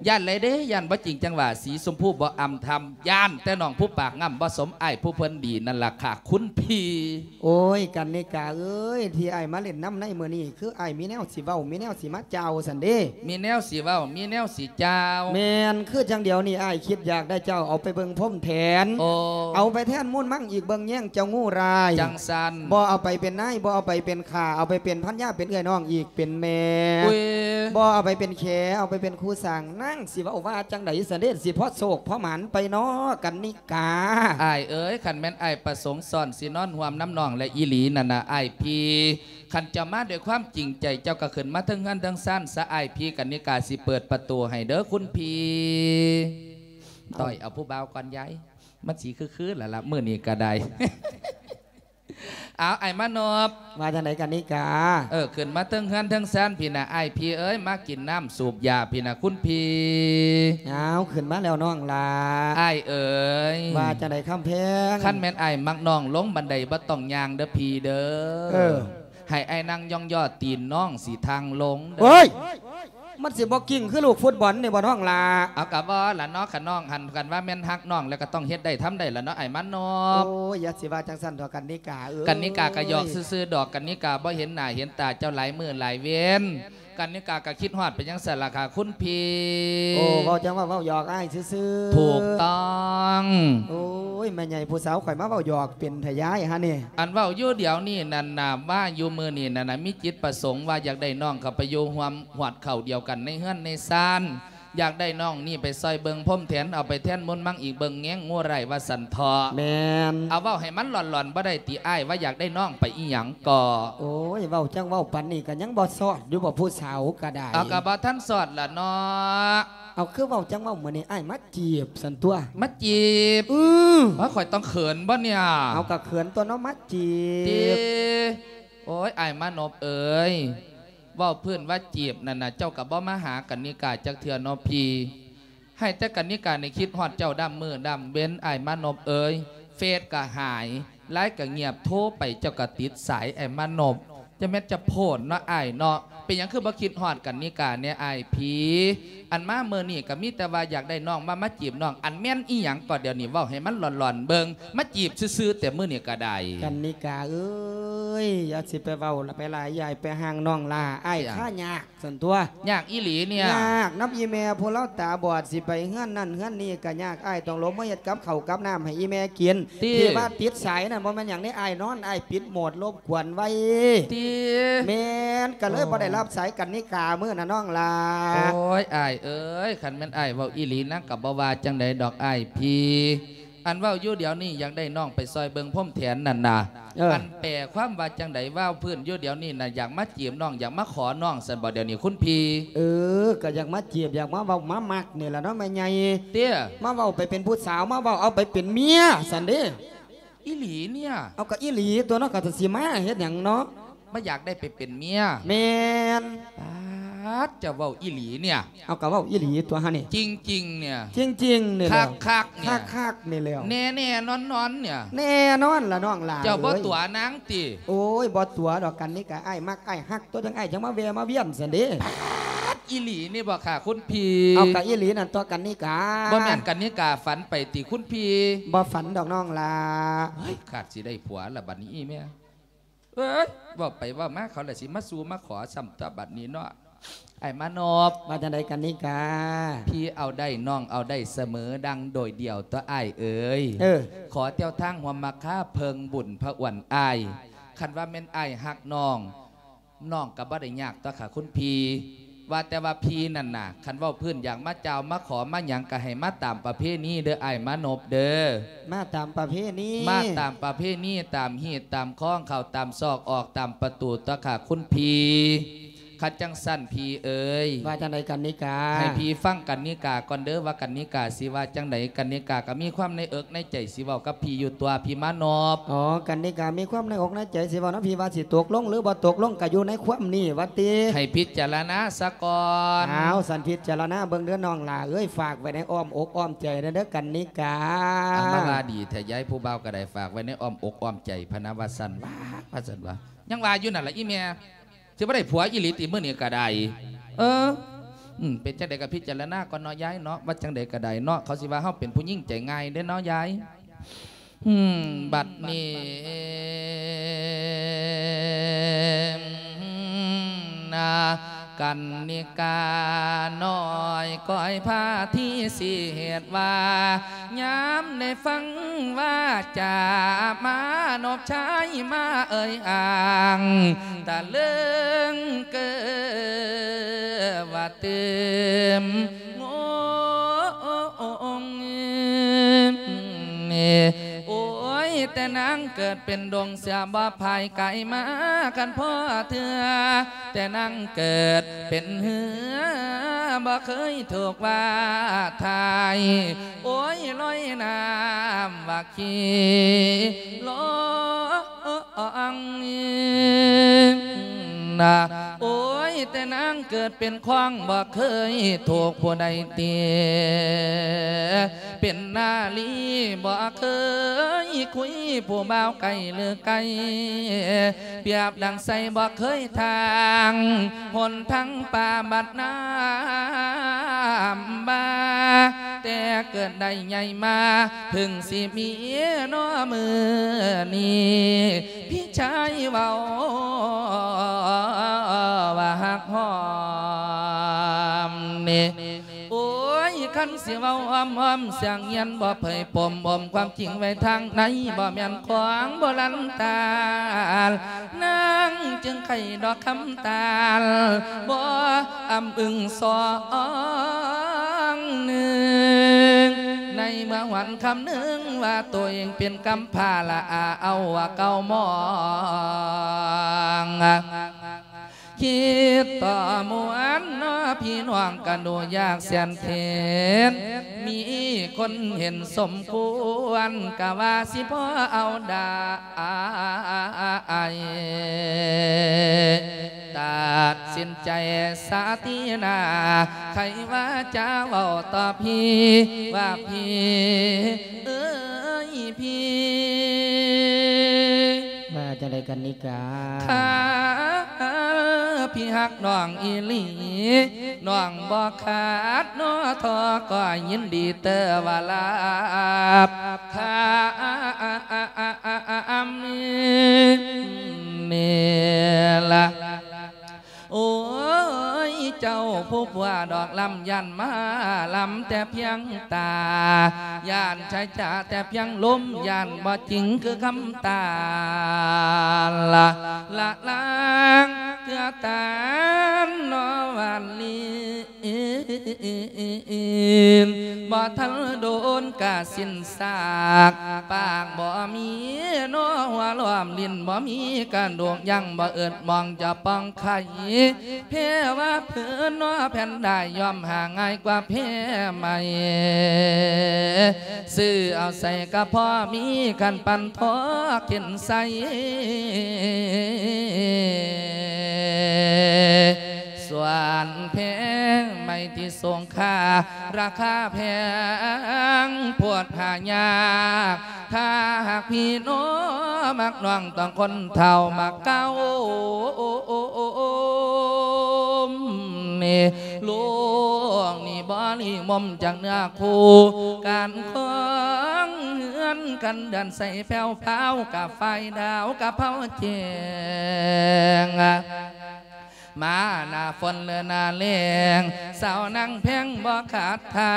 ຢ້ານຫຼາຍເດ້ ຢ້ານບໍ່ຈິງຈັ່ງຫວາ ສີຊົມພູບໍ່ອຳທຳ. ຢ້ານແຕ່ນ້ອງຜູ້ປາກງ່ຳ ບໍ່ສົມອ້າຍຜູ້ເພິ່ນດີນັ້ນລະຄ່າ ຄຸນພີ່. ໂອ້ຍ ກັນນິກາເອີຍ ທີ່ອ້າຍມາຫຼິ້ນນຳໃນມື້ນີ້ ຄືອ້າຍມີແນວຊິເວົ້າ ມີແນວຊິມາກ່າວຊັ້ນເດ້. ມີແນວຊິເວົ້າ ມີແນວຊິກ່າວ. ແມ່ນ ຄືຈັ່ງດຽວນີ້ອ້າຍຄິດຢາກໄດ້ເຈົ້າເອົາໄປເບິ່ງພົມແທນ. ໂອ້ ເອົາໄປແທນມູນມັງອີກເບິ່ງແຍງເຈົ້າງູຮ້າຍ. ຈັ່ງຊັ້ນ ບໍ່ເອົາໄປເປັນນາຍ ບໍ່ເອົາໄປເປັນຂ້າ ເອົາໄປເປັນພັນຍາ ເປັນເອື້ອຍນ້ອງອີກ ເປັນແມ່. ອຸ້ຍ ບໍ່ເອົາໄປເປັນແຂ ເອົາໄປເປັນຄູ່ສ້າງ. ນາງຊິເວົ້າວ່າຈັ່ງໃດຊັ້ນເດ ຊິພໍໂຊກພໍໝານໄປເນາະ ກັນນິກາ. ອ້າຍເອີຍ ຄັນແມ່ນອ້າຍປະສົງຊ້ອນຊິນອນຮ່ວມນຳນ້ອງແລ້ວອີ່ຫຼີນັ້ນນະ ອ້າຍພີ່ ຄັນເຈົ້າມາດ້ວຍຄວາມຈິງໃຈ ເຈົ້າກໍຂຶ້ນມາເທິງເຮືອນເທິງຊານຊະ ອ້າຍພີ່. ກັນນິກາຊິເປີດປະຕູໃຫ້ເດີຄຸນພີ່. ເອົາ ຕ້ອຍເອົາຜູ້ບ່າວກ່ອນຍາຍ ມັນຊິຄືໆລະລະ ມື້ນີ້ກໍໄດ້. ເອົາ ອ້າຍມານອບ ວ່າຈັ່ງໃດກັນນິກາ? ເອີ ຂຶ້ນມາເທິງເຮືອນເທິງຊານພີ້ນະ ອ້າຍພີ່ເອີຍ ມາກິນນ້ຳສູບຢາພີ້ນະ ຄຸນພີ່. ເອົາ ຂຶ້ນມາແລ້ວນ້ອງຫຼ້າ. ອ້າຍເອີຍ ວ່າຈັ່ງໃດຄຳແພງ? ຄັນແມ່ນອ້າຍມັກນ້ອງ ລົງບັນໄດບໍ່ຕ້ອງຍ່າງເດີພີ່ເດີ. ເອີ ໃຫ້ອ້າຍນັ່ງຢ່ອງຍໍຕີນ ນ້ອງຊິທັ່ງລົງເດີ. ເອີຍ ມັນຊິບໍ່ກິ້ງຄືລູກຟຸດບອນນີ້ບໍ່ນ້ອງຫຼ້າ? ເອົາ ກະບໍ່ລະເນາະ ຄັນນ້ອງຫັ້ນ ຄັນວ່າແມ່ນຮັກນ້ອງແລ້ວກໍຕ້ອງເຮັດໄດ້ທຳໄດ້ລະເນາະ ອ້າຍມານອບ. ໂອ້ຍ ຢ່າຊິວ່າຈັ່ງຊັ້ນເຖາະກັນນິກາເອີຍ. ກັນນິກາກໍຫຍອກຊື່ໆດອກ ກັນນິກາບໍ່ເຫັນໜ້າເຫັນຕາເຈົ້າຫຼາຍມື້ຫຼາຍເວັນ. ກັນນິກາກໍຄິດຮອດໄປຈັ່ງຊັ້ນລະຄ່ະຄຸນພີ່. ໂອ້ ເວົ້າຈັ່ງວ່າເວົ້າຫຍອກອ້າຍຊື່ໆ. ຖືກຕ້ອງ. ໂອ້ຍ ແມ່ໃຫຍ່ຜູ້ສາວຂ້ອຍມາເວົ້າຫຍອກເປັນແທ້ຍາຍຫານີ້. ອັນເວົ້າຢູ່ດຽວນີ້ນັ້ນນະ ວ່າຢູ່ມື້ນີ້ນັ້ນນະ ມີຈິດປະສົງວ່າຢາກໄດ້ນ້ອງເຂົ້າໄປຢູ່ຮ່ວມຮອດເຂົ້າດຽວກັນໃນເຮືອນໃນຊານ. ຢາກໄດ້ນ້ອງນີ້ໄປຊ່ອຍເບິ່ງພົມແທນ ເອົາໄປແທນມົນມັງອີກເບິ່ງແຍງງູໄລວ່າຊັ້ນເຖາະ. ແມ່ນ. ເອົາເວົ້າໃຫ້ມັນຫຼອນໆ ບໍ່ໄດ້ຕິອ້າຍ ວ່າຢາກໄດ້ນ້ອງໄປອີຫຍັງກໍ. ໂອ້ຍ ເວົ້າຈັ່ງເວົ້າປານນີ້ກໍຍັງບໍ່ຊອດຢູ່ບໍ່ ຜູ້ສາວກໍໄດ້. ເອົາ ກໍບໍ່ທັນຊອດລະເນາະ. ເອົາ ຄືເວົ້າຈັ່ງເວົ້າ ມື້ນີ້ອ້າຍມາຈີບຊັ້ນຕົວະ. ມາຈີບ? ອື ວ່າຂ້ອຍຕ້ອງເຂີນບໍ່ເນຍ? ເອົາ ກໍເຂີນຕົວເນາະ ມາຈີບ. ຕິ ໂອ້ຍ ອ້າຍມານົບເອີຍ ເວົ້າພື້ນວ່າຈີບນັ້ນນະ ເຈົ້າກໍບໍ່ມາຫາກັນນິກາຈັກເທື່ອເນາະພີ່. ໃຫ້ແຕ່ກັນນິການີ້ຄິດຮອດເຈົ້າດຳມື້ດຳເວັນ ອ້າຍມານົບເອີຍ. ເຟສກໍຫາຍ ໄລນ໌ກໍງຽບ ໂທໄປເຈົ້າກໍຕິດສາຍ ອ້າຍມານົບ. ຈະແມ່ນຈະໂພດເນາະອ້າຍເນາະ. ເປັນຫຍັງຄືບໍ່ຄິດຮອດກັນນິກາແດ່ອ້າຍພີ່? ອັນມາມື້ນີ້ກໍມີແຕ່ວ່າຢາກໄດ້ນ້ອງ ວ່າມາຈີບນ້ອງ. ອັນແມ່ນອີຫຍັງກໍດຽວນີ້ ເວົ້າໃຫ້ມັນຫຼອນໆເບິ່ງ. ມາຈີບຊື່ໆແຕ່ມື້ນີ້ກໍໄດ້. ກັນນິກາເອີຍ ຢ່າຊິໄປເວົ້າລະ ໄປຫຼາຍ ຢ່າໃຫ້ໄປຫ່າງນ້ອງຫຼ້າ ອ້າຍຄາຍາກ ຊັ້ນຕົວະ. ຍາກອີ່ຫຼີເນຍ. ຍາກນຳອີ່ແມ່ຜູ້ລາວຕາບອດ ຊິໄປເຮືອນນັ້ນເຮືອນນີ້ກໍຍາກ. ອ້າຍຕ້ອງລົງມາເຮັດກັບເຂົ້າກັບນ້ຳໃຫ້ອີ່ແມ່ກິນ. ຕິ ທີ່ວ່າຕິດສາຍນັ້ນບໍ່ແມ່ນຫຍັງເດ້ ອ້າຍນອນ ອ້າຍປິດໂໝດລົບກວນໄວ້. ຕິ ແມ່ນ ກໍເລີຍ ໂອ້ ບໍ່ໄດ້ຮັບສາຍກັນນິກາມື້ນະນ້ອງຫຼ້າ. ໂອ້ຍ ອ້າຍເອີຍ ຄັນແມ່ນອ້າຍເວົ້າອີ່ຫຼີ ນາງກໍບໍ່ວ່າຈັ່ງໃດດອກອ້າຍພີ່. ອັນເວົ້າຢູ່ດຽວນີ້ ຢາກໄດ້ນ້ອງໄປຊ່ອຍເບິ່ງພົມແທນນັ້ນນະ. ເອີ ອັນແປຄວາມວ່າຈັ່ງໃດ? ເວົ້າພື້ນຢູ່ດຽວນີ້ນະ ຢາກມາຈີບນ້ອງ ຢາກມາຂໍນ້ອງຊັ້ນບໍ່ດຽວນີ້ຄຸນພີ່? ເອີ ກໍຢາກມາຈີບ ຢາກມາເວົ້າມາມັກນີ້ລະເນາະແມ່ໃຫຍ່. ເຕ້ຍ ມາເວົ້າໄປເປັນຜູ້ສາວ ມາເວົ້າເອົາໄປເປັນເມຍຊັ້ນເດ້. ອີ່ຫຼີເນຍ? ເອົາ ກໍອີ່ຫຼີຕົວະເນາະ ກໍຊິມາເຮັດຫຍັງເນາະ. ມາຢາກໄດ້ໄປເປັນເມຍ. ແມ່ນ. ປາດ ເຈົ້າເວົ້າອີ່ຫຼີເນຍ? ເອົາ ກໍເວົ້າອີ່ຫຼີຕົວະຫານີ້. ຈິງໆເນຍ? ຈິງໆນີ້ແຫຼະ. ຄັກໆເນຍ? ຄັກໆນີ້ແຫຼະ. ແນ່ໆນອນໆເນຍ? ແນ່ນອນລະນ້ອງຫຼ້າ. ເຈົ້າບໍ່ຕົວະນາງຕິ? ໂອ້ຍ ບໍ່ຕົວະດອກ ກັນນິກາ ອ້າຍມັກອ້າຍຮັກຕົວະ ຈັ່ງອ້າຍຈັ່ງມາແວ່ມາວຽນຊັ້ນເດ້. ປາດ ອີ່ຫຼີນີ້ບໍ່ຄ່ະຄຸນພີ່? ເອົາ ກໍອີ່ຫຼີນັ້ນຕົວະກັນນິກາ. ບໍ່ແມ່ນກັນນິກາຝັນໄປຕິຄຸນພີ່? ບໍ່ຝັນດອກນ້ອງຫຼ້າ. ເຮີ້ຍ ຂາດຊິໄດ້ຜົວລະບັດນີ້ອີ່ແມ່. ເອີຍ ເວົ້າໄປເວົ້າມາ ເຂົາລະຊິມາສູ່ມາຂໍຊ້ຳຕົວະບັດນີ້ເນາະ ອ້າຍມານົບ. ວ່າຈັ່ງໃດກັນນິກາ? ພີ່ເອົາໄດ້ ນ້ອງເອົາໄດ້ສະເໝີ ດັ່ງໂດຍດຽວຕົວະອ້າຍເອີຍ. ເອີ ຂໍແຕ່ວທາງຮ່ວມມາຄາເພິ່ງບຸນພະອວນອ້າຍ. ຄັນວ່າແມ່ນອ້າຍຮັກນ້ອງ ນ້ອງກໍບໍ່ໄດ້ຍາກຕົວະຄ່ະຄຸນພີ່. ວ່າແຕ່ວ່າພີ່ນັ້ນນະ ຄັນເວົ້າພື້ນຢາກມາກ່າວມາຂໍມາຫຍັງ ກໍໃຫ້ມາຕາມປະເພນີເດີ ອ້າຍມານົບເດີ. ມາຕາມປະເພນີ? ມາຕາມປະເພນີ ຕາມຮີດຕາມຄອງ ເຂົ້າຕາມຊອກ ອອກຕາມປະຕູຕົວະຄ່ະຄຸນພີ່. ຄັນຈັ່ງຊັ້ນພີ່ເອີຍ ວ່າຈັ່ງໃດກັນນິກາ? ໃຫ້ພີ່ຟັງກັນນິກາກ່ອນເດີ ວ່າກັນນິກາຊິວ່າຈັ່ງໃດ. ກັນນິກາກໍມີຄວາມໃນເອິກໃນໃຈຊິເວົ້າກັບພີ່ຢູ່ຕົວະ ພີ່ມານົບ. ອໍ ກັນນິກາມີຄວາມໃນອົກໃນໃຈຊິເວົ້ານຳພີ່ ວ່າຊິຕົກລົງ ຫຼື ບໍ່ຕົກລົງ ກໍຢູ່ໃນຄວາມນີ້ວ່າຕິ. ໃຫ້ພິຈາລະນາສາກ່ອນ. ອ້າວ ສັນພິຈາລະນາເບິ່ງເດີນ້ອງຫຼ້າເອີຍ ຝາກໄວ້ໃນອ້ອມອົກອ້ອມໃຈເດີກັນນິກາ. ອັນມາວ່າດີແທ້ ຍາຍຜູ້ບ່າວກໍໄດ້ ຝາກໄວ້ໃນອ້ອມອົກອ້ອມໃຈພະນະວ່າຊັ້ນ. ວ່າ ວ່າຊັ້ນວ່າ ຍັງວ່າຢູ່ນັ້ນລະອີ່ແມ່. ຊິບໍ່ໄດ້ຜົວອີ່ຫຼີຕິມື້ນີ້ກໍໄດ້. ເອີ ອືມ ເປັນຈັ່ງໃດກໍພິຈາລະນາກ່ອນເນາະຍາຍເນາະ ວ່າຈັ່ງໃດກໍໄດ້ເນາະ. ເຂົາຊິວ່າເຮົາເປັນຜູ້ຍິງໃຈງ່າຍເດ້ເນາະຍາຍ. ອືມ ບັດນີ້ນາ ກັນນິການ້ອຍ ກ້ອຍພາທີຊິເຮັດວ່າ ຍາມໄດ້ຟັງວາຈາ ມານົບຊາຍມາເອີ່ຍອ້າງ ຕະເລິງເກີວ່າຕື່ມງົງ. ໂອ້ຍ ແຕ່ນາງເກີດເປັນດົງເສືອບໍ່ພາຍກາຍມາກັນພໍເທື່ອ ແຕ່ນາງເກີດເປັນເຮືອບໍ່ເຄີຍຖືກວ່າຖ່າຍ ໂອ້ຍ ລອຍນ້ຳວ່າຂີ້ລອງນາ. ໂອ້ຍ ແຕ່ນາງເກີດເປັນຂວາງບໍ່ເຄີຍຖືກຜູ້ໃດເຕະ ເປັນນາລີບໍ່ເຄີຍຄຸຍຜູ້ບ່າວໄກຫຼືໄກ ປຽບດັ່ງໄຊບໍ່ເຄີຍທາງ ຫົນທາງປ່າບັດນ້ຳບາ ແຕ່ເກີດໄດ້ໃຫຍ່ມາ ເພິ່ງຊິມີນໍມື້ນີ້ ພີ່ຊາຍເວົ້າວ່າຮັກຮອ ນີ້ ໂອ້ຍ ຄັນຊິເວົ້າອ້ອມໆ ສຽງຮຽນບໍ່ເຜີຍປົມ ອົມຄວາມຈິງໄວ້ທາງໃນ ບໍ່ແມ່ນຂອງໂບລານຕານ ນາງຈຶ່ງໄຂດອກຄຳຕານ ບໍ່ອຳອຶງສອງໜຶ່ງ ໃນເມື່ອຫວນຄຳນຶງວ່າໂຕເອງເປັນກຳພ້າ ລະອາເອົາວ່າເກົ່າມອງ. ຄິດຕໍ່ມ່ວນເນາະ ພີ່ນ້ອງກະດູຍາກແສນເຂັນ ມີຄົນເຫັນສົມຄວນ ກະວ່າຊິພໍເອົາໄດ້ ຕັດສິນໃຈສາຕີໜ້າ ໃຄວາຈາເວົ້າຕໍ່ພີ່ ວ່າພີ່ເອີຍ ພີ່ ວ່າຈັ່ງໃດກັນນີ້ກາ ຖ້າພີ່ຮັກນ້ອງອີ່ຫຼີ ນ້ອງບໍ່ຂາດໜໍ່ທໍ້ ກໍຍິນດີເຕີວ່າລາບຄາມນີ້ລະ. ໂອ້ຍ ເຈົ້າຜູ້ຜົວດອກລຳ ຢ້ານມາລຳແຕ່ພຽງຕາ ຢ້ານໃຊ້ຈາແຕ່ພຽງລົມ ຢ້ານບໍ່ຈິງຄືຄຳຕາລະ ລະລາງເທື່ອຕານນອວານລີ ບໍ່ທັນໂດນກະສິ້ນຊາກ ປາກບໍ່ມີໜໍ່ຫົວລ້ອມ ຫຼິ້ນບໍ່ມີກະດູກ ຍັງບໍ່ເອິດມອງຈະປ່ອງໄຂ່ ແພ້ວ່າເພິ່ນໜໍ່ແພນດາຍ ຍ່ອມຫາງ່າຍກວ່າແພ້ໄມ້ ຊື້ເອົາໃສ່ກະພໍມີ ຄັນປັນທອກເຂັນໃສ່ ສ່ວນແພງໄມ້ທີ່ຊົງຄ່າ ລາຄາແພງໂພດຫາຍາກ ຖ້າຫາກພີ່ນ້ອງມັກນ້ອງ ຕ້ອງຄົນເຖົ້າມັກເກົ່າ ໂລກນີ້ບໍ່ລີ່ມົມຈາກເນື້ອຄູ່ ການຄອງເຮືອນກັນເດືອນໃສແພ້ວພາວ ກະໄຟດາວກະເຜົາແຈ້ງ ມາໜ້າຝົນ ຫຼື ໜ້າແລ້ງ ສາວນາງແພງບໍ່ຂາດທ່າ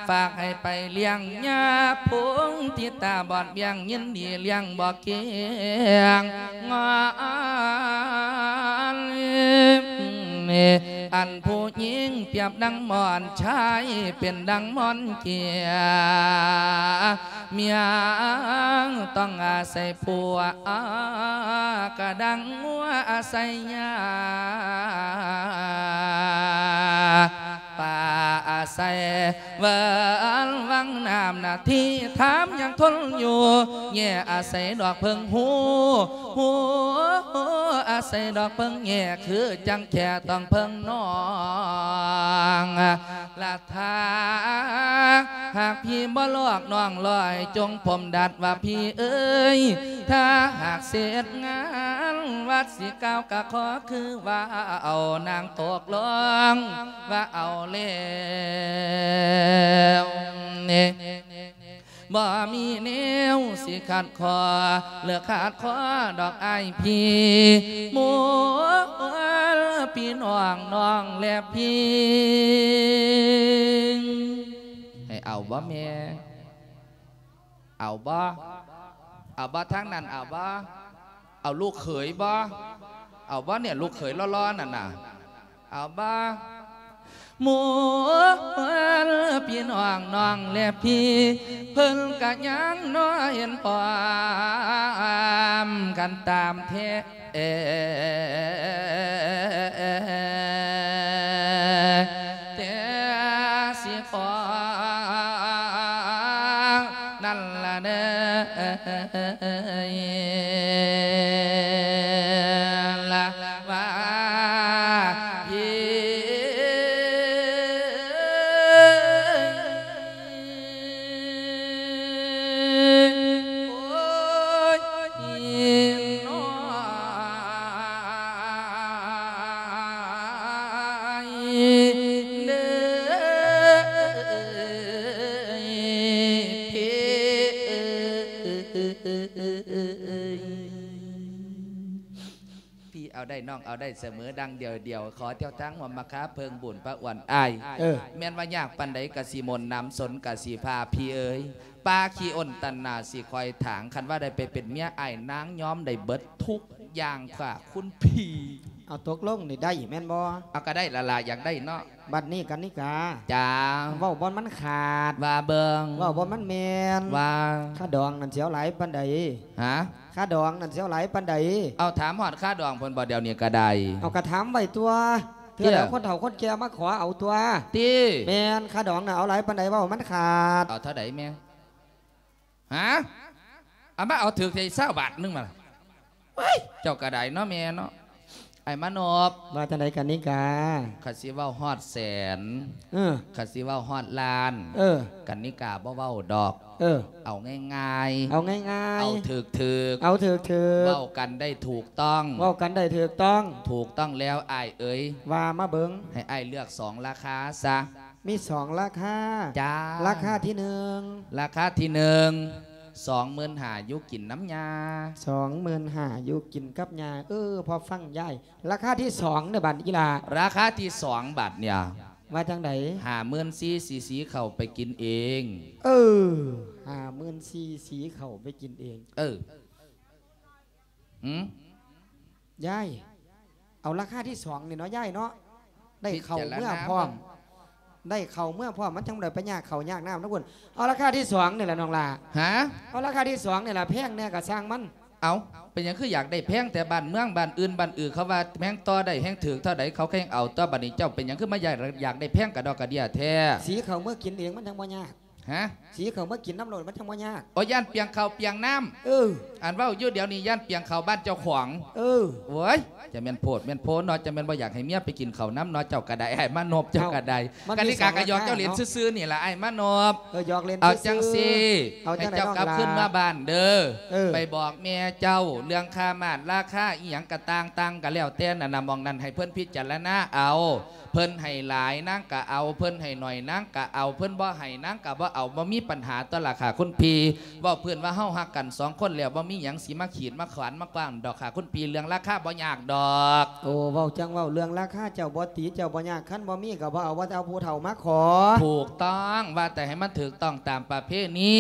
ຝາກໃຫ້ໄປລ້ຽງຍາ ພົງທີ່ຕາບອດບ້ຽງ ຍິນດີລ້ຽງບໍ່ເກງງອນ ອັນຜູ້ຍິງປຽບດັ່ງໝອນ ຊາຍເປັນດັ່ງໝອນເກຍ ເມຍຕ້ອງອາໄສຜົວ ກະດັ່ງງົວອາໄສຫຍ້າ ປາອາໄສເວີນວັງນ້ຳໜ້າທີ່ ຖາມຍັງທົນຢູ່ ແຍ່ອາໄສດອກເຜິ້ງ ຫູ ຫູອາໄສດອກເຜິ້ງ ແຍ່ຄືຈັ່ງແຄ່ຕ້ອງເຜິ້ງນ້ອງ ລະ ຖ້າຫາກພີ່ບໍ່ຫຼອກນ້ອງຫຼອຍ ຈົ່ງຜົມດັດວ່າພີ່ເອີຍ ຖ້າຫາກເສັດງານວັດຊິກ່າວກະຂໍຄືວ່າເອົານາງຕົກລົງວ່າເອົາແລ້ວນີ້ ບໍ່ມີແນວຊິຂັດ ຂໍເລີກຂາດຂໍດອກອ້າຍພີ່ ໝູ່ພີ່ນ້ອງນ້ອງແລະພີ່ ໃຫ້ເອົາບໍ່ແມ່? ເອົາບໍ່? ເອົາບໍ່? ທາງນັ້ນເອົາບໍ່? ເອົາລູກເຂີຍບໍ່? ເອົາບໍ່? ເນຍ ລູກເຂີຍຫຼໍ່ໆ ນັ້ນນະ ເອົາບໍ່? ໝູ່ພີ່ນ້ອງນ້ອງແລະພີ່ ເພິ່ນກະຍັງນ້ອຍເຫັນພ້ອມກັນຕາມແທ້ ແຕ່ຊິຂໍນັ້ນລະເດີ ລະວ່າພີ່ ນ້ອງເອົາໄດ້ສະເໝີດັ່ງດຽວດຽວ ຂໍເຈົ້າທາງຮ່ວມມາຄາເພິ່ງບຸນພະອວນອ້າຍ. ເອີ ແມ່ນວ່າຍາກປານໃດກະຊິມົນນຳ ສົນກະຊິພາ ພີ່ເອີຍ ປ່າຂີ້ອົນຕັນໜາຊິຄອຍຖາງ ຄັນວ່າໄດ້ໄປເປັນເມຍອ້າຍນາງຍອມໄດ້ເບິດທຸກຢ່າງຄ່າຄຸນພີ່. ເອົາ ຕົກລົງນີ້ໄດ້ແມ່ນບໍ່? ເອົາ ກະໄດ້ລະລະ ຢາກໄດ້ເນາະ. ບັດນີ້ກັນນິກາ ຈ້າ ເວົ້າບ່ອນມັນຂາດ ວ່າເບິ່ງ ເວົ້າບ່ອນມັນແມ່ນ ວ່າ ຄ່າດອງນັ້ນຊິເອົາຫຼາຍປານໃດ? ຮະ? ຄ່າດອງນັ້ນຊິເອົາຫຼາຍປານໃດ? ເອົາ ຖາມຮອດຄ່າດອງເພິ່ນບໍ່ ດຽວນີ້ກະໄດ້? ເອົາ ກະຖາມໄວ້ຕົວະ ເທື່ອໃດ ເອີ ຄົນເຖົ້າຄົນແກ່ມາຂໍເອົາຕົວະ. ຕິ ແມ່ນ ຄ່າດອງນະເອົາຫຼາຍປານໃດ ເວົ້າໃຫ້ມັນຂາດ. ເອົາເທົ່າໃດແມ່? ຮະ? ເອົາມາເອົາຖືກແທ້ ຊາວບາດໜຶ່ງມາ. ເອີຍ ເຈົ້າກະໄດ້ເນາະແມ່ເນາະ. ອ້າຍມານົບ ວ່າຈັ່ງໃດກັນນິກາ? ຄັນຊິເວົ້າຮອດແສນ ເອີ ຄັນຊິເວົ້າຮອດລ້ານ ເອີ ກັນນິກາບໍ່ເວົ້າດອກ. ເອີ ເອົາງ່າຍໆ ເອົາງ່າຍໆ ເອົາຖືກໆ ເອົາຖືກໆ ເວົ້າກັນໄດ້ຖືກຕ້ອງ ເວົ້າກັນໄດ້ຖືກຕ້ອງ. ຖືກຕ້ອງແລ້ວອ້າຍເອີຍ. ວ່າມາເບິ່ງ. ໃຫ້ອ້າຍເລືອກສອງລາຄາຊະ. ມີສອງລາຄາ. ຈ້າ. ລາຄາທີໜຶ່ງ. ລາຄາທີໜຶ່ງ ສອງໝື່ນຫ້າ ຢູ່ກິນນຳຍ່າ. ສອງໝື່ນຫ້າ ຢູ່ກິນກັບຍ່າ. ເອີ ພໍຟັງຍາຍ. ລາຄາທີສອງເດ້ບາດນີ້ອີ່ຫຼ້າ. ລາຄາທີສອງບາດນີ້. ວ່າຈັ່ງໃດ? ຫ້າໝື່ນສີ່ ຊິ ຊິເຂົ້າໄປກິນເອງ. ເອີ ຫ້າໝື່ນສີ່ ຊິເຂົ້າໄປກິນເອງ. ເອີ ຫື? ຍາຍ ເອົາລາຄາທີສອງນີ້ເນາະຍາຍເນາະ. ໄດ້ເຂົ້າເມືອພ້ອມ ໄດ້ເຂົ້າເມືອພ້ອມ ມັນຈັ່ງບໍ່ໄດ້ໄປຍາກເຂົ້າຍາກນ້ຳນຳພຸ້ນ. ເອົາລາຄາທີສອງນີ້ແຫຼະນ້ອງຫຼ້າ. ຫະ? ເອົາລາຄາທີສອງນີ້ລະ ແພງແດ່ກະຊ່າງມັນ. ເອົາ ເປັນຫຍັງຄືຢາກໄດ້ແພງແທ້? ບ້ານເມືອງບ້ານອື່ນບ້ານອື່ນ ເຂົາວ່າແພງຕໍ່ໄດ້ແຮງຖືກເທົ່າໃດ ເຂົາແຮງເອົາຕົວະ. ບາດນີ້ເຈົ້າເປັນຫຍັງຄືມາຢາກ ຢາກໄດ້ແພງກະດອກກະເດຍແທ້? ຊິເຂົ້າເມືອກິນເອງມັນຈັ່ງບໍ່ຍາກ. ຫະ? ຊິເຂົ້າມາກິນນຳໂລດ ມັນຈັ່ງບໍ່ຍາກ. ໂອ ຢ້ານປຽງເຂົ້າປຽງນ້ຳ. ເອີ ອັນເວົ້າຢູ່ດຽວນີ້ຢ້ານປຽງເຂົ້າບ້ານເຈົ້າຂອງ. ເອີ ໂອ້ຍ ຈະແມ່ນໂພດແມ່ນໂພເນາະ ຈະແມ່ນບໍ່ຢາກໃຫ້ເມຍໄປກິນເຂົ້ານຳເນາະ. ເຈົ້າກະໄດ້ ອ້າຍມານົບ ເຈົ້າກະໄດ້. ເອົາ ກະນິກາກະຫຍອກເຈົ້າຫຼິ້ນຊື່ໆນີ້ລະ ອ້າຍມານົບ. ເອີ ຫຍອກຫຼິ້ນຊື່ໆ. ເອົາຈັ່ງຊີ້ ໃຫ້ເຈົ້າກັບຄືນມາບ້ານເດີ. ເອີ ໄປບອກແມ່ເຈົ້າເລື່ອງຄ່າມາດລາຄາອີ່ຫຍັງກະຕ່າງໆ ກະແລ້ວແຕ່ນັ້ນນະ ໝ່ອງນັ້ນໃຫ້ເພິ່ນພິຈາລະນາເອົາ. ເພິ່ນໃຫ້ຫຼາຍນາງກະເອົາ ເພິ່ນໃຫ້ໜ້ອຍນາງກະເອົາ ເພິ່ນບໍ່ໃຫ້ນາງກະບໍ່ເອົາ ບໍ່ມີປັນຫາຕົວະລະຄ່າຄຸນພີ່. ເວົ້າພື້ນວ່າເຮົາຮັກກັນສອງຄົນແລ້ວ ບໍ່ມີຫຍັງຊິມາຂີດມາຂວານມາກວ້າງດອກຄ່າຄຸນພີ່ ເລື່ອງລາຄາບໍ່ຍາກດອກ. ໂອ້ ເວົ້າຈັ່ງເວົ້າ ເລື່ອງລາຄາເຈົ້າບໍ່ຕີ ເຈົ້າບໍ່ຍາກ ຄັນບໍ່ມີກະບໍ່ເອົາ ວ່າແຕ່ເອົາຜູ້ເຖົ້າມາຂໍ. ຖືກຕ້ອງ ວ່າແຕ່ໃຫ້ມັນຖືກຕ້ອງຕາມປະເພນີ.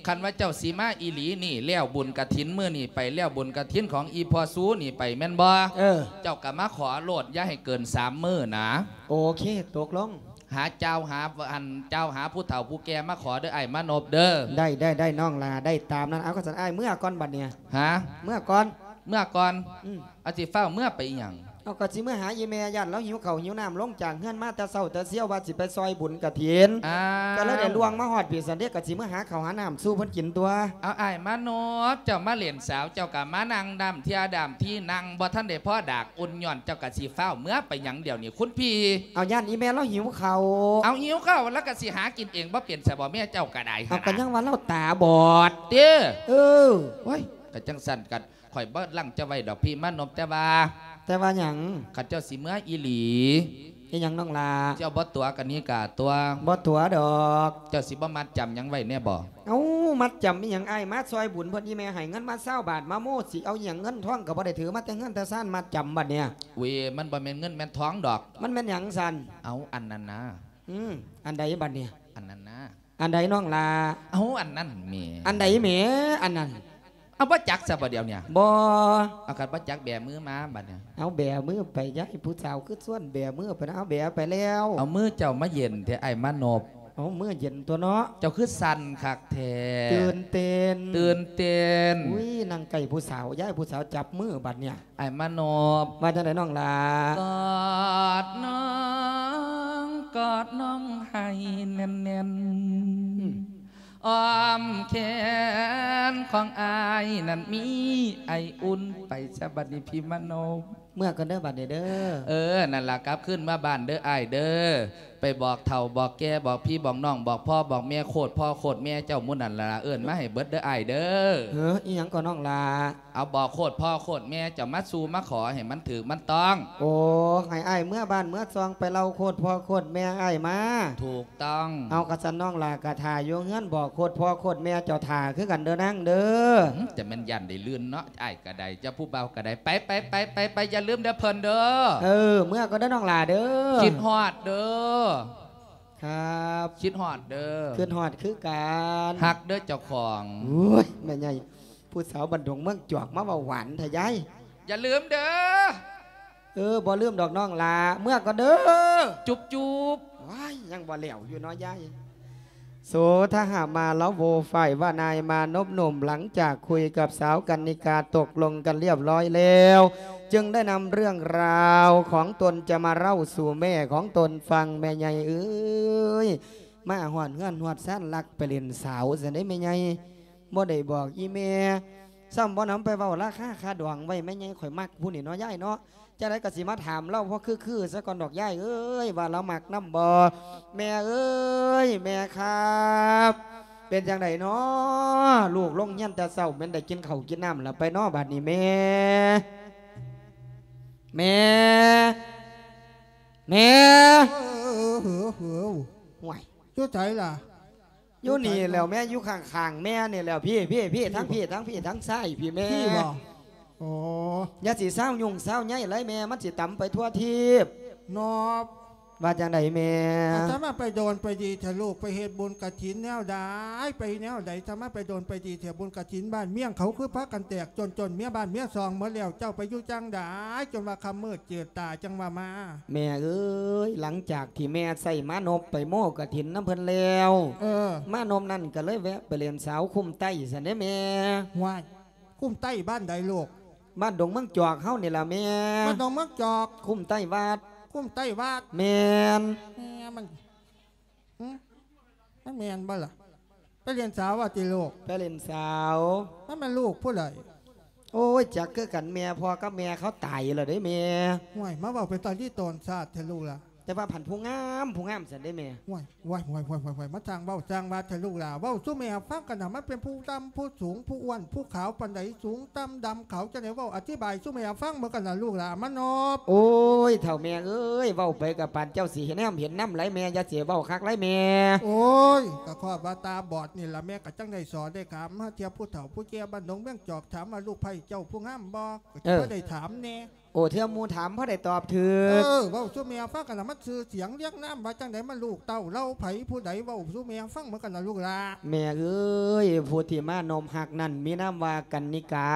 ຄັນວ່າເຈົ້າຊິມາອີ່ຫຼີນີ້ ແລ້ວບຸນກະຖິນມື້ນີ້ໄປ ແລ້ວບຸນກະຖິນຂອງອີ່ພໍ່ຊູນີ້ໄປແມ່ນບໍ່? ເອີ ເຈົ້າກະມາຂໍໂລດ ຢ່າໃຫ້ເກີນສາມມື້ນະ. ໂອເຄ ຕົກລົງ. ຫາເຈົ້າຫາ ອັນ ເຈົ້າຫາຜູ້ເຖົ້າຜູ້ແກ່ມາຂໍເດີ ອ້າຍມານົບເດີ. ໄດ້ ໄດ້ ໄດ້ນ້ອງຫຼ້າ ໄດ້ຕາມນັ້ນ. ເອົາ ຄັນຊັ້ນອ້າຍເມືອກ່ອນບັດນີ້. ຫະ? ເມືອກ່ອນ. ເມືອກ່ອນ? ອືມ. ອາ ຊິຟ້າວເມືອໄປອີ່ຫຍັງ? ເອົາ ກະຊິເມືອຫາອີ່ແມ່ ຢ້ານລາວຫິວເຂົ້າຫິວນ້ຳ ລົງຈາກເຮືອນມາແຕ່ເຊົ້າແຕ່ຊຽວ ວ່າຊິໄປຊ່ອຍບຸນກະຖິນ. ອ້າວ ກະເລີຍໄດ້ລ່ວງມາຮອດພີ້ຊັ້ນເດ ກະຊິເມືອຫາເຂົ້າຫານ້ຳສູ່ເພິ່ນກິນຕົວະ. ເອົາ ອ້າຍມານົບ ເຈົ້າມາຫຼິ້ນສາວ ເຈົ້າກະມານັ່ງດາມເທື່ອດາມທີ ນັ່ງບໍ່ທັນໄດ້ພໍດາກອຸ່ນ ຍ້ອນເຈົ້າກະຊິຟ້າວເມືອໄປຫຍັງດຽວນີ້ຄຸນພີ່? ເອົາ ຢ້ານອີ່ແມ່ລາວຫິວເຂົ້າ. ເອົາ ຫິວເຂົ້າລາວກະຊິຫາກິນເອງບໍ່ເປັນຊະບໍ່ ແມ່ເຈົ້າກະໄດ້. ເອົາ ກະຍັງວ່າລາວຕາບອດ. ເຕີ? ເອີ. ໂອ້ຍ ກະຈັ່ງຊັ້ນກະ ຂ້ອຍບໍ່ລັງເຈົ້າໄວ້ດອກພີ່ມານົບ ແຕ່ວ່າ ແຕ່ວ່າຫຍັງ? ຄັນເຈົ້າຊິເມືອອີ່ຫຼີ ອີ່ຫຍັງນ້ອງຫຼ້າ? ເຈົ້າບໍ່ຕົວະກະນິກາຕົວະ? ບໍ່ຕົວະດອກ. ເຈົ້າຊິບໍ່ມັດຈຳຫຍັງໄວ້ແນ່ບໍ່? ເອົ້າ ມັດຈຳອີ່ຫຍັງ ອ້າຍມາຊ່ອຍບຸນເພິ່ນ ອີ່ແມ່ໃຫ້ເງິນມາຊາວບາດ ມາໂມ້ ຊິເອົາອີ່ຫຍັງ ເງິນທອງກະບໍ່ໄດ້ຖືມາແຕ່ເຮືອນແຕ່ຊານ ມັດຈຳບັດນີ້. ເວີຍ ມັນບໍ່ແມ່ນເງິນແມ່ນທອງດອກ. ມັນແມ່ນຫຍັງຊັ້ນ? ເອົາ ອັນນັ້ນນະ. ອືມ ອັນໃດບັດນີ້? ອັນນັ້ນນະ. ອັນໃດນ້ອງຫຼ້າ? ເອົາ ອັນນັ້ນແໝ່. ອັນໃດແໝ່ ອັນນັ້ນ? ເອົາ ບໍ່ຈັກຊະບໍ່ດຽວນີ້? ບໍ່. ເອົາ ຄັນບໍ່ຈັກແບມືມາບັດນີ້. ເອົາ ແບມືໄປ ຢາຍ ຜູ້ສາວຄືຊວນແບມືໄປນະ. ເອົາ ແບໄປແລ້ວ. ເອົາ ມືເຈົ້າມາເຢັນແທ້ ອ້າຍມານົບ. ເອົາ ມືເຢັນຕົວະເນາະ. ເຈົ້າຄືສັ່ນຄັກແທ້. ຕື່ນເຕັ້ນ. ຕື່ນເຕັ້ນ. ອຸ້ຍ ນັ່ງໃກ້ຜູ້ສາວ ຢາຍ ຜູ້ສາວຈັບມືບັດນີ້. ອ້າຍມານົບ. ວ່າຈັ່ງໃດນ້ອງຫຼ້າ? ກອດນ້ອງ ກອດນ້ອງໃຫ້ແໜ້ນໆ. ອືມ. ອ້ອມແຂນຂອງອ້າຍນັ້ນມີໄອອຸ່ນ. ໄປຊະບັດນີ້ພີ່ມານົບ. ເມືອກ່ອນເດີບັດນີ້ເດີ. ເອີ ນັ້ນລະ ກັບຄືນມາບ້ານເດີອ້າຍເດີ. ໄປບອກເຖົ້າບອກແກ່ ບອກພີ່ບອກນ້ອງ ບອກພໍ່ບອກແມ່ ໂຄດພໍ່ໂຄດແມ່ເຈົ້າໝູ່ນັ້ນລະ ເອີ້ນມາໃຫ້ເບິດເດີອ້າຍເດີ. ເອີ ອີ່ຫຍັງກໍນ້ອງຫຼ້າ? ເອົາ ບອກໂຄດພໍ່ໂຄດແມ່ເຈົ້າມາສູ່ມາຂໍໃຫ້ມັນຖືກມັນຕ້ອງ. ໂອ້ ໃຫ້ອ້າຍເມືອບ້ານເມືອຊ່ອງໄປເລົ່າໂຄດພໍ່ໂຄດແມ່ອ້າຍມາ. ຖືກຕ້ອງ. ເອົາ ກະຊັ້ນນ້ອງຫຼ້າກະຖ້າຢູ່ເຮືອນ ບອກໂຄດພໍ່ໂຄດແມ່ເຈົ້າຖ້າຄືກັນເດີນາງເດີ. ຫື ຈະແມ່ນຢ້ານໄດ້ລື່ນເນາະ ອ້າຍກະໄດ້ ເຈົ້າຜູ້ບ່າວກະໄດ້ ໄປໆໆໆ ຢ່າລືມເດີເພິ່ນເດີ. ເອີ ເມືອກ່ອນເດີນ້ອງຫຼ້າເດີ. ຄິດຮອດເດີ. ຄັບ ຄິດຮອດເດີ. ຄິດຮອດຄືກັນ. ຮັກເດີເຈົ້າຂອງ. ໂອ້ຍ ແມ່ໃຫຍ່ ຜູ້ສາວບ້ານດົງເມືອງຈອກມາເວົ້າຫວານແທ້ຍາຍ. ຢ່າລືມເດີ. ເອີ ບໍ່ລືມດອກນ້ອງຫຼ້າ ເມືອກ່ອນເດີ. ຈຸບໆ. ວ້າຍ ຍັງບໍ່ແລ້ວຢູ່ເນາະຍາຍ. ໂສທະຫະມາລະໂວ ຝ່າຍວ່ານາຍມານົບໜຸ່ມ ຫຼັງຈາກຄຸຍກັບສາວກັນນິກາຕົກລົງກັນລຽບຮ້ອຍແລ້ວ ຈຶ່ງໄດ້ນຳເລື່ອງລາວຂອງຕົນຈະມາເລົ່າສູ່ແມ່ຂອງຕົນຟັງ. ແມ່ໃຫຍ່ເອີຍ ມາຮອດເຮືອນຮອດຊານ ລັກໄປຫຼິ້ນສາວຊັ້ນເດ້ແມ່ໃຫຍ່ ບໍ່ໄດ້ບອກອີ່ແມ່ ຊ້ຳບໍ່ນຳໄປເວົ້າລາຄາຄ່າດອງໄວ້. ແມ່ໃຫຍ່ ຂ້ອຍມັກຜູ້ນີ້ເນາະຍາຍເນາະ. ຈັ່ງໃດກໍຊິມາຖາມລາວພໍຄືໆຊະກ່ອນດອກຍາຍເອີຍ ວ່າລາວມັກນຳບໍ່. ແມ່ເອີຍ ແມ່ຄັບ ເປັນຈັ່ງໃດນໍ ລູກລົງຮຽນແຕ່ເຊົ້າ ແມ່ນໄດ້ກິນເຂົ້າກິນນ້ຳລະໄປນໍບາດນີ້ແມ່? ແມ່ ແມ່ ເອີ ເອີ ເອີ ເອີ ໂອ້ຍ ຢູ່ໃສລະ? ຢູ່ນີ້ແຫຼ້ວແມ່ ຢູ່ຂ້າງໆແມ່ນີ້ແຫຼ້ວ ພີ້ ພີ້ ພີ້ ທາງພີ້ ທາງພີ້ ທາງຊ້າຍພີ້ແມ່. ພີ້ບໍ່? ໂອ້ ຢ່າຊິຊາວຫຍຸ້ງຊາວໃຍຫຼາຍແມ່ ມັນຊິຕຳໄປທົ່ວທີບ. ນອບ ວ່າຈັ່ງໃດແມ່? ອາດຕະມາໄປໂດນໄປດີແທ້ລູກ ໄປເຮັດບຸນກະຖິນແນວໃດ ໄປແນວໃດ ອາດຕະມາໄປໂດນໄປດີແທ້ ບຸນກະຖິນບ້ານເມືອງເຂົາຄືພາກັນແຕກຈົນ ຈົນເມຍບ້ານເມຍຊ່ອງໝົດແລ້ວ ເຈົ້າໄປຢູ່ຈັ່ງໃດ ຈົນວ່າຄ່ຳມືດຈືດຕາຈັ່ງວ່າມາ? ແມ່ເອີຍ ຫຼັງຈາກທີ່ແມ່ໃຊ້ມານົບໄປໂມ້ກະຖິນນຳເພິ່ນແລ້ວ ເອີ ມານົບນັ້ນກະເລີຍແວະໄປຫຼິ້ນສາວຄຸ້ມໃຕ້ຊັ້ນເດ້ແມ່. ຫ້ວຍ ຄຸ້ມໃຕ້ບ້ານໃດລູກ? ບ້ານດົງເມືອງຈອກເຮົານີ້ລະແມ່. ບ້ານດົງເມືອງຈອກ ຄຸ້ມໃຕ້ວັດ. ຄຸ້ມໃຕ້ວັດ? ແມ່ນ. ແມ່ມັນ ຫຶ ມັນແມ່ນບໍ່ລະ? ໄປຫຼິ້ນສາວວ່າຕິລູກ? ໄປຫຼິ້ນສາວ. ມັນແມ່ນລູກຜູ້ໃດ? ໂອ້ຍ ຈັກຄືກັນແມ່ ພໍ່ກັບແມ່ເຂົາຕາຍແລ້ວເດ້ແມ່. ຫ້ວຍ ມາເວົ້າເປັນຕາລີຕອນຊາດແທ້ລູກລະ. ແຕ່ວ່າພັນຜູ້ງາມ ຜູ້ງາມຊັ້ນເດ້ແມ່. ຫ້ວຍ ຫ້ວຍ ຫ້ວຍ ມາຊ່າງເວົ້າຊ່າງວ່າແທ້ລູກຫຼ້າ ເວົ້າສູ່ແມ່ຟັງກັນນະ ມັນເປັນຜູ້ດຳຜູ້ສູງ ຜູ້ອ້ວນຜູ້ຂາວປານໃດ ສູງຕ່ຳດຳຂາວຈັ່ງໃດ ເວົ້າອະທິບາຍສູ່ແມ່ຟັງເບິ່ງກັນນະລູກຫຼ້າ ມານອບ. ໂອ້ຍ ເຖົ້າແມ່ເອີຍ ເວົ້າໄປກະປານເຈົ້າຊິເຫັນນຳເຫັນນຳຫຼາຍແມ່ ຢ່າຊິເວົ້າຄັກຫຼາຍແມ່. ໂອ້ຍ ກະຄອບວ່າຕາບອດນີ້ລະ ແມ່ກະຈັ່ງໄດ້ສອນໄດ້ຖາມ ຫາເທື່ອຜູ້ເຖົ້າຜູ້ແກ່ບ້ານດົງເມືອງຈອກ ຖາມວ່າລູກໃພ້ເຈົ້າຜູ້ງາມບໍ່ ກະຊິ ເອີ ພໍໄດ້ຖາມແດ່. ໂອ້ ເທື່ອໝູ່ຖາມພໍໄດ້ຕອບຖືກ. ເອີ ເວົ້າສູ່ແມ່ຟັງກັນລະ ມັນຊື່ສຽງລຽງນາມວ່າຈັ່ງໃດ ມັນລູກເຕົ້າເຫຼົ່າໃຜຜູ້ໃດ ເວົ້າສູ່ແມ່ຟັງເບິ່ງກັນລະລູກຫຼ້າ. ແມ່ເອີຍ ຜູ້ທີ່ມານົບຮັກນັ້ນມີນາມວ່າກັນນິກາ.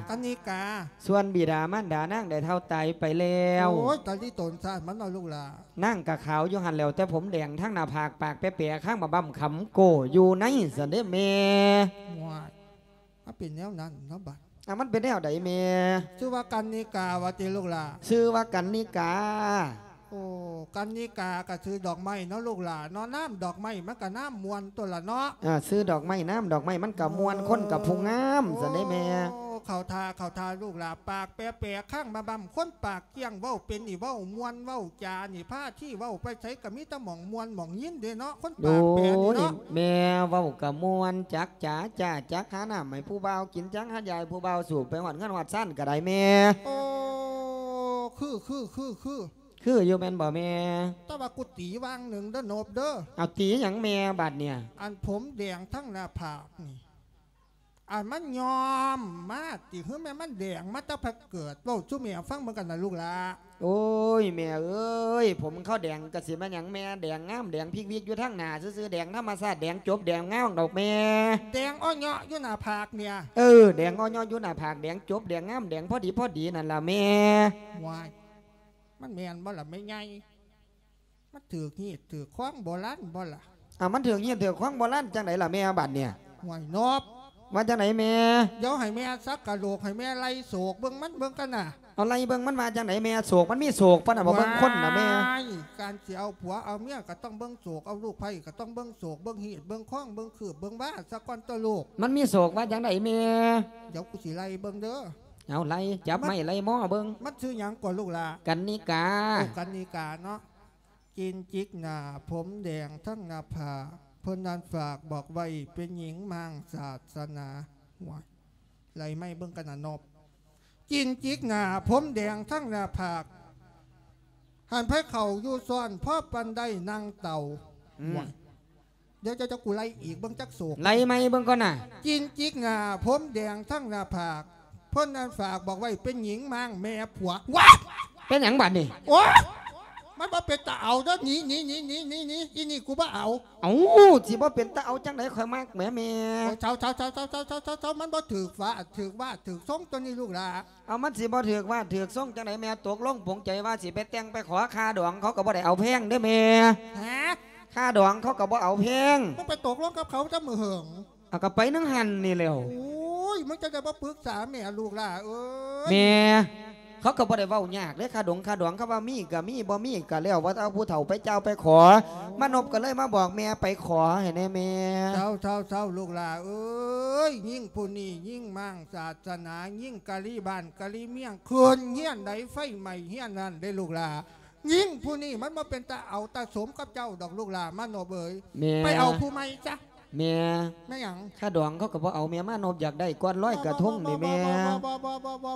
ກັນນິກາ. ສ່ວນບິດາມານດານາງໄດ້ເຖົ້າຕາຍໄປແລ້ວ. ໂອ້ຍ ຕາລີຕົນຊາດມັນເນາະລູກຫຼ້າ. ນາງກະຂາວຢູ່ຫັ້ນແຫຼ້ວ ແຕ່ຜົມແດງທັງໜ້າຜາກ ປາກແປະໆ ຄາງໝາກບັ້ມ ຂຳໂກ້ຢູ່ໃນຊັ້ນເດ້ແມ່. ວ້າຍ ມັນເປັນແນວນັ້ນເນາະບັດ. ອ່າ ມັນເປັນແນວໃດແມ່? ຊື່ວ່າກັນນິກາວ່າຕິລູກຫຼ້າ? ຊື່ວ່າກັນນິກາ. ໂອ້ ກັນນິກາກະຊື່ດອກໄມ້ເນາະລູກຫຼ້າເນາະ ນາມດອກໄມ້ມັນກະນາມມ່ວນຕົວະລະເນາະ. ອ່າ ຊື່ດອກໄມ້ ນາມດອກໄມ້ມັນກະມ່ວນ ເອີ ຄົນກະຜູ້ງາມຊັ້ນເດ້ແມ່. ໂອ້ ເຂົ້າທ່າ ເຂົ້າທ່າລູກຫຼ້າ ປາກແປະໆ ຄາງໝາກບັ້ມ ຄົນປາກກ້ຽງ ເວົ້າເປັນນີ້ ເວົ້າມ່ວນ ເວົ້າຈານີ້ ພາທີ່ເວົ້າໄປໃສກະມີແຕ່ໝ່ອງມ່ວນໝ່ອງຍິນເດ້ເນາະ ຄົນປາກແປະນີ້ເນາະ. ໂອ້ຍ ແມ່ເວົ້າກະມ່ວນ ຈັກຈາຈ້າ ຈັກຫານ້ຳໃຫ້ຜູ້ບ່າວກິນ ຈັກຫາຢາໃຫ້ຜູ້ບ່າວສູບ ໄປຮອດເຮືອນຮອດຊານກະໄດ້ແມ່. ໂອ້ ຄື ຄື ຄື ຄື ຄືຢູ່ແມ່ນບໍ່ແມ່? ແຕ່ວ່າກູຕີຫວ່າງໜຶ່ງເດີໂນບເດີ. ເອົາ ຕີຫຍັງແມ່ບາດເນີ້ຍ? ອັນຜົມແດງທັງໜ້າຜາກນີ້ ອັນມັນຍ້ອມມາຕິ ຫຼືແມ່ນມັນແດງມາແຕ່ແຕ່ເກີດ? ເວົ້າສູ່ແມ່ຟັງເບິ່ງກັນນະລູກຫຼ້າ. ໂອ້ຍ ແມ່ເອີຍ ຜົມເຂົາແດງກະຊິແມ່ນຫຍັງແມ່ ແດງງາມແດງພິກວິກຢູ່ທາງໜ້າຊື່ໆ ແດງທຳມະຊາດ ແດງຈົບແດງງາມດອກແມ່. ແດງອ້ອເຍາະຢູ່ໜ້າຜາກເນີ້ຍ. ເອີ ແດງອ້ອເຍາະຢູ່ໜ້າຜາກ ແດງຈົບແດງງາມ ແດງພໍດີພໍດີນັ້ນລະແມ່. ວ້າຍ ມັນແມ່ນບໍ່ລະແມ່ໃຫຍ່? ມັນຖືກຮີດຖືກຄອງໂບລານບໍ່ລະ? ອ້າວ ມັນຖືກຮີດຖືກຄອງໂບລານຈັ່ງໃດລະແມ່ບາດເນີ້ຍ? ຫ້ວຍ ນອບ ວ່າຈັ່ງໃດແມ່? ດຽວໃຫ້ແມ່ສັກກະໂຫຼກ ໃຫ້ແມ່ໄລ່ໂສກເບິ່ງມັນເບິ່ງກັນນະ. ເອົາ ໄລ່ເບິ່ງມັນວ່າຈັ່ງໃດແມ່? ໂສກມັນມີໂສກປານນັ້ນບໍ່? ເບິ່ງຄົນນະແມ່. ວ້າຍ ການຊິເອົາຜົວເອົາເມຍກະຕ້ອງເບິ່ງໂສກ ເອົາລູກໃພ້ກະຕ້ອງເບິ່ງໂສກ ເບິ່ງຮີດເບິ່ງຄອງ ເບິ່ງຄືບເບິ່ງວາສາກ່ອນຕົວະລູກ. ມັນມີໂສກວ່າຈັ່ງໃດແມ່? ດຽວກູຊິໄລ່ເບິ່ງເດີ. ເອົາ ໄລ່ ຈັບໄມ້ໄລ່ມໍເບິ່ງ. ມັນຊື່ຫຍັງກວ່າລູກຫຼ້າ? ກັນນິກາ. ໂອ້ ກັນນິກາເນາະ. ຈີນຈິກໜ້າ ຜົມແດງທັງໜ້າຜາກ ເພິ່ນນັ້ນຝາກບອກໄວ້ ເປັນຍິງມ້າງສາສະໜາ. ໂອ້ຍ ໄລ່ໄມ້ເບິ່ງກັນນະນົບ. ຈີນຈິກໜ້າ ຜົມແດງທັງໜ້າຜາກ ຫັ້ນໃຜເຂົ້າຢູ່ຊ້ອນ ພໍປານໄດ້ນັ່ງເຕົາ. ອືມ ໂອ້ຍ ດຽວເຈົ້າ ເຈົ້າ ກູໄລ່ອີກ ເບິ່ງຈັກໂສກ ໄລ່ໃໝ່ເບິ່ງກ່ອນນະ. ຈີນຈິກໜ້າ ຜົມແດງທັງໜ້າຜາກ ເພິ່ນນັ້ນຝາກບອກໄວ້ ເປັນຍິງມ້າງແມ່ຜົວ. ວ້າຍ ເປັນຫຍັງບາດນີ້? ໂອ້ຍ ມັນບໍ່ເປັນຕາເອົາເດີ້ ໜີ ໜີ ໜີ ອີນີ້ກູບໍ່ເອົາ. ເອົ້າ ຊິບໍ່ເປັນຕາເອົາຈັ່ງໃດ ຂ້ອຍມັກແໝແມ່. ໂອ້ຍ ເຊົາ ເຊົາ ເຊົາ ມັນບໍ່ຖືກຟ້າ ຖືກວາດ ຖືກຊົງຕົວນີ້ລູກຫຼ້າ. ເອົາ ມັນຊິບໍ່ຖືກວາດຖືກຊົງຈັ່ງໃດແມ່? ຕົກລົງປົງໃຈວ່າຊິໄປແຕ່ງໄປຂໍຄ່າດອງ ເຂົາກໍບໍ່ໄດ້ເອົາແພງເດ້ແມ່. ຮະ? ຄ່າດອງເຂົາກໍບໍ່ເອົາແພງ. ມຶງໄປຕົກລົງກັບເຂົາແຕ່ມື້ເຫິງ? ເອົາ ກໍໄປນຳຫັ້ນນີ້ແຫຼ້ວ. ໂອ້ຍ ມຶງຈັ່ງໃດບໍ່ປຶກສາແມ່ລູກຫຼ້າເອີຍ. ແມ່ ເຂົາກໍບໍ່ໄດ້ເວົ້າຍາກເດ້ ຄ່າດົງຄ່າດອງ ເຂົາວ່າມີກໍມີ ບໍ່ມີກໍແລ້ວ ວ່າແຕ່ເອົາຜູ້ເຖົ້າໄປເຈົ້າໄປຂໍ. ມານົບກໍເລີຍມາບອກແມ່ ໄປຂໍໃຫ້ແດ່ແມ່. ເຊົາ ເຊົາ ເຊົາ ລູກຫຼ້າເອີຍ ຍິງຜູ້ນີ້ຍິງມ້າງສາສະໜາ ຍິງກະລີບ້ານກະລີເມືອງ ຂຶ້ນເຮືອນໃດໄຟໄໝ້ເຮືອນນັ້ນເດ້ລູກຫຼ້າ. ຍິງຜູ້ນີ້ມັນບໍ່ເປັນຕາເອົາຕາສົມກັບເຈົ້າດອກລູກຫຼ້າ ມານົບເອີຍ. ແມ່ ໄປເອົາຜູ້ໃໝ່ຊະ. ແມ່ ແມ່ນຫຍັງ? ຄ່າດອງເຂົາກໍບໍ່ເອົາແມ່ ມານົບຢາກໄດ້ກ່ອນລອຍກະທົງນີ້ແມ່. ບໍ່ ບໍ່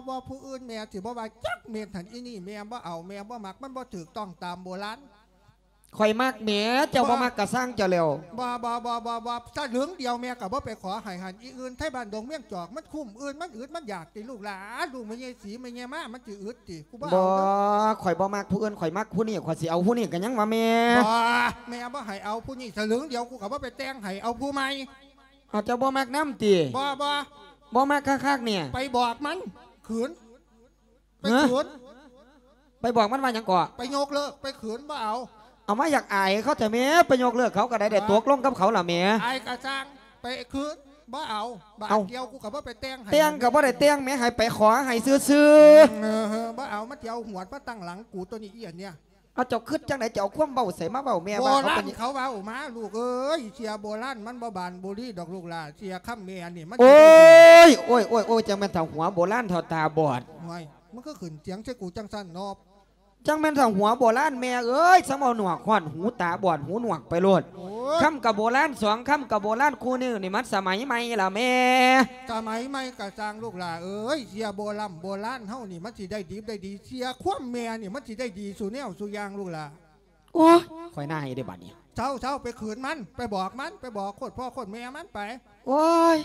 ບໍ່ ຜູ້ອື່ນແມ່ຊິບໍ່ວ່າຈັກເມັດຫັ້ນ ອີນີ້ແມ່ບໍ່ເອົາ ແມ່ບໍ່ມັກ ມັນບໍ່ຖືກຕ້ອງຕາມໂບລານ. ຂ້ອຍມັກແໝ ເຈົ້າບໍ່ມັກກະຊ່າງເຈົ້າແລ້ວ. ບໍ່ ບໍ່ ບໍ່ ບໍ່ ບໍ່ ສະຫຼຶງດຽວແມ່ກໍບໍ່ໄປຂໍໃຫ້ຫັ້ນ. ອີອື່ນໄທບ້ານດົງວຽງຈອກ ມັນຄຸ້ມອື່ນ ມັນອຶດມັນຢາກຕິລູກຫຼ້າ. ລູກແມ່ໃຫຍ່ສີແມ່ໃຫຍ່ມາ ມັນຊິອຶດຕິ ກູບໍ່ເອົາ. ບໍ່ ຂ້ອຍບໍ່ມັກຜູ້ອື່ນ ຂ້ອຍມັກຜູ້ນີ້ ຂ້ອຍຊິເອົາຜູ້ນີ້ ກໍຍັງວ່າແມ່. ບໍ່ ແມ່ບໍ່ໃຫ້ເອົາຜູ້ນີ້ ສະຫຼຶງດຽວກູກໍບໍ່ໄປແຕ່ງໃຫ້ ເອົາຜູ້ໃໝ່. ເອົາ ເຈົ້າບໍ່ມັກນຳຕິ? ບໍ່ ບໍ່ ບໍ່ມັກຄັກໆນີ້ ໄປບອກມັນ ຂືນ ໄປຂືນ. ໄປບອກມັນວ່າຫຍັງເກາະ? ໄປຍົກເລີກ ໄປຂືນ ບໍ່ເອົາ. ເອົາ ມາຢາກອາຍເຂົາແທ້ແມ່ ໄປຍົກເລີກເຂົາກໍໄດ້ ໄດ້ຕົກລົງກັບເຂົາລະແມ່. ອາຍກະຊ່າງ ໄປຂືນ ບໍ່ເອົາ. ບາດດຽວ ເອົ້າ ກູກໍບໍ່ໄປແຕ່ງໃຫ້ ແຕ່ງກໍບໍ່ໄດ້ແຕ່ງແມ່ ໃຫ້ໄປຂໍໃຫ້ຊື່ໆ. ເອີ ບໍ່ເອົາ ມັນຊິເອົາຫວດມາຕັ້ງຫຼັງກູຕົວນີ້ ອີອັນເນີ້ຍ. ເອົາ ເຈົ້າຄິດຈັ່ງໃດ? ເຈົ້າເອົາຄວາມເວົ້າໃສມາເວົ້າແມ່ວ່າເຂົາເປັນ ໂບລານເຂົາເວົ້າມາລູກເອີຍ. ເສຍໂບລານມັນບໍ່ບານບໍ່ລີດອກລູກຫຼ້າ. ເສຍຄຳແມ່ນີ້ມັນ ໂອ້ຍ ໂອ້ຍ ໂອ້ຍ ໂອ້ຍ ຈັ່ງແມ່ນເຖົ້າຫົວໂບລານເຖົ້າຕາບອດ. ໂອ້ຍ ມັນຄືຂຶ້ນສຽງໃສ່ກູຈັ່ງຊັ້ນນໍ? ຈັ່ງແມ່ນເຖົ້າຫົວໂບລານແມ່ເອີຍ ຊ່າງເວົ້າໜວກຮອດຫູ ຕາບອດຫູໜວກໄປໂລດ. ໂອ້ຍ ຄຳກະໂບລານ ສອງຄຳກະໂບລານ ຄູ່ນີ້ນີ້ມັນສະໄໝໃໝ່ລະແມ່. ສະໄໝໃໝ່ກະຊ່າງລູກຫຼ້າເອີຍ ເສຍໂບລານ ໂບລານເຮົານີ້ມັນຊິໄດ້ດີໄດ້ດີ ເສຍຄວາມແມ່ນີ້ມັນຊິໄດ້ດີສູ່ແນວສູ່ຢ່າງລູກຫຼ້າ. ໂອ້ຍ ຂ້ອຍໜ່າຍເດ້ບາດນີ້. ເຊົາ ເຊົາ ໄປຂືນມັນ ໄປບອກມັນ ໄປບອກໂຄດພໍ່ໂຄດແມ່ມັນໄປ. ໂອ້ຍ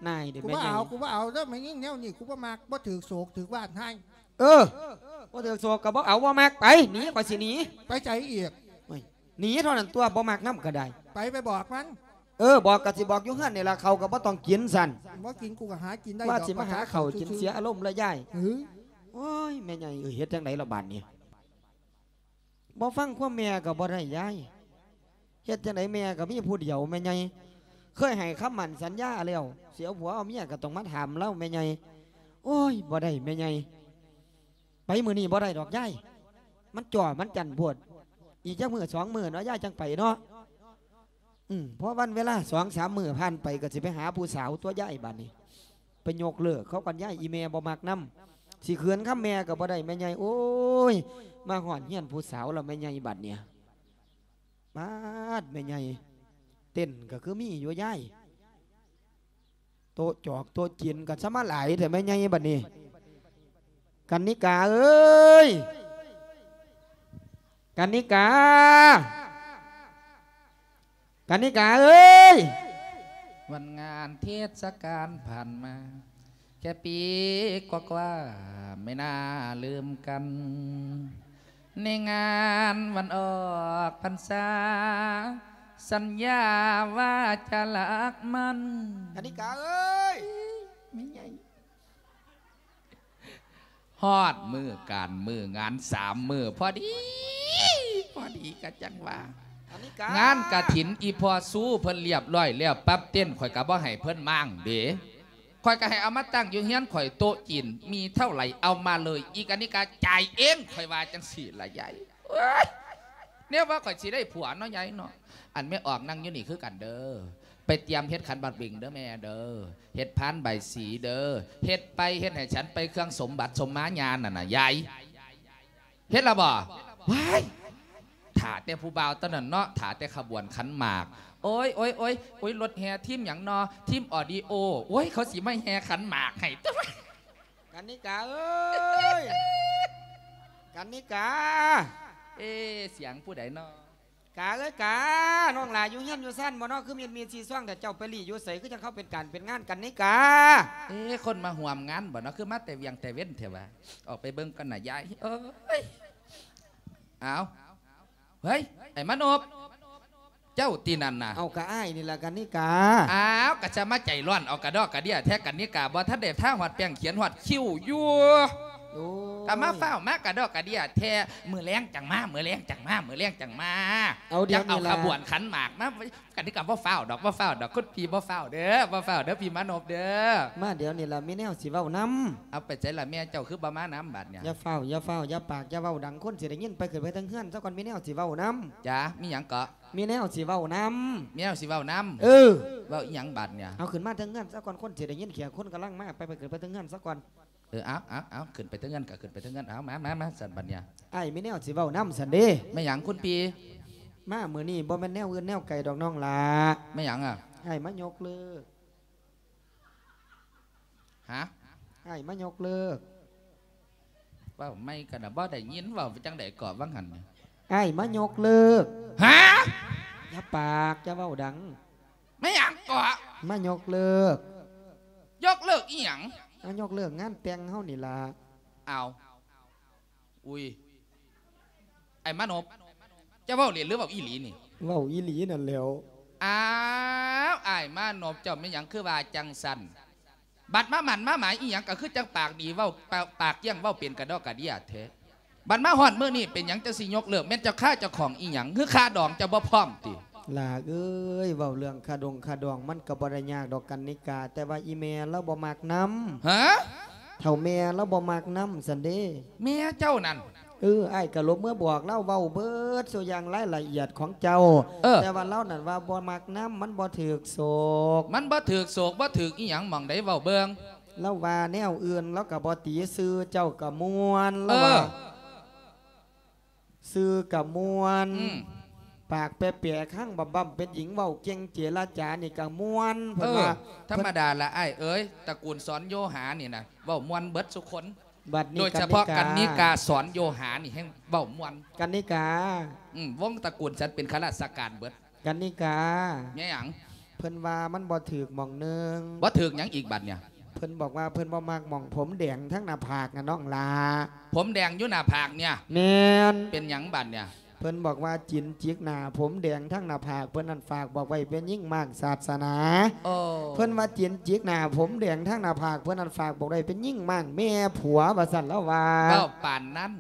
ໜ່າຍເດ້ ກູບໍ່ເອົາ ແມ່ໃຫຍ່ ກູບໍ່ເອົາເດີ້ ແມ່ຍິງແນວນີ້ ກູບໍ່ມັກ ບໍ່ຖືກໂສກຖືກວາດໃຫ້. ເອີ ບໍ່ຖືກໂສກກໍບໍ່ເອົາ ບໍ່ມັກ ໄປ ໜີ ຂ້ອຍຊິໜີ. ໄປໃສອີກ? ໂອ້ຍ ໜີເທົ່ານັ້ນຕົວະ ບໍ່ມັກນຳກໍໄດ້. ໄປ ໄປບອກມັນ. ເອີ ບອກກໍຊິບອກຢູ່ເຮືອນນີ້ລະ ເຂົ້າກໍບໍ່ຕ້ອງກິນຊັ້ນ. ບໍ່ກິນ ກູກໍຫາກິນໄດ້ດອກ ວ່າຊິມາຫາເຂົ້າກິນ ເສຍອາລົມລະຍາຍ. ເອີ ໂອ້ຍ ແມ່ໃຫຍ່ເອີຍ ເຮັດຈັ່ງໃດລະບາດນີ້? ບໍ່ຟັງຄວາມແມ່ກໍບໍ່ໄດ້ຍາຍ. ເຮັດຈັ່ງໃດແມ່ກໍມີຜູ້ດຽວແມ່ໃຫຍ່. ເຄີຍໃຫ້ຄຳໝັ້ນສັນຍາແລ້ວ ຊິເອົາຜົວເອົາເມຍກໍຕ້ອງມາຖາມລາວແມ່ໃຫຍ່. ໂອ້ຍ ບໍ່ໄດ້ແມ່ໃຫຍ່. ໄປມື້ນີ້ບໍ່ໄດ້ດອກຍາຍ. ມັນຈໍ້ມັນຈັນໂພດ. ອີກຈັກມື້ສອງມື້ເນາະ ຍາຍຈັ່ງໄປເນາະ. ອືມ ພໍວັນເວລາສອງສາມມື້ຜ່ານໄປ ກໍຊິໄປຫາຜູ້ສາວຕົວະຍາຍບາດນີ້. ໄປຍົກເລີກເຂົາກ່ອນຍາຍ ອີແມ່ບໍ່ມັກນຳ. ຊິເຂືອນຄຳແມ່ກໍບໍ່ໄດ້ແມ່ໃຫຍ່. ໂອ້ຍ ມາຮອດເຮືອນຜູ້ສາວແລ້ວແມ່ໃຫຍ່ບາດນີ້. ປາດ ແມ່ໃຫຍ່ ເຕັນກໍຄືມີຢູ່ຍາຍ. ໂຕະຈອກໂຕະຈີນກໍຊະມາຫຼາຍແທ້ແມ່ໃຫຍ່ບັດນີ້. ກັນນິກາເອີຍ ກັນນິກາ ກັນນິກາເອີຍ. ວັນງານເທດສະການຜ່ານມາ ແຄ່ປີກວ່າໆ ໄມ່ໜ້າລືມກັນ ໃນງານວັນອອກພັນສາ ສັນຍາວ່າຈະຮັກມັນ. ກັນນິກາເອີຍ ແມ່ໃຫຍ່ ຮອດມື້ການມື້ງານສາມມື້ພໍດີ ພໍດີກະຈັ່ງວ່າ ກັນນິກາ ງານກະຖິນ ອີພໍ່ຊູເພິ່ນລຽບຮ້ອຍແລ້ວປັບເຕັນ ຂ້ອຍກະບໍ່ໃຫ້ເພິ່ນມ້າງເດ. ຂ້ອຍກໍໃຫ້ເອົາມາຕັ້ງຢູ່ເຮືອນຂ້ອຍ ໂຕະຈີນມີເທົ່າໃດເອົາມາເລີຍ ອີກອັນນີ້ກໍຈ່າຍເອງ ຂ້ອຍວ່າຈັ່ງຊີ້ລະຍາຍ. ໂອ້ຍ ແນວວ່າຂ້ອຍຊິໄດ້ຜົວເນາະຍາຍເນາະ. ອັນແມ່ອອກນັ່ງຢູ່ນີ້ຄືກັນເດີ ໄປຕຽມເຮັດຂັນໝາກເບັງເດີແມ່ເດີ ເຮັດພານໃບສີເດີ ເຮັດໄປເຮັດໃຫ້ສັນໄປເຄື່ອງສົມບັດສົມມາຍານັ້ນນະຍາຍ. ເຮັດລະບໍ່? ວ້າຍ ຖ້າແຕ່ຜູ້ບ່າວຕອນນັ້ນເນາະ ຖ້າແຕ່ຂະບວນຂັນໝາກ. ໂອ້ຍ ໂອ້ຍ ໂອ້ຍ ໂອ້ຍ ລົດແຫ່ທີມຫຍັງນໍ ທີມອອດີໂອ ໂອ້ຍ ເຂົາຊິມາແຫ່ຂັນໝາກໃຫ້ ກັນນິກາເອີຍ ກັນນິກາ. ເອ ສຽງຜູ້ໃດນໍ? ກາເອີຍກາ ນ້ອງຫຼ້າຢູ່ເຮືອນຢູ່ຊານບໍ່ນໍ ຄືມີດມີດຊີຊ່ວງແຕ່ ເຈົ້າໄປຫຼີ້ຢູ່ໃສ ຄືຈັ່ງເຂົາເປັນການເປັນງານ ກັນນິກາ. ເອ ຄົນມາຮ່ວມງານບໍ່ນໍ ຄືມາແຕ່ວຽງແຕ່ເວັນແທ້ຫວາ? ອອກໄປເບິ່ງກ່ອນນະຍາຍເອີຍ. ອ້າວ ເຮີ້ຍ ໄອ້ມານົບ ເຈົ້າຕິນັ້ນນະ? ເອົາ ກະອ້າຍນີ້ລະ ກັນນິກາ. ອ້າວ ກະຈະມາໃຈຮ້ອນເອົາກະດອກກະເດຍແທ້ ກັນນິກາ ບໍ່ທັນໄດ້ທາຮອດແປ້ງຂຽນຮອດຄິ້ວຢູ່. ໂອ້ຍ ກະມາຟ້າວມາກະດອກກະເດຍແທ້ ມື້ແລງຈັ່ງມາ ມື້ແລງຈັ່ງມາ ມື້ແລງຈັ່ງມາ. ເອົາ ດຽວນີ້ລະ ຈັ່ງເອົາຂະບວນຂັນໝາກມາ. ກັນນິກາ ບໍ່ຟ້າວດອກ ບໍ່ຟ້າວດອກ ຄຸນພີ່ ບໍ່ຟ້າວເດີ ບໍ່ຟ້າວເດີ ພີ່ມານົບເດີ. ມາດຽວນີ້ລະ ມີແນວຊິເວົ້ານຳ. ເອົາ ໄປໃສລະແມ່ເຈົ້າ ຄືບໍ່ມານຳບາດນີ້? ຢ່າຟ້າວ ຢ່າຟ້າວ ຢ່າປາກ ຢ່າເວົ້າດັງ ຄົນຊິໄດ້ຍິນ. ໄປ ຂຶ້ນໄປເທິງເຮືອນຊະກ່ອນ ມີແນວຊິເວົ້ານຳ. ຈ້າ ມີຫຍັງເກາະ? ມີແນວຊິເວົ້ານຳ. ມີແນວຊິເວົ້ານຳ? ເອີ ເວົ້າອີ່ຫຍັງບາດນີ້? ເອົາ ຂຶ້ນມາເທິງເຮືອນຊະກ່ອນ ຄົນຊິໄດ້ຍິນ ແຂກຄົນກຳລັງມາ. ໄປ ໄປ ຂຶ້ນໄປເທິງເຮືອນຊະກ່ອນ. ເອີ ເອົາ ເອົາ ເອົາ ຂຶ້ນໄປເທິງເຮືອນກະຂຶ້ນໄປເທິງເຮືອນ. ເອົາ ມາ ມາ ມາ ຊັ້ນບາດນີ້ ອ້າຍມີແນວຊິເວົ້ານຳຊັ້ນເດ້. ແມ່ນຫຍັງຄຸນພີ່? ມາມື້ນີ້ບໍ່ແມ່ນແນວອື່ນແນວໄກດອກນ້ອງຫຼ້າ. ແມ່ນຫຍັງອະ? ອ້າຍມາຍົກເລີກ. ຫະ? ອ້າຍມາຍົກເລີກ. ເວົ້າໃໝ່ກັນນະ ບໍ່ໄດ້ຍິນ ເວົ້າຈັ່ງໃດເກາະວ່າງຫັ້ນ? ອ້າຍມາຍົກເລີກ. ຫະ? ຢ່າປາກ ຢ່າເວົ້າດັງ. ແມ່ນຫຍັງເກາະ? ມາຍົກເລີກ. ຍົກເລີກອີ່ຫຍັງ? ມາຍົກເລີກງານແຕ່ງເຮົານີ້ລະ. ເອົາ ອຸ້ຍ ອ້າຍມານົບ ເຈົ້າເວົ້າເລ່ນຫຼືເວົ້າອີ່ຫຼີນີ້? ເວົ້າອີ່ຫຼີນັ້ນແຫຼ້ວ. ອ້າວ ອ້າຍມານົບ ເຈົ້າແມ່ນຫຍັງຄືວ່າຈັ່ງຊັ້ນ? ບັດມາໝັ້ນມາໝາຍອີ່ຫຍັງ ກະຄືຈັ່ງປາກດີ ເວົ້າ ປາກ ປາກກ້ຽງ ເວົ້າເປັນກະດອກກະເດຍແທ້. ບັດມາຮອດມື້ນີ້ເປັນຫຍັງຈັ່ງຊິຍົກເລີກ? ແມ່ນເຈົ້າຄາເຈົ້າຂອງອີ່ຫຍັງ ຫຼືຄາດອງເຈົ້າບໍ່ພ້ອມຕິ? ຫຼ້າເອີຍ ເວົ້າເລື່ອງຄາດົງຄາດອງມັນກະບໍ່ໄດ້ຍາກດອກກັນນິກາ ແຕ່ວ່າອີ່ແມ່ລາວບໍ່ມັກນຳ. ຫະ? ເຖົ້າແມ່ລາວບໍ່ມັກນຳຊັ້ນເດ້. ແມ່ເຈົ້ານັ້ນ? ເອີ ອ້າຍກະລົບເມືອບອກລາວເວົ້າເບິດສູ່ຢ່າງລາຍລະອຽດຂອງເຈົ້າ. ເອີ ແຕ່ວ່າລາວນັ້ນວ່າບໍ່ມັກນຳ ມັນບໍ່ຖືກໂສກ. ມັນບໍ່ຖືກໂສກ ບໍ່ຖືກອີ່ຫຍັງ ໝ່ອງໃດເວົ້າເບິ່ງ. ລາວວ່າແນວອື່ນລາວກະບໍ່ຕີ ຊື່ເຈົ້າກະມ່ວນ ລາວວ່າ ເອີ ຊື່ກະມ່ວນ. ອືມ ປາກແປໆ ຄັງບຳໆ ເປັນຍິງເວົ້າເກັ່ງ ເຈລະຈານີ້ກະມ່ວນ ເພິ່ນວ່າ. ເອີ ທຳມະດາລະອ້າຍເອີຍ ຕະກູນສອນໂຍຫານີ້ນະ ເວົ້າມ່ວນເບິດຊຸຄົນ. ບັດນີ້ ໂດຍສະເພາະກັນນິກາ ກັນນິກາສອນໂຍຫານີ້ແຮ່ງເວົ້າມ່ວນ. ກັນນິກາ ອືມ ວົງຕະກູນສັນເປັນຂ້າລາຊະການເບິດ. ກັນນິກາ ແມ່ນຫຍັງ? ເພິ່ນວ່າມັນບໍ່ຖືກໝ່ອງໜຶ່ງ. ບໍ່ຖືກຫຍັງອີກບັດນີ້? ເພິ່ນບອກວ່າເພິ່ນບໍ່ມັກໝ່ອງຜົມແດງທາງໜ້າຜາກນະນ້ອງຫຼ້າ. ຜົມແດງຢູ່ໜ້າຜາກນີ້? ແມ່ນ. ເປັນຫຍັງບັດນີ້? ເພິ່ນບອກວ່າຈີນຈິກໜ້າຜົມແດງທາງໜ້າຜາກເພິ່ນນັ້ນ ຝາກບອກໄວ້ເປັນຍິງມ້າງສາດສະໜາ. ໂອ້ ເພິ່ນວ່າຈີນຈິກໜ້າຜົມແດງທາງໜ້າຜາກເພິ່ນນັ້ນ ຝາກບອກໄດ້ເປັນຍິງມ້າງແມ່ຜົວ ວ່າຊັ້ນລາວວ່າ. ເວົ້າປານນັ້ນ?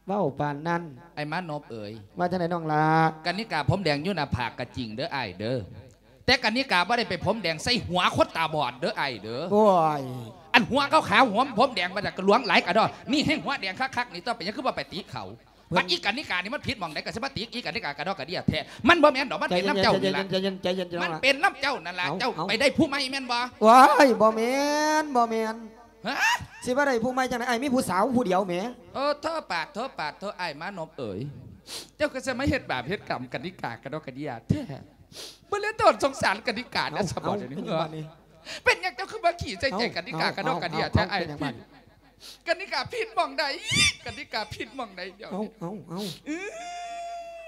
ເວົ້າປານນັ້ນ. ອ້າຍມານົບເອີຍ ວ່າຈັ່ງໃດນ້ອງຫຼ້າ? ກັນນິກາຜົມແດງຢູ່ໜ້າຜາກກະຈິງເດີອ້າຍເດີ ແຕ່ກັນນິກາບໍ່ໄດ້ໄປຜົມແດງໃສ່ຫົວຄົນຕາບອດເດີອ້າຍເດີ. ໂອ້ຍ ອັນຫົວຂາວໆ ຫົວຜົມແດງ ວ່າຈະກະຫຼວງຫຼາຍກະດອກ ນີ້ແຮ່ງຫົວແດງຄັກໆ ນີ້ ຕໍ່ໄປຫຍັງຄືບໍ່ໄປຕິເຂົາ? ບັດອີກັນນິການີ້ມັນຜິດໝ່ອງໃດ ກະຊິມາຕິອີກັນນິກາກະດອກກະເດຍແທ້. ມັນບໍ່ແມ່ນດອກ ມັນເປັນນຳເຈົ້ານີ້ລະ. ໃຈເຢັນໆ ໃຈເຢັນໆ ມັນເປັນນຳເຈົ້ານັ້ນລະ. ເອົ້າ ເຈົ້າໄປໄດ້ຜູ້ໃໝ່ແມ່ນບໍ່? ໂອ້ຍ ບໍ່ແມ່ນ ບໍ່ແມ່ນ. ຮະ? ຊິມາໄດ້ຜູ້ໃໝ່ຈັ່ງໃດ? ອ້າຍມີຜູ້ສາວຜູ້ດຽວແໝ. ໂອ້ ໂທ້ປາດ ໂທ້ປາດ ໂທ້ ອ້າຍມານົບເອີຍ ເຈົ້າກະຊິມາເຮັດບາບເຮັດກຳກັນນິກາກະດອກກະເດຍແທ້. ບໍ່ເລີຍໂຕສົງສານກັນນິກາເດ້ສະບັດນີ້. ເປັນຫຍັງເຈົ້າຄືມາຂີ້ໃສ່ໃຈກັນນິກາກະດອກກະເດຍແທ້ອ້າຍ? ກັນນິກາຜິດໝ່ອງໃດ? ກັນນິກາຜິດໝ່ອງໃດດຽວນີ້? ເອົາ ເອົາ ເອົາ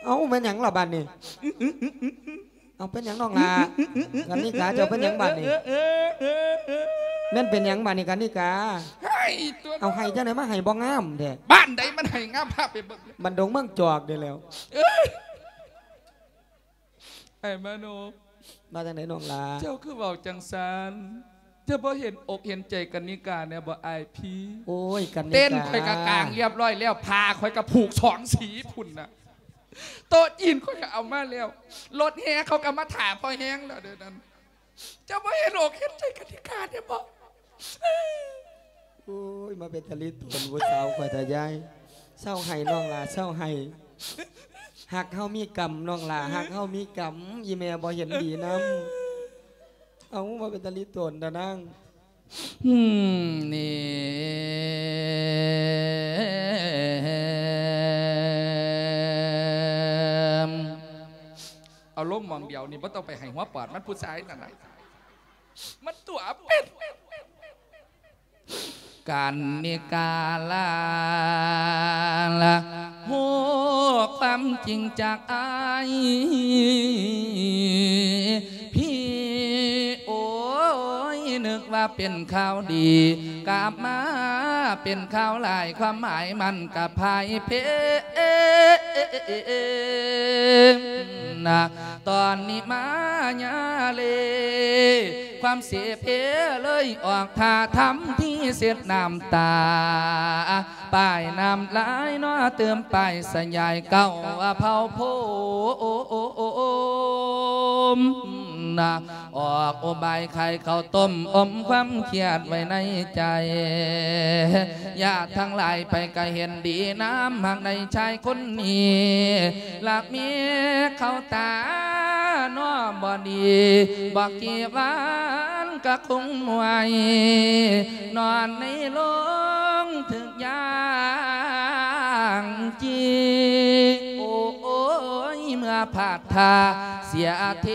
ເອົາ ແມ່ນຫຍັງລະບາດນີ້? ເອົາ ເປັນຫຍັງນ້ອງຫຼ້າ? ກັນນິກາ ເຈົ້າເປັນຫຍັງບາດນີ້? ແມ່ນເປັນຫຍັງບາດນີ້ກັນນິກາ? ໄຫ້ຕົວະ. ເອົາ ໄຫ້ຈັ່ງໃດ ມາໄຫ້ບໍ່ງາມແທ້? ບ້ານໃດມັນໄຫ້ງາມ ພາໄປເບິ່ງ. ບັນດົງເມືອງຈອກນີ້ແຫຼ້ວ. ເອີຍ ອ້າຍມານົບ ວ່າຈັ່ງໃດນ້ອງຫຼ້າ? ເຈົ້າຄືເວົ້າຈັ່ງຊັ້ນ? ເຈົ້າບໍ່ເຫັນອົກເຫັນໃຈກັນນິກາແດ່ບໍ່ອ້າຍພີ່? ໂອ້ຍ ກັນນິກາ ເຕັນຂ້ອຍກະກາງລຽບຮ້ອຍແລ້ວ ຜ້າຂ້ອຍກະຜູກສອງສີພຸ້ນນະ ໂຕະຈີນຂ້ອຍກະເອົາມາແລ້ວ ລົດແຫ່ເຂົາກະມາຖ້າພໍແຮງແລ້ວເດີນັ້ນ. ເຈົ້າບໍ່ເຫັນອົກເຫັນໃຈກັນນິກາແດ່ບໍ່? ໂອ້ຍ ມາເປັນຕາລີໂຕນຜູ້ສາວຂ້ອຍແທ້ຍາຍ. ເຊົາໄຫ້ນ້ອງຫຼ້າ ເຊົາໄຫ້. ຮັກເຮົາມີກຳນ້ອງຫຼ້າ ຮັກເຮົາມີກຳ. ອີ່ແມ່ບໍ່ເຫັນດີນຳ. ເອົາ ມາເປັນຕາລີໂຕນດານາງ. ອືມ ນີ້ ເອົາລົງໝ່ອງດຽວນີ້ ບໍ່ຕ້ອງໄປໃຫ້ຫົວປອດມັນ ຜູ້ຊາຍນັ້ນນະ ມັນຕົວເປັນ. ກັນນິກາລາ ຮູ້ຄວາມຈິງຈາກອ້າຍ ພີ່ ໂອ້ຍ ນຶກວ່າເປັນຂ່າວດີ ກັບມາເປັນຂ່າວຮ້າຍ ຄວາມໝາຍມັນກະພ່າຍເພ. ນະ ຕອນນີ້ມາຍາເລ ຄວາມເສເພເລີຍອອກທ່າທຳທີ່ເຊັດນ້ຳຕາ ປ້າຍນ້ຳລາຍເນາະ ຕື່ມປ້າຍສະຫຍາຍເກົ້າເພົາໂພມນະ ອອກອຸບາຍຂາຍເຂົ້າຕົ້ມ ອົມຄວາມຄຽດໄວ້ໃນໃຈ. ຍາດທັງຫຼາຍໃຜກະເຫັນດີນຳຮັກໃນຊາຍຄົນນີ້ ລະເມເຂົ້າຕາເນາະ ບໍ່ດີ ບໍ່ກີ່ວານກະຄົງໝວຍ ນອນໃນໂລງຖືກ ຢ່າງຈີ ໂອ້ຍ ເມື່ອພາດທ່າເສຍເທ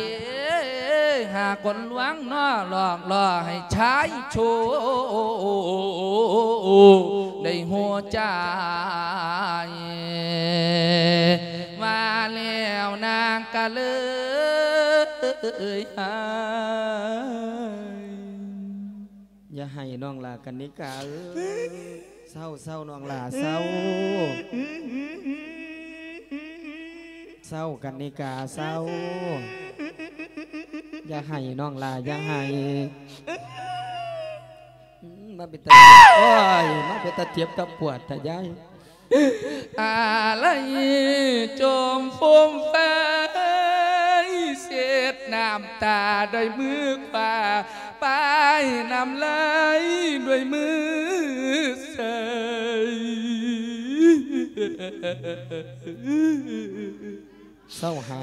ຫາຄົນລວງເນາະ ຫຼອກລ່ອໃຫ້ຊາຍໂຊ ໄດ້ຮູ້ໃຈ ວ່າແລ້ວນາງກະເລີຍຫາຍ. ຢ່າໄຫ້ນ້ອງຫຼ້າກັນນິກາເອີຍ ເຊົາ ເຊົານ້ອງຫຼ້າ ເຊົາ ເຊົາກັນນິກາ ເຊົາ ຢ່າໄຫ້ນ້ອງຫຼ້າ ຢ່າໄຫ້. ອືມ ມາເປັນຕາ ໂອ້ຍ ມາເປັນຕາເຈັບຕາປວດແທ້ຍາຍ. ອາໄລຈົມຟົມໄຟ ເຊັດນ້ຳຕາດ້ວຍມືຂວາ ປ້າຍນ້ຳລາຍດ້ວຍມືຊ້າຍ. ເຊົາໄຫ້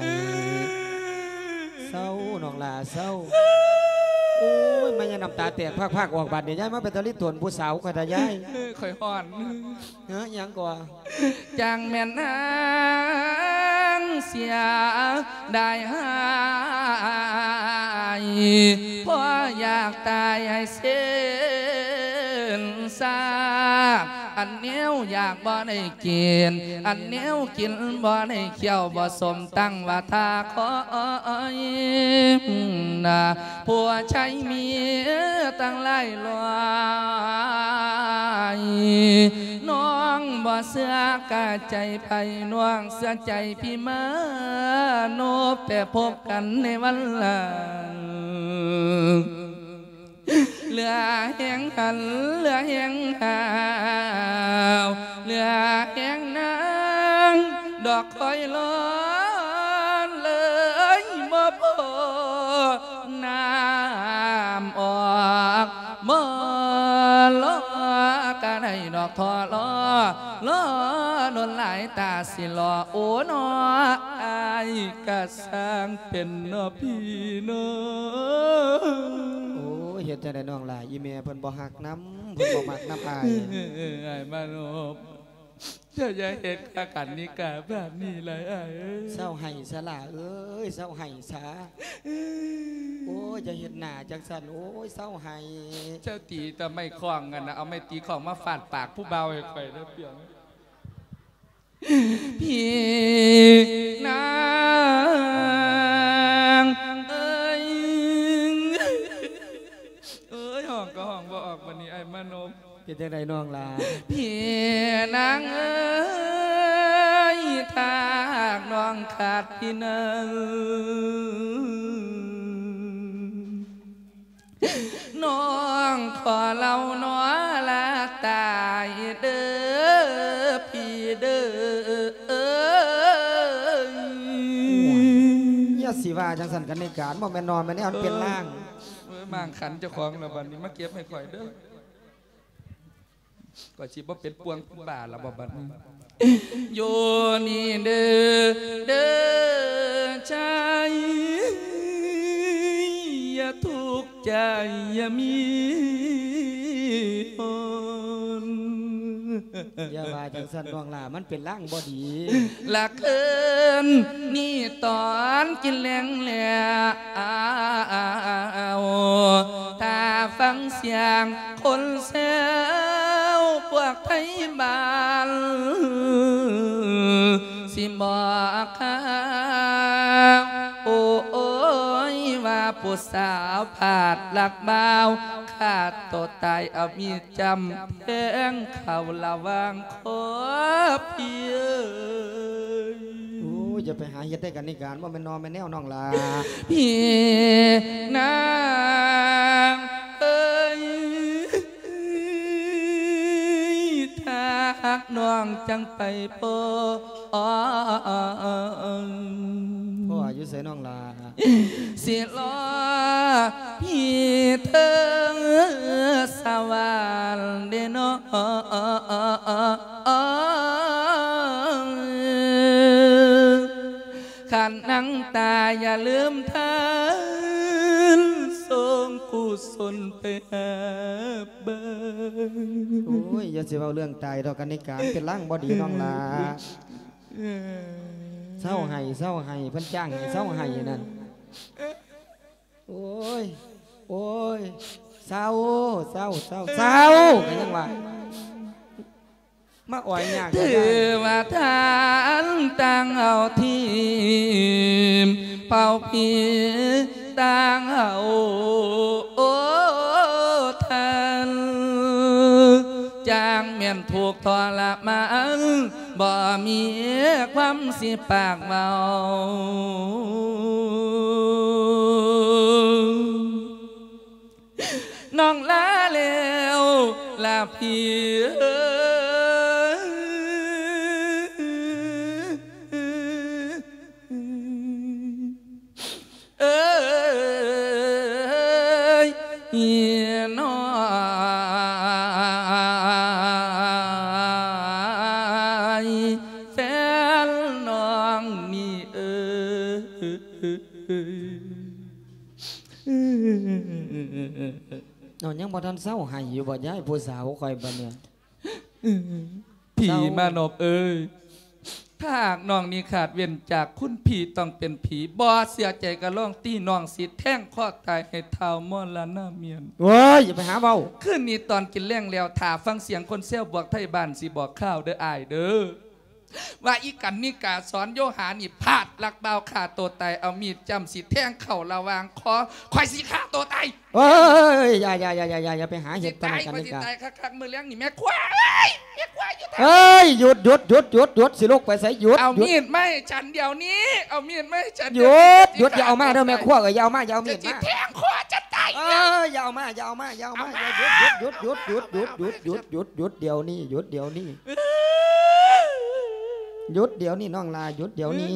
ເຊົານ້ອງຫຼ້າ ເຊົາ. ໂອ້ຍ ມາຍານ້ຳຕາແຕກພາກໆອອກບາດນີ້ ຍາຍມາເປັນຕາລິໂຕນຜູ້ສາວຂ້ອຍທະຍາຍ. ເອີ ຂ້ອຍຮ້ອນ. ເອີ ຫຍັງກໍ ຈັ່ງແມ່ນນາງເສຍດາຍຫາຍ ເພາະຢາກຕາຍໃຫ້ເສັ້ນຊາ ອັນແນວຢາກບໍ່ໄດ້ກິນ ອັນແນວກິນບໍ່ໄດ້ຄ້ຽວ ບໍ່ສົມຕັ້ງວ່າຖ້າຄອຍນະ ຜົວໄຊເມຍຕັ້ງຫຼາຍຮ້ອຍ ນ້ອງບໍ່ເຊື່ອກະໃຈໃຜ ນ້ອງເຊື່ອໃຈພີ່ມາໂນ ໄປພົບກັນໃນວັນຫຼັງ. ເຫຼືອແຮງຫັນ ເຫຼືອແຮງຫາວ ເຫຼືອແຮງນາງ ດອກຄອຍລອນເລີຍບໍ່ພໍ ນ້ຳອອກບໍ່ລໍກະໄດ້ດອກທໍລໍ ລໍດົນຫຼາຍຕາຊິລໍ ໂອ ເນາະ ອ້າຍກະຊ່າງ ເປັນເນາະພີ່ເນາະ. ໂອ້ຍ ເຮັດຈັ່ງໃດນ້ອງຫຼ້າ ອີ່ແມ່ເພິ່ນບໍ່ຮັກນຳ ເພິ່ນບໍ່ມັກນຳອ້າຍ. ອ້າຍມານົບ ເຈົ້າຢ່າເຮັດກັບກັນນິກາແບບນີ້ຫຼາຍອ້າຍເອີຍ. ເຊົາໄຫ້ຊະຫຼ້າເອີຍ ເຊົາໄຫ້ຊະ. ໂອ້ຍ ຢ່າເຮັດໜ້າຈັ່ງຊັ້ນ ໂອ້ຍ ເຊົາໄຫ້. ເຈົ້າຕີແຕ່ໄມ້ຄ້ອງຫັ້ນນະ ເອົາໄມ້ຕີຄ້ອງມາຟາດປາກຜູ້ບ່າວໃຫ້ຂ້ອຍເດີ້ ປຽງ. ພີ່ນາງເອີຍ ເອີຍ ຮ້ອງກໍຮ້ອງບໍ່ອອກ ບັດນີ້ອ້າຍມານົບ. ເປັນຈັ່ງໃດນ້ອງຫຼ້າ? ພີ່ນາງເອີຍ ຖ້າຫາກນ້ອງຂາດພີ່ນາງ ນ້ອງຂໍເລົ່າໜໍລາຕາຍເດີ ພີ່ເດີ. ຢ່າຊິວ່າຈັ່ງຊັ້ນກັນ ໃນການບໍ່ແມ່ນນອນ ແມ່ນແນວມັນເປັນລ່າງ. ເອີ ມ້າງຂັນເຈົ້າຂອງລະບັດນີ້ ມາເກັບໃຫ້ຂ້ອຍເດີ. ຂ້ອຍຊິບໍ່ເປັນປ່ວງເປັນບ້າລະບໍ່ບັດນີ້. ຢູ່ນີ້ເດີ ເດີໃຈ ຢ່າທຸກໃຈ ຢ່າມີຮ້ອນ. ຢ່າວ່າຈັ່ງຊັ້ນນ້ອງຫຼ້າ ມັນເປັນລາງບໍ່ດີ. ລະຄືນນີ້ຕອນກິນແລງແລ້ວ ຖ້າຟັງສຽງຄົນແຊວພວກໄທບ້ານ ຊິບອກຂ່າວ ໂອ້ຍ ວ່າຜູ້ສາວພາດລັກບ່າວ ຂ້າໂຕຕາຍເອົາມີດຈ້ຳແທງເຂົ້າລະຫວ່າງຄໍ ພີ່ເອີຍ. ໂອ້ຍ ຢ່າໄປຫາເຮັດໄດ້ກັນນີ້ການ ບໍ່ແມ່ນນໍແມ່ນແນວນ້ອງຫຼ້າ ພີ່ນາງເອີຍ. ຖ້າຮັກນ້ອງຈັ່ງໄປພໍ ພໍ່ຢູ່ໃສນ້ອງຫຼ້າ? ຊິລໍພີ່ເທີສະຫວັນເດ້ນ້ອງ ຄັນນັງຕາຍຢ່າລືມທານ ສົ່ງກຸສົນໄປຫາ ເບິ່ງ. ໂອ້ຍ ຢ່າຊິເວົ້າເລື່ອງຕາຍດອກ ກັນນິກາ ເປັນລາງບໍ່ດີນ້ອງຫຼ້າ. ເອີ ເຊົາໄຫ້ ເຊົາໄຫ້ ເພິ່ນຈ້າງໃຫ້ເຊົາໄຫ້ນັ້ນ. ໂອ້ຍ ໂອ້ຍ ເຊົາ ເຊົາ ເຊົາ ເຊົາ ກໍຍັງວ່າ ມາອ້ອຍຍາກ ຖືວ່າທ່ານຕ່າງເອົາທີມ ເປົ່າຜີຕ່າງເອົາທ່ານ ຈັ່ງແມ່ນທຸກທໍລະມານ ບໍ່ມີຄວາມຊິປາກເວົ້າ ນ້ອງລາແລ້ວລະພີ່ເອີຍ ເອີຍ ນ້ອຍແຟນນ້ອງນີ້ເອີຍ. ເອົາ ຍັງບໍ່ທັນເຊົາໄຫ້ຢູ່ບໍ່ຍາຍ ຜູ້ສາວຂ້ອຍບັດນີ້? ຜີມານອບເອີຍ ຖ້າຫາກນ້ອງນີ້ຂາດເວັ້ນຈາກຄຸນພີ່ຕ້ອງເປັນຜີ ບໍ່ເຊື່ອໃຈກໍລອງຕີ ນ້ອງຊິແທງຄໍຕາຍໃຫ້ທ້າວມໍລະນະເມນ. ໂອ້ຍ ຢ່າໄປຫາເວົ້າ. ຄືນນີ້ຕອນກິນແລງແລ້ວ ຖ້າຟັງສຽງຄົນແຊວບວກໄທບ້ານ ຊິບອກຂ່າວເດີອ້າຍເດີ ວ່າອີກັນນິກາສອນໂຍຫານີ້ ພາດລັກບ່າວຂ້າໂຕຕາຍ ເອົາມີດຈ້ຳຊິແທງເຂົ້າລະຫວ່າງຄໍ ຂ້ອຍຊິຂ້າໂຕຕາຍ. ເອີຍ ຢ່າ ຢ່າ ຢ່າ ຢ່າ ຢ່າ ຢ່າໄປຫາເຮັດປານນັ້ນກັນ ຂ້ອຍຊິຕາຍຄັກໆ ມື້ແລງນີ້ ແມ່ຄົວເອີຍ ແມ່ຄົວຢູ່ທາງ ເອີຍ ຢຸດ ຢຸດ ຢຸດ ຢຸດ ຢຸດ ຊິລຸກໄປໃສ? ຢຸດ ເອົາມີດມາໃຫ້ ຫຍຸດ ໃຫ້ ຫຍຸດ ເອົາມີດມາໃຫ້ ຫຍຸດ ຫຍຸດ ຢ່າເອົາມາເດີແມ່ຄົວເອີຍ ຢ່າເອົາມາ ຢ່າເອົາມີດມາ ຊິແທງຄໍຈະຕາຍ. ເອີຍ ຢ່າເອົາມາ ຢ່າເອົາມາ ຢ່າເອົາມາ ເອົາມາ ຢຸດ ຢຸດ ຢຸດ ດຽວນີ້ ຢຸດດຽວນີ້ ຢຸດດຽວນີ້ ໜອງຫຼ້າ ຢຸດດຽວນີ້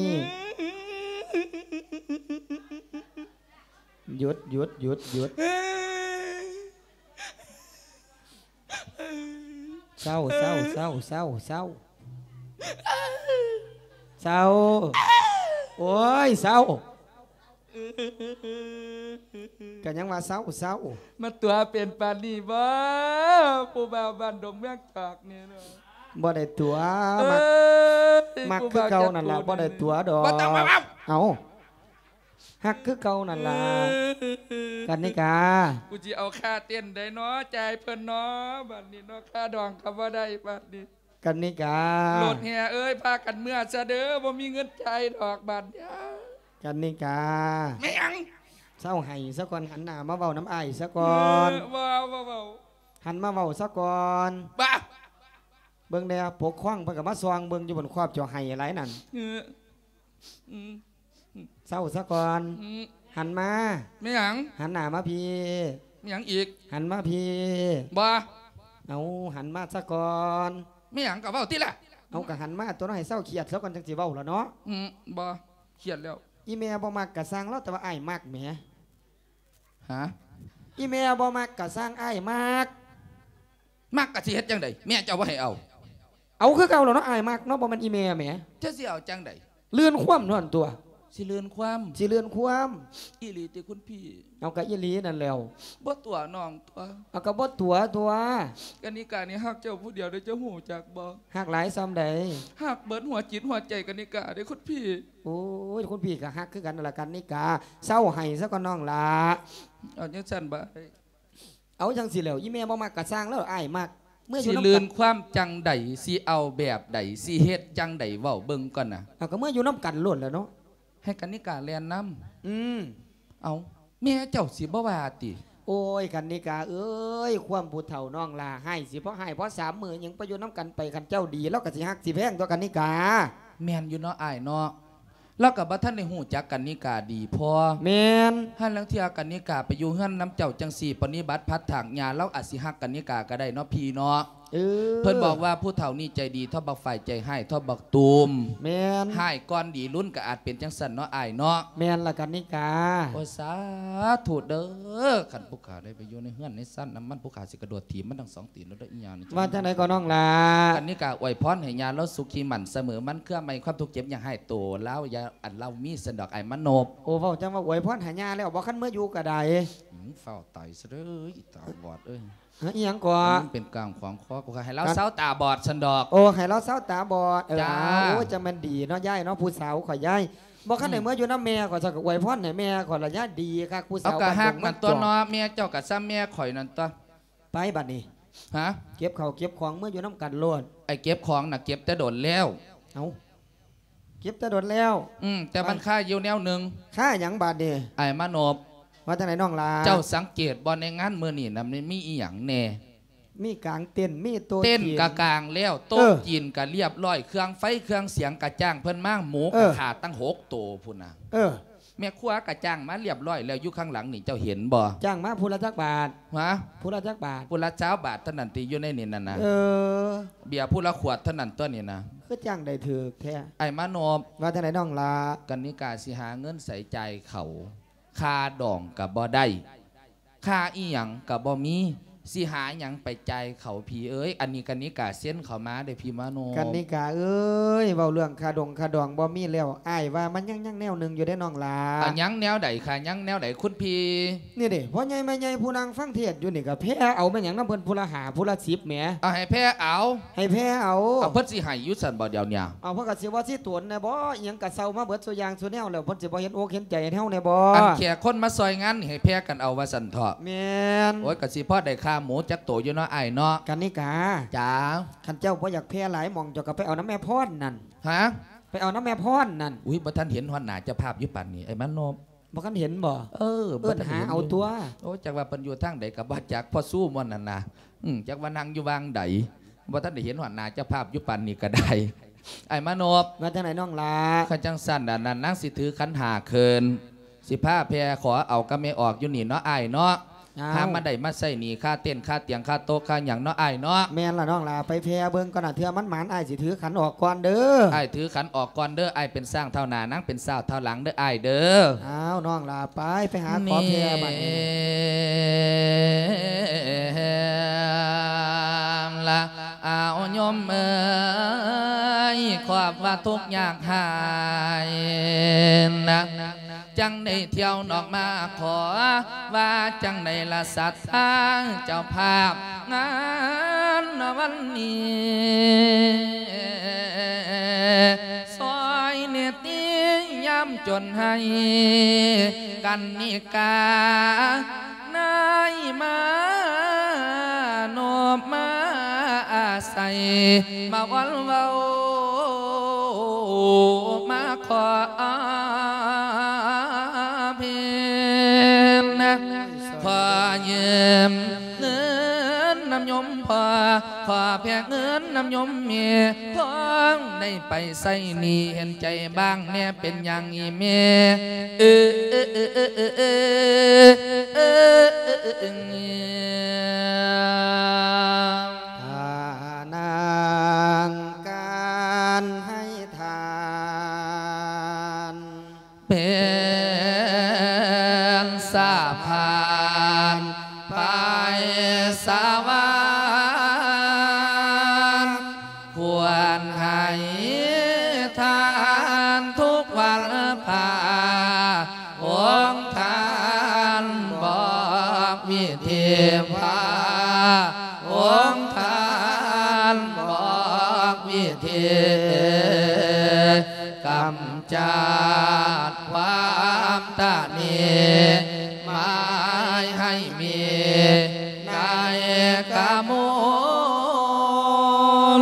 ຢຸດ ຢຸດ ຢຸດ ຢຸດ. ເຊົາ ເຊົາ ເຊົາ ເຊົາ ເຊົາ ເຊົາ ໂອ້ຍ ເຊົາ ກໍຍັງວ່າເຊົາ ເຊົາ. ມາຕົວະເປັນປານນີ້ບໍ່ ຜູ້ບ່າວບ້ານດົງເມືອງຈອກນີ້ເນາະ? ບໍ່ໄດ້ຕົວະ ເອີຍ ມັກ ມັກຄືເກົ່ານັ້ນລະ ຜູ້ບ່າວຈັດໂຕ ບໍ່ໄດ້ຕົວະດອກ ບໍ່ຕ້ອງມາເວົ້າ. ເອົ້າ ຮັກຄືເກົ່ານັ້ນລະ ກັນນິກາ. ກູຊິເອົາຄ່າເຕັ້ນໃດເນາະ ຈ່າຍເພິ່ນເນາະ ບາດນີ້ເນາະ ຄ່າດອງກໍບໍ່ໄດ້ບາດນີ້ ກັນນິກາ. ລົດແຫ່ເອີຍ ພາກັນເມືອຊະເດີ ບໍ່ມີເງິນຈ່າຍດອກບາດນີ້ ກັນນິກາ. ແມ່ນຫຍັງ? ເຊົາໄຫ້ຊະກ່ອນ ຫັນໜ້າມາເວົ້ານຳອ້າຍຊະກ່ອນ. ເອີ ບໍ່ເວົ້າ ບໍ່ເວົ້າ ຫັນມາເວົ້າຊະກ່ອນ. ບາ ເບິ່ງແດ່ ປົກຄອງເພິ່ນກໍມາສ່ອງເບິ່ງຢູ່ ເພິ່ນຄອບເຈົ້າໄຫ້ຫຼາຍນັ້ນ. ເອີ ອືມ ເຊົາຊະກ່ອນ. ອືມ ຫັນມາ. ແມ່ນຫຍັງ? ຫັນໜ້າມາພີ້. ແມ່ນຫຍັງອີກ? ຫັນມາພີ້. ບໍ່. ເອົາ ຫັນມາຊະກ່ອນ. ແມ່ນຫຍັງ? ກໍເວົ້າຕິລະ. ເອົາ ກໍຫັນມາຕົວະເນາະ ໃຫ້ເຊົາຄຽດຊະກ່ອນ ຈັ່ງຊິເວົ້າລະເນາະ. ອືມ ບໍ່ ຄຽດແລ້ວ. ອີແມ່ບໍ່ມັກກໍຊ່າງລາວ ແຕ່ວ່າອ້າຍມັກແໝ. ຫາ? ອີແມ່ບໍ່ມັກກໍຊ່າງ ອ້າຍມັກ. ມັກກໍຊິເຮັດຈັ່ງໃດ? ແມ່ເຈົ້າບໍ່ໃຫ້ເອົາ. ເອົາຄືເກົ່າແລ້ວເນາະ ອ້າຍມັກເນາະ ບໍ່ແມ່ນອີແມ່ແໝ. ເຈົ້າຊິເອົາຈັ່ງໃດ? ລື່ນຄວາມນັ້ນຕົວະ. ຊິເລື່ອນຄວາມ ຊິເລື່ອນຄວາມ. ອີ່ຫຼີຕິຄຸນພີ່? ເອົາ ກະອີ່ຫຼີນັ້ນແຫຼ້ວ. ບໍ່ຕົວະນ້ອງຕົວະ? ເອົາ ກະບໍ່ຕົວະຕົວະ. ກະນິການີ້ຮັກເຈົ້າຜູ້ດຽວເດ້ ເຈົ້າຮູ້ຈັກບໍ່? ຮັກຫຼາຍສ່ຳໃດ? ຮັກເບິດຫົວຈິດຫົວໃຈກະນິກາເດ້ຄຸນພີ່. ໂອ້ຍ ຄຸນພີ່ກະຮັກຄືກັນນັ້ນລະກະນິກາ. ເຊົາໄຫ້ຊະກ່ອນນ້ອງຫຼ້າ. ເອົາຈັ່ງຊັ້ນບາດ. ເອົາຈັ່ງຊີ້ແຫຼ້ວ ອີ່ແມ່ບໍ່ມັກກະຊ່າງແລ້ວ ອ້າຍມັກ. ເມືອຢູ່ນຳກັນ ຊິລື່ນຄວາມຈັ່ງໃດ ຊິເອົາແບບໃດ ຊິເຮັດຈັ່ງໃດ ເວົ້າເບິ່ງກ່ອນນະ. ເອົາ ກະເມືອຢູ່ນຳກັນໂລດແຫຼະເນາະ. ໃຫ້ກະນິກາແລ່ນນຳ. ອືມ. ເອົາ ແມ່ເຈົ້າຊິບໍ່ວ່າຕິ? ໂອ້ຍ ກະນິກາເອີຍ ຄວາມຜູ້ເຖົ້ານ້ອງຫຼ້າ ຮ້າຍຊິພໍຮ້າຍພໍສາມມື້ ຍັງໄປຢູ່ນຳກັນໄປ ຄັນເຈົ້າດີ ລາວກະຊິຮັກຊິແພງຕົວະກະນິກາ. ແມ່ນຢູ່ເນາະອ້າຍເນາະ. ລາວກະບໍ່ທັນໄດ້ຮູ້ຈັກກະນິກາດີພໍ. ແມ່ນ. ຫາລາງເທື່ອກະນິກາໄປຢູ່ເຮືອນນຳເຈົ້າຈັ່ງຊີ້ ປະນິບັດພັດຖາກຍາ ລາວອາດຊິຮັກກະນິກາກະໄດ້ເນາະພີ່ເນາະ. ເອີ ເພິ່ນບອກວ່າຜູ້ເຖົ້ານີ້ໃຈດີເທົ່າບັກຝ້າຍ ໃຈຮ້າຍເທົ່າບັກຕູມ. ແມ່ນ. ຮ້າຍກ່ອນດີລຸນ ກະອາດເປັນຈັ່ງຊັ້ນເນາະອ້າຍເນາະ. ແມ່ນລະກະນິກາ. ໂອ້ຍ ສາທຸເດີ ຄັນຜູ້ຂ້າໄດ້ໄປຢູ່ໃນເຮືອນໃນຊານນຳມັນ ຜູ້ຂ້າຊິກະໂດດຖີບມັນທັງສອງຕີນໂລດເດີ ອີ່ຫຍັງນີ້. ວ່າຈັ່ງໃດກໍນ້ອງຫຼ້າ? ກະນິກາອວຍພອນໃຫ້ຍາລາວສຸຂີໝັ້ນສະເໝີ ໝັ້ນເຄືອໄມຄວາມທຸກເຈັບຢ່າໃຫ້ໂຕລາວ ຢ່າອັນລາວມີຊັ້ນດອກ ອ້າຍມະນົບ. ໂອ້ ເວົ້າຈັ່ງວ່າອວຍພອນໃຫ້ຍາແລ້ວ ບໍ່ ຄັນເມືອຢູ່ກະໄດ້. ອືມ ຟ້າວຕາຍຊະເດີ ອີຕາບອດເອີຍ. ຮະ ອີ່ຫຍັງກໍ? ມັນເປັນກາງຂວາງຄໍ ກໍໃຫ້ລາວເຊົາຕາບອດຊັ້ນດອກ. ໂອ້ ໃຫ້ລາວເຊົາຕາບອດ. ເອີ ຈ້າ. ໂອ້ຍ ຈັ່ງແມ່ນດີເນາະ ຍາຍເນາະ ຜູ້ສາວຂ້ອຍຍາຍ ບໍ່ຄັນໄດ້ເມືອຢູ່ນຳແມ່ຂ້ອຍ ເຈົ້າກະອວຍພອນໃຫ້ແມ່ຂ້ອຍລະຍາຍ ດີຄັກ ຜູ້ສາວ. ເອົາ ກະຮັກມັນຕົວະເນາະ ແມ່ເຈົ້າກະຊ່ຳແມ່ຂ້ອຍນັ້ນຕົວະ. ໄປບາດນີ້. ຮະ? ເກັບເຂົ້າເກັບຂອງເມືອຢູ່ນຳກັນໂລດ. ໄອ້ເກັບຂອງນະ ເກັບແຕ່ດົນແລ້ວ. ເອົາ ເກັບແຕ່ດົນແລ້ວ. ອືມ ແຕ່ມັນຄາຢູ່ແນວໜຶ່ງ. ຄາຫຍັງບາດນີ້? ອ້າຍມະນົບ. ວ່າຈັ່ງໃດນ້ອງຫຼ້າ? ເຈົ້າສັງເກດບໍ່ ໃນງານມື້ນີ້ນະ ມັນມີອີ່ຫຍັງແດ່? ມີກາງເຕັນ ມີໂຕະ ເຕັນກະກາງແລ້ວ ໂຕະ ເອີ ຈີນກະລຽບຮ້ອຍ ເຄື່ອງໄຟເຄື່ອງສຽງກະຈ້າງເພິ່ນມາ ໝູ ເອີ ກະຂ້າຕັ້ງຫົກໂຕພຸ້ນນະ. ເອີ ແມ່ຄົວກະຈ້າງມາລຽບຮ້ອຍແລ້ວ ຢູ່ຂ້າງຫຼັງນີ້ເຈົ້າເຫັນບໍ່? ຈ້າງມາຜູ້ລະຈັກບາດ? ຮະ? ຜູ້ລະຈັກບາດ? ຜູ້ລະຊາວບາດເທົ່ານັ້ນຕິ ຢູ່ໃນນີ້ນັ້ນນະ. ເອີ ເບຍຜູ້ລະຂວດເທົ່ານັ້ນຕົວະນີ້ນະ. ຄືຈ້າງໄດ້ຖືກແທ້ ອ້າຍມະນົບ. ວ່າຈັ່ງໃດນ້ອງຫຼ້າ? ກະນິກາຊິຫາເງິນໃສຈ່າຍເຂົາ ຄ່າດອງກະບໍ່ໄດ້ ຄ່າອີ່ຫຍັງກະບໍ່ມີ ຊິຫາຫຍັງໄປຈ່າຍເຂົາພີ່ເອີຍ. ອັນນີ້ກະນິກາເຊັນເຂົ້າມາເດ້ພີ່ມະນົບ. ກະນິກາເອີຍ ເວົ້າເລື່ອງຄ່າດົງຄ່າດອງບໍ່ມີແລ້ວ ອ້າຍວ່າມັນຍັງ ຍັງແນວໜຶ່ງຢູ່ເດ້ນ້ອງຫຼ້າ. ອາ ຍັງແນວໃດຄະ? ຍັງແນວໃດຄຸນພີ່? ນີ້ເດ້ ພໍ່ໃຫຍ່ແມ່ໃຫຍ່ຜູ້ນັ່ງຟັງເທດຢູ່ນີ້ກະແຜ່ເອົາແມ່ນຫຍັງນຳເພິ່ນ ຜູ້ລະຫ້າ ຜູ້ລະສິບແໝ. ເອົາ ໃຫ້ແຜ່ເອົາ ໃຫ້ແຜ່ເອົາ. ເອົາ ເພິ່ນຊິໃຫ້ຢູ່ຊັ້ນບໍ່ດຽວນີ້? ເອົາ ເພິ່ນກະຊິວ່າຊິໂຕນແດ່ບໍ່ ອີ່ຫຍັງກະເຊົ່າມາເບິດສູ່ຢ່າງສູ່ແນວແລ້ວ ເພິ່ນຊິບໍ່ເຫັນອົກເຫັນໃຈເຮົາແດ່ບໍ່? ອັນແຂກຄົນມາຊ່ອຍງານໃຫ້ແຜ່ກັນເອົາວ່າຊັ້ນເຖາະ. ແມ່ນ. ໂອ້ຍ ກະຊິພໍໄດ້ຂ້າໝູຈັກໂຕຢູ່ເນາະອ້າຍເນາະ. ກະນິກາ. ຈ້າ. ຄັນເຈົ້າບໍ່ຢາກແຜ່ຫຼາຍໝ່ອງ ເຈົ້າກະໄປເອົານຳແມ່ພອນນັ້ນ. ຮະ? ໄປເອົານຳແມ່ພອນນັ້ນ. ອຸ້ຍ ບໍ່ທັນເຫັນຮອດໜ້າເຈົ້າພາບຢູ່ປານນີ້ ອ້າຍມະນົບ. ບໍ່ທັນເຫັນບໍ່? ເອີ ເອີ້ນຫາເອົາຕົວະ. ໂອ້ ຈັກວ່າເພິ່ນຢູ່ທາງໃດກະບໍ່ຈັກ ພໍ່ຊູໝ່ວນນັ້ນນະ. ອືມ ຈັກວ່ານັ່ງຢູ່ຫວ່າງໃດ ບໍ່ທັນໄດ້ເຫັນຮອດໜ້າເຈົ້າພາບຢູ່ປານນີ້ກະໄດ້ ອ້າຍມະນົບ. ວ່າຈັ່ງໃດນ້ອງຫຼ້າ? ຄັນຈັ່ງຊັ້ນ ອັນນັ້ນນາງຊິຖືຂັນຫ້າຂຶ້ນ ຊິພາແຜ່ຂໍເອົາກັບແມ່ອອກຢູ່ນີ້ເນາະອ້າຍເນາະ. ເອົາ ຫາມາໄດ້ມາໃຊ້ໜີ້ຄ່າເຕັນ ຄ່າຕຽງ ຄ່າໂຕະ ຄ່າຫຍັງເນາະອ້າຍເນາະ. ແມ່ນລະນ້ອງຫຼ້າ ໄປແຜ່ເບິ່ງກ່ອນນະ ເທື່ອມັນໝານ ອ້າຍຊິຖືຂັນອອກກ່ອນເດີ. ອ້າຍຖືຂັນອອກກ່ອນເດີ ອ້າຍເປັນຊ້າງທ້າວໜ້າ ນາງເປັນຊາວທ້າວຫຼັງເດີ ອ້າຍເດີ. ອ້າວ ນ້ອງຫຼ້າ ໄປ ໄປຫາຂໍແຜ່ບາດນີ້. ລະ ອ້າວ ໂຍມເອີຍ ຄວາມວ່າທຸກຍາກຮ້າຍນະ ຈັ່ງໄດ້ທ່ຽວນອກມາຂໍ ວ່າຈັ່ງໃດລະສັດທາເຈົ້າພາບງານວັນນີ້ ຊ່ອຍເນຕິຍາມຈົນໃຫ້ກັນນິກາ ນາຍມາໂນບມາອາໄສ ມາວອນເວົ້າ ມາຂໍເພິ່ນ ຂໍຢືມເງິນນຳໂຍມພໍ່ ຂໍແຜ່ເງິນນຳໂຍມແມ່ ພໍໄດ້ໄປໃຊ້ໜີ້ ເຫັນໃຈບາງແດ່ ເປັນຫຍັງອີ່ແມ່ ເອີ ເອີ ເອີ ເອີ ເອີ ເອີ ເອີ ເອີ ເອີ ເອີ ເອີ ທານານ ການໃຫ້ທານ ເປັນສະພານໄພສະຫວານ ຄວນໃຫ້ທານທຸກວັນພາ ຕະນິ ໝາຍໃຫ້ມີໃນກະມູນ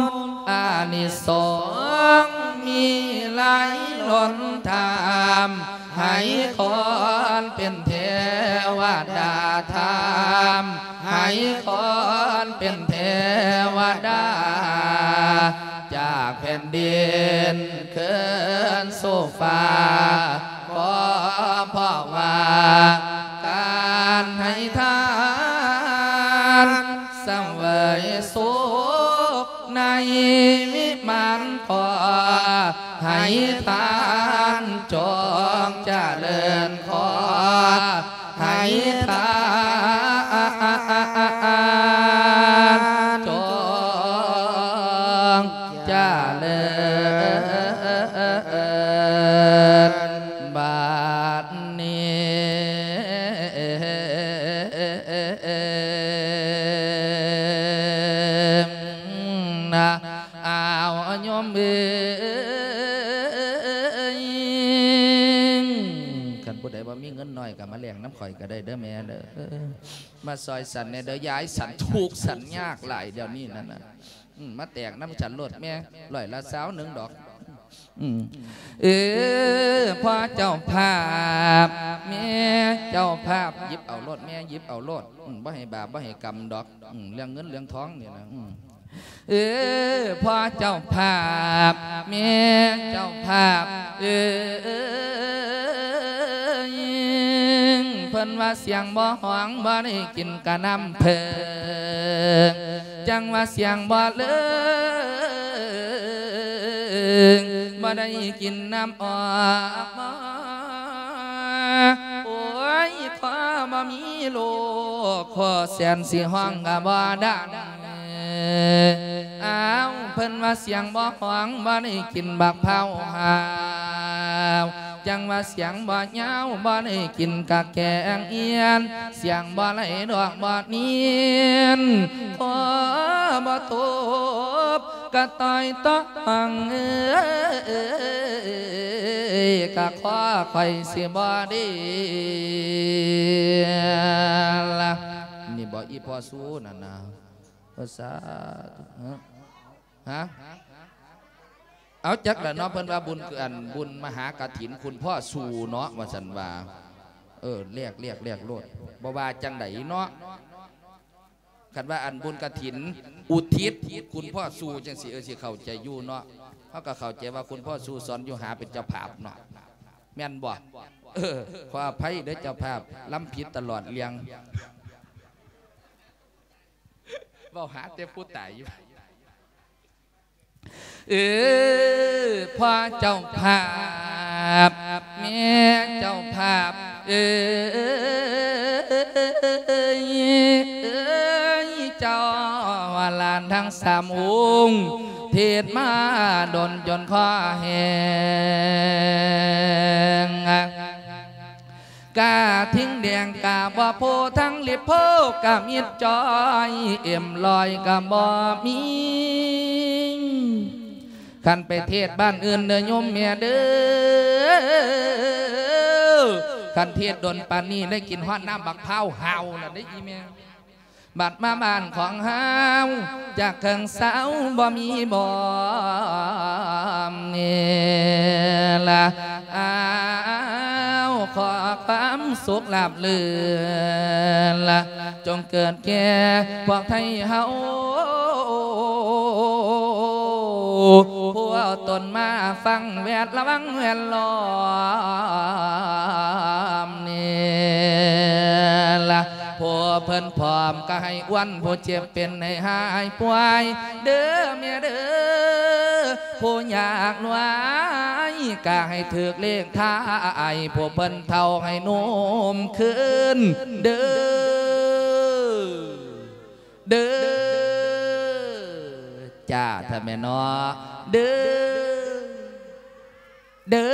ອານິສົງມີຫຼາຍລົ້ນທຳ ໃຫ້ຄົນເປັນເທວະດາທຳ ໃຫ້ຄົນເປັນເທວະດາ ຈາກແຜ່ນດິນຄືນສູ່ຟ້າ ກໍເພາະວ່າການໃຫ້ທານ ສະເຫວີຍສຸກໃນວິມານ ຂໍໃຫ້ທ່ານຈົ່ງຈະເລີນ ຂໍໃຫ້ທ່ານຈົ່ງຈະເລີນ ບາດນີ້ນະ ອ້າວ ໂຍມເອີຍ ຄັນຜູ້ໃດບໍ່ມີເງິນໜ້ອຍກໍມາແລກນຳຂ້ອຍກໍໄດ້ເດີແມ່ເດີ ມາຊ່ອຍສັນແດ່ເດີ ຢາຍສັນທຸກສັນຍາກຫຼາຍດຽວນີ້ນັ້ນນະ ອືມ ມາແຕກນຳສັນໂລດແມ່ ຮ້ອຍລະຊາວໜຶ່ງດອກ ອືມ ເອີ ພໍ່ເຈົ້າພາບ ແມ່ເຈົ້າພາບ ຫຍິບເອົາໂລດແມ່ ຫຍິບເອົາໂລດ ອືມ ບໍ່ໃຫ້ບາບບໍ່ໃຫ້ກຳດອກ ອືມ ເລື່ອງເງິນເລື່ອງທອງນີ້ນະ ອືມ ເອີ ພໍ່ເຈົ້າພາບ ແມ່ເຈົ້າພາບເອີຍ ເພິ່ນວ່າສຽງບໍ່ຮ້ອງ ບໍ່ໄດ້ກິນກະນ້ຳເຜິ້ງ ຈັ່ງວ່າສຽງບໍ່ເລີງ ບໍ່ໄດ້ກິນນ້ຳອອກ ໂອ້ຍ ຂໍບໍ່ມີລູກ ຂໍແສນຊິຮ້ອງກໍບໍ່ດັງ ອ້າວ ເພິ່ນວ່າສຽງບໍ່ຮ້ອງ ບໍ່ໄດ້ກິນບັກພ້າວຫາວ ຈັ່ງວ່າສຽງບໍ່ຍາວ ບໍ່ໄດ້ກິນກະແກງອຽນ ສຽງບໍ່ໄຫຼດອກບໍ່ນຽນ ຂໍບໍ່ຕົບກະຕ່ອຍຕ້ອງເອີຍ ກະຂໍຂ້ອຍຊິບໍ່ດີລະ ນີ້ບໍ່ອີ່ພໍ່ຊູນັ້ນນະ ເອີ ສາທຸ ຮະ ຮະ ເອົາ ຈັກລະເນາະ ເພິ່ນວ່າບຸນ ອັນ ບຸນມະຫາກະຖິນຄຸນພໍ່ສູ່ເນາະ ວ່າຊັ້ນວ່າ ເອີ ແລກ ແລກ ແລກໂລດ ບໍ່ວ່າຈັ່ງໃດເນາະ ຄັນວ່າອັນບຸນກະຖິນອຸທິດຄຸນພໍ່ສູ່ຈັ່ງຊີ້ ເອີ ຊິເຂົ້າໃຈຢູ່ເນາະ ເຮົາກໍເຂົ້າໃຈວ່າຄຸນພໍ່ສູ່ສອນຢູ່ຫາເປັນເຈົ້າພາບເນາະ ແມ່ນບໍ່? ເອີ ຂໍອະໄພເດີເຈົ້າພາບ ລຳຜິດຕະຫຼອດເລື່ອງ ເວົ້າຫາແຕ່ຜູ້ຕາຍຢູ່ ເອີ ພໍ່ເຈົ້າພາບ ແມ່ເຈົ້າພາບເອີຍ ເອີຍ ເຈົ້າວ່າຫຼານທັງສາມອົງ ເທດມາດົນຈົນຄໍແຫ້ງ ກະທິງແດງກະບໍ່ໂພ ທັງລິບໂພກະມິດຈ້ອຍ ເອັມຮ້ອຍກະບໍ່ມີ ຄັນໄປເທດບ້ານອື່ນເດີໂຍມແມ່ເດີ ຄັນເທດດົນປານນີ້ໄດ້ກິນຮອດນ້ຳບັກພ້າວຫາວລະເດ້ອີ່ແມ່. ບັດມາບ້ານຂອງເຮົາ ຈາກເຄິ່ງເຊົ້າບໍ່ມີບ່ອນນີ້ລະ ອ້າວ ຂໍຄວາມສຸກລາບລື່ນລະ ຈົ່ງເກີດແກ່ພວກໄທເຮົາ ຜູ້ເອົາຕົນມາຟັງແວດລະວັງແວດລ້ອມນີ້ລະ ຜູ້ເພິ່ນພ້ອມກໍໃຫ້ອ້ວນ ຜູ້ເຈັບເປັນໃຫ້ຫາຍປ່ວຍເດີແມ່ເດີ ຜູ້ຍາກໜວຍກໍໃຫ້ຖືກເລກທ້າຍ ຜູ້ເພິ່ນເຖົ້າໃຫ້ໜຸ່ມຄືນເດີ ເດີ ຈ້າ ຖ້າແມ່ນເນາະ ເດີ ເດີ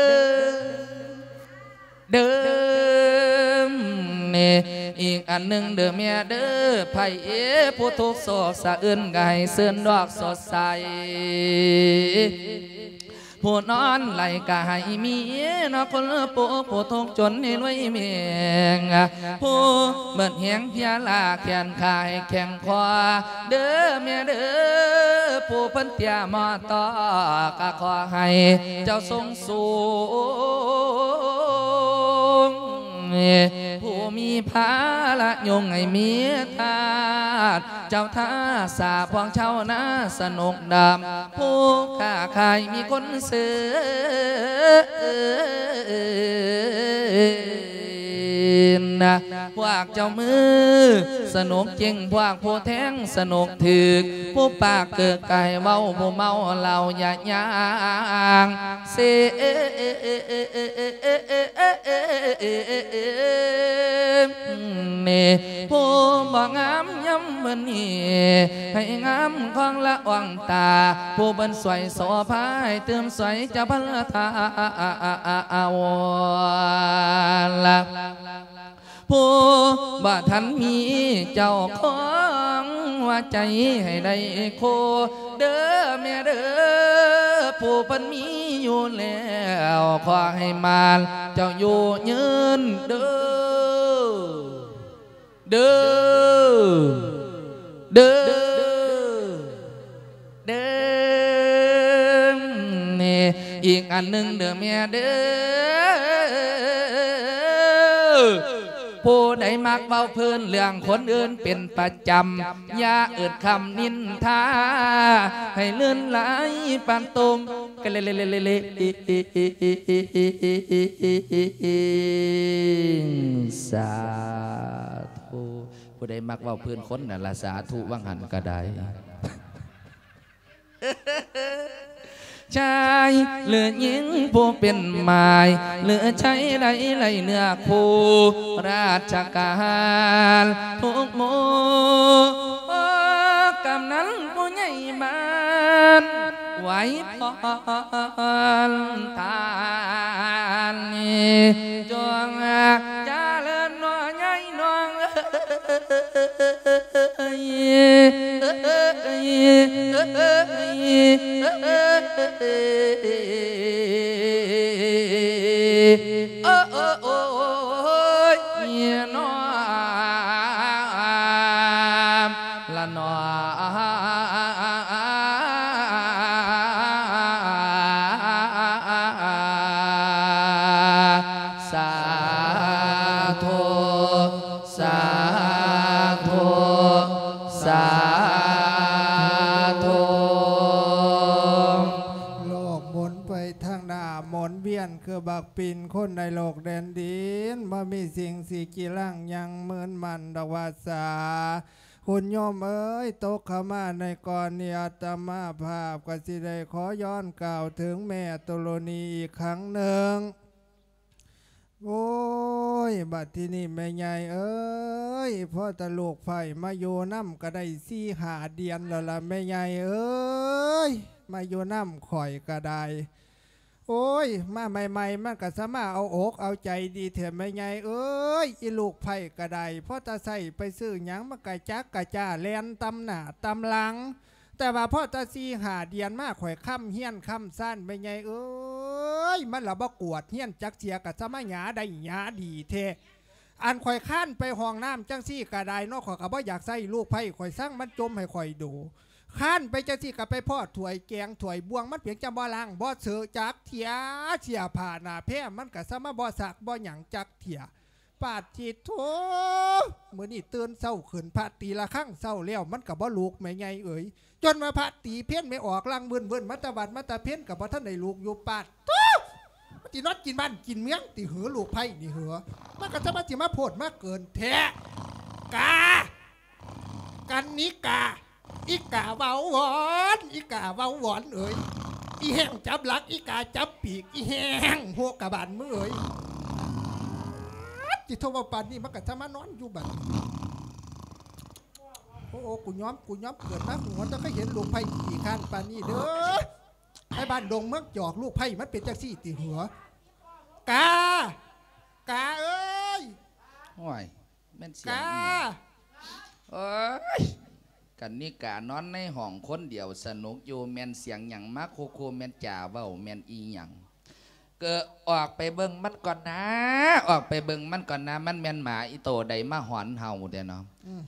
ເດີ ນີ້ ອີກອັນໜຶ່ງເດີແມ່ເດີ ໃຜຜູ້ທຸກໂສກສະອຶ້ນ ກໍໃຫ້ຊື່ນດອກສົດໃສ ຜູ້ນອນໄຫຼກໍໃຫ້ມີເນາະ ຄົນຜູ້ ຜູ້ທຸກຈົນໃຫ້ລວຍແຮງ ຜູ້ເໝິດແຮງເພຍລ້າແຂນຂາໃຫ້ແຂງຄໍ ເດີແມ່ເດີ ຜູ້ເພິ່ນເຕ້ຍໝໍຕໍ່ ກໍຂໍໃຫ້ເຈົ້າຊົງສູງ ຜູ້ມີພາລະຍົງໃຫ້ມີທາດ ເຈົ້າທ່າສາພວກຊາວນາສະໜົກດຳ ຜູ້ຄ້າຂາຍມີຄົນຊື້ ພວກເຈົ້າມືສະໜົກເກັ່ງ ພວກຜູ້ແທງສະໜົກຖືກ ຜູ້ປາກເກີກກາຍເວົ້າ ຜູ້ເມົາເຫຼົ້າຢ່າຍ່າງເຊ ເນ ຜູ້ບໍ່ງາມຍາມມື້ນີ້ ໃຫ້ງາມຄອງລະອອງຕາ ຜູ້ເພິ່ນຊ່ວຍໂສພາ ໃຫ້ຕື່ມຊ່ວຍເຈົ້າພັນລະທາວລະ ຜູ້ບໍ່ທັນມີເຈົ້າຂອງ ຫົວໃຈໃຫ້ໄດ້ຄູ່ ເດີແມ່ເດີ ຜູ້ເພິ່ນມີຢູ່ແລ້ວ ຂໍໃຫ້ໝານເຈົ້າຢູ່ຍືນເດີ ເດີ ເດີ ເດີ ອີກອັນໜຶ່ງເດີແມ່ເດີ ຜູ້ໃດມັກເວົ້າພື້ນເລື່ອງຄົນອື່ນເປັນປະຈຳ ຢ່າເອີ້ນຄຳນິນທາ ໃຫ້ລື່ນໄຫຼປານຕົມ ສາທຸ ຜູ້ໃດມັກເວົ້າພື້ນຄົນນັ້ນລະ ສາທຸ ຫວ່າງຫັ້ນກໍໄດ້ ຊາຍຫຼືຍິງຜູ້ເປັນໝ້າຍ ຫຼືໄຊໃດໄລເນື້ອຄູ່ ລາຊະການທຸກໝູ່ ກຳນັນຜູ້ໃຫຍ່ບ້ານ ໄວພອນທ່ານ ຈົ່ງຈະເລີນໜໍໃຫຍ່ນ້ອງເອີຍ ເອີຍ ເອີຍ ເອີຍ ເອີຍ ເອີຍ ໂອ້ຍ ນ້ອມລະໜໍ ສາທຸ ສາທຸ ສາທຸ ໂລກໝູນໄປທາງໜ້າ ໝູນວຽນຄືບັກປິ່ນ ຄົນໃນໂລກແດນດິນ ບໍ່ມີສິ່ງຊິກີລັງຍັງໝືນໝັ້ນດອກວ່າສາ ຄຸນໂຍມເອີຍ ຕົກເຂົ້າມາໃນກ່ອນນີ້ ອາດຕະມາພາບກໍຊິໄດ້ຂໍຍ້ອນກ່າວເຖິງແມ່ໂຕໂລນີອີກຄັ້ງໜຶ່ງ. ໂອ້ຍ ບັດທີນີ້ແມ່ໃຫຍ່ເອີຍ ພໍແຕ່ລູກໃພ້ມາຢູ່ນຳກໍໄດ້ສີ່ຫ້າເດືອນແລ້ວລະ ແມ່ໃຫຍ່ເອີຍ ມາຢູ່ນຳຂ້ອຍກໍໄດ້ ໂອ້ຍ ມາໃໝ່ໆ ມັນກະສາມາດເອົາອົກເອົາໃຈດີແທ້ແມ່ໃຫຍ່ເອີຍ ອີລູກໃພ້ກະໄດ້ ພໍຕາໃຊ້ໄປຊື້ຫຍັງ ມັນກະຈັກກະຈ້າແລ່ນຕຳໜ້າຕຳຫຼັງ ແຕ່ວ່າພໍຕາສີ່ຫ້າເດືອນມາ ຂ້ອຍຄ້ຳເຮືອນຄ້ຳຊານ ແມ່ໃຫຍ່ເອີຍ ມັນລະບໍ່ກວດເຮືອນຈັກເທື່ອ ກະສາມາດຫຍ້າໄດ້ຫຍ້າດີແທ້. ອັນຂ້ອຍຄານໄປຫ້ອງນ້ຳຈັ່ງຊີ້ກະໄດ້ເນາະ ຂ້ອຍກະບໍ່ຢາກໃຊ້ ລູກໃພ້ຂ້ອຍຊັງ ມັນຈົ່ມໃຫ້ຂ້ອຍດູ ຄານໄປຈັ່ງຊີ້ກະໄປພໍ້ຖ້ວຍແກງຖ້ວຍບ່ວງ ມັນເປັນຈັ່ງບໍ່ລ້າງບໍ່ເຊີະຈັກເທື່ອ ເສື້ອຜ້າໜ້າແພມັນກະສາມາບໍ່ຊັກບໍ່ຫຍັງຈັກເທື່ອ ປາດທິດໂທ ມື້ນີ້ຕື່ນເຊົ້າຂຶ້ນ ພະຕີລະຄັງເຊົ້າແລ້ວ ມັນກະບໍ່ລຸກ ແມ່ໃຫຍ່ເອີຍ ຈົນວ່າພະຕີເພັນແມ່ອອກລັງວືນໆ ມາແຕ່ວັດມາແຕ່ເພັນ ກະບໍ່ທັນໄດ້ລຸກຢູ່ ປາດໂທ ມັນຊິນອນກິນບ້ານກິນເມືອງຕິເຫີ ລູກໃພ້ນີ້ເຫີ ມັນກະຈະມາ ຊິມາໂພດມາເກີນແທ້ ກາ ກັນນິກາ ອີກາເວົ້າວອນ ອີກາເວົ້າວອນເອີຍ ອີແຫ້ງຈັບຫຼັກ ອີກາຈັບປີກ ອີແຫ້ງໂຮກະບານມຶງເອີຍ ຈິໂທ ເວົ້າປານນີ້ ມັນກະຈະມານອນຢູ່ບັດນີ້ ໂອ້ ໂອ້ ກູຍອມ ກູຍອມເກີດມາ ກູບໍ່ເຄີຍເຫັນລູກໃພ້ຂີ້ຄ້ານປານນີ້ເດີ ໃນບ້ານດົງເມືອງຈອກ ລູກໃພ້ມັນເປັນຈັ່ງຊີ້ຕິເຫີ ກາ ກາເອີຍ ໂອ້ຍ ແມ່ນສຽງ ກາ ອີ່ຫຍັງ ໂອ້ຍ ກັນນິການອນໃນຫ້ອງຄົນດຽວສະໜຸກຢູ່ ແມ່ນສຽງຫຍັງມາຄູ່ໆ ແມ່ນຈາເວົ້າແມ່ນອີ່ຫຍັງ? ເກີ ອອກໄປເບິ່ງມັນກ່ອນນາ ອອກໄປເບິ່ງມັນກ່ອນນາ ມັນແມ່ນໝາອີ່ໂຕໃດມາຫອນເຫົ່າແທ້ເນາະ. ອືມ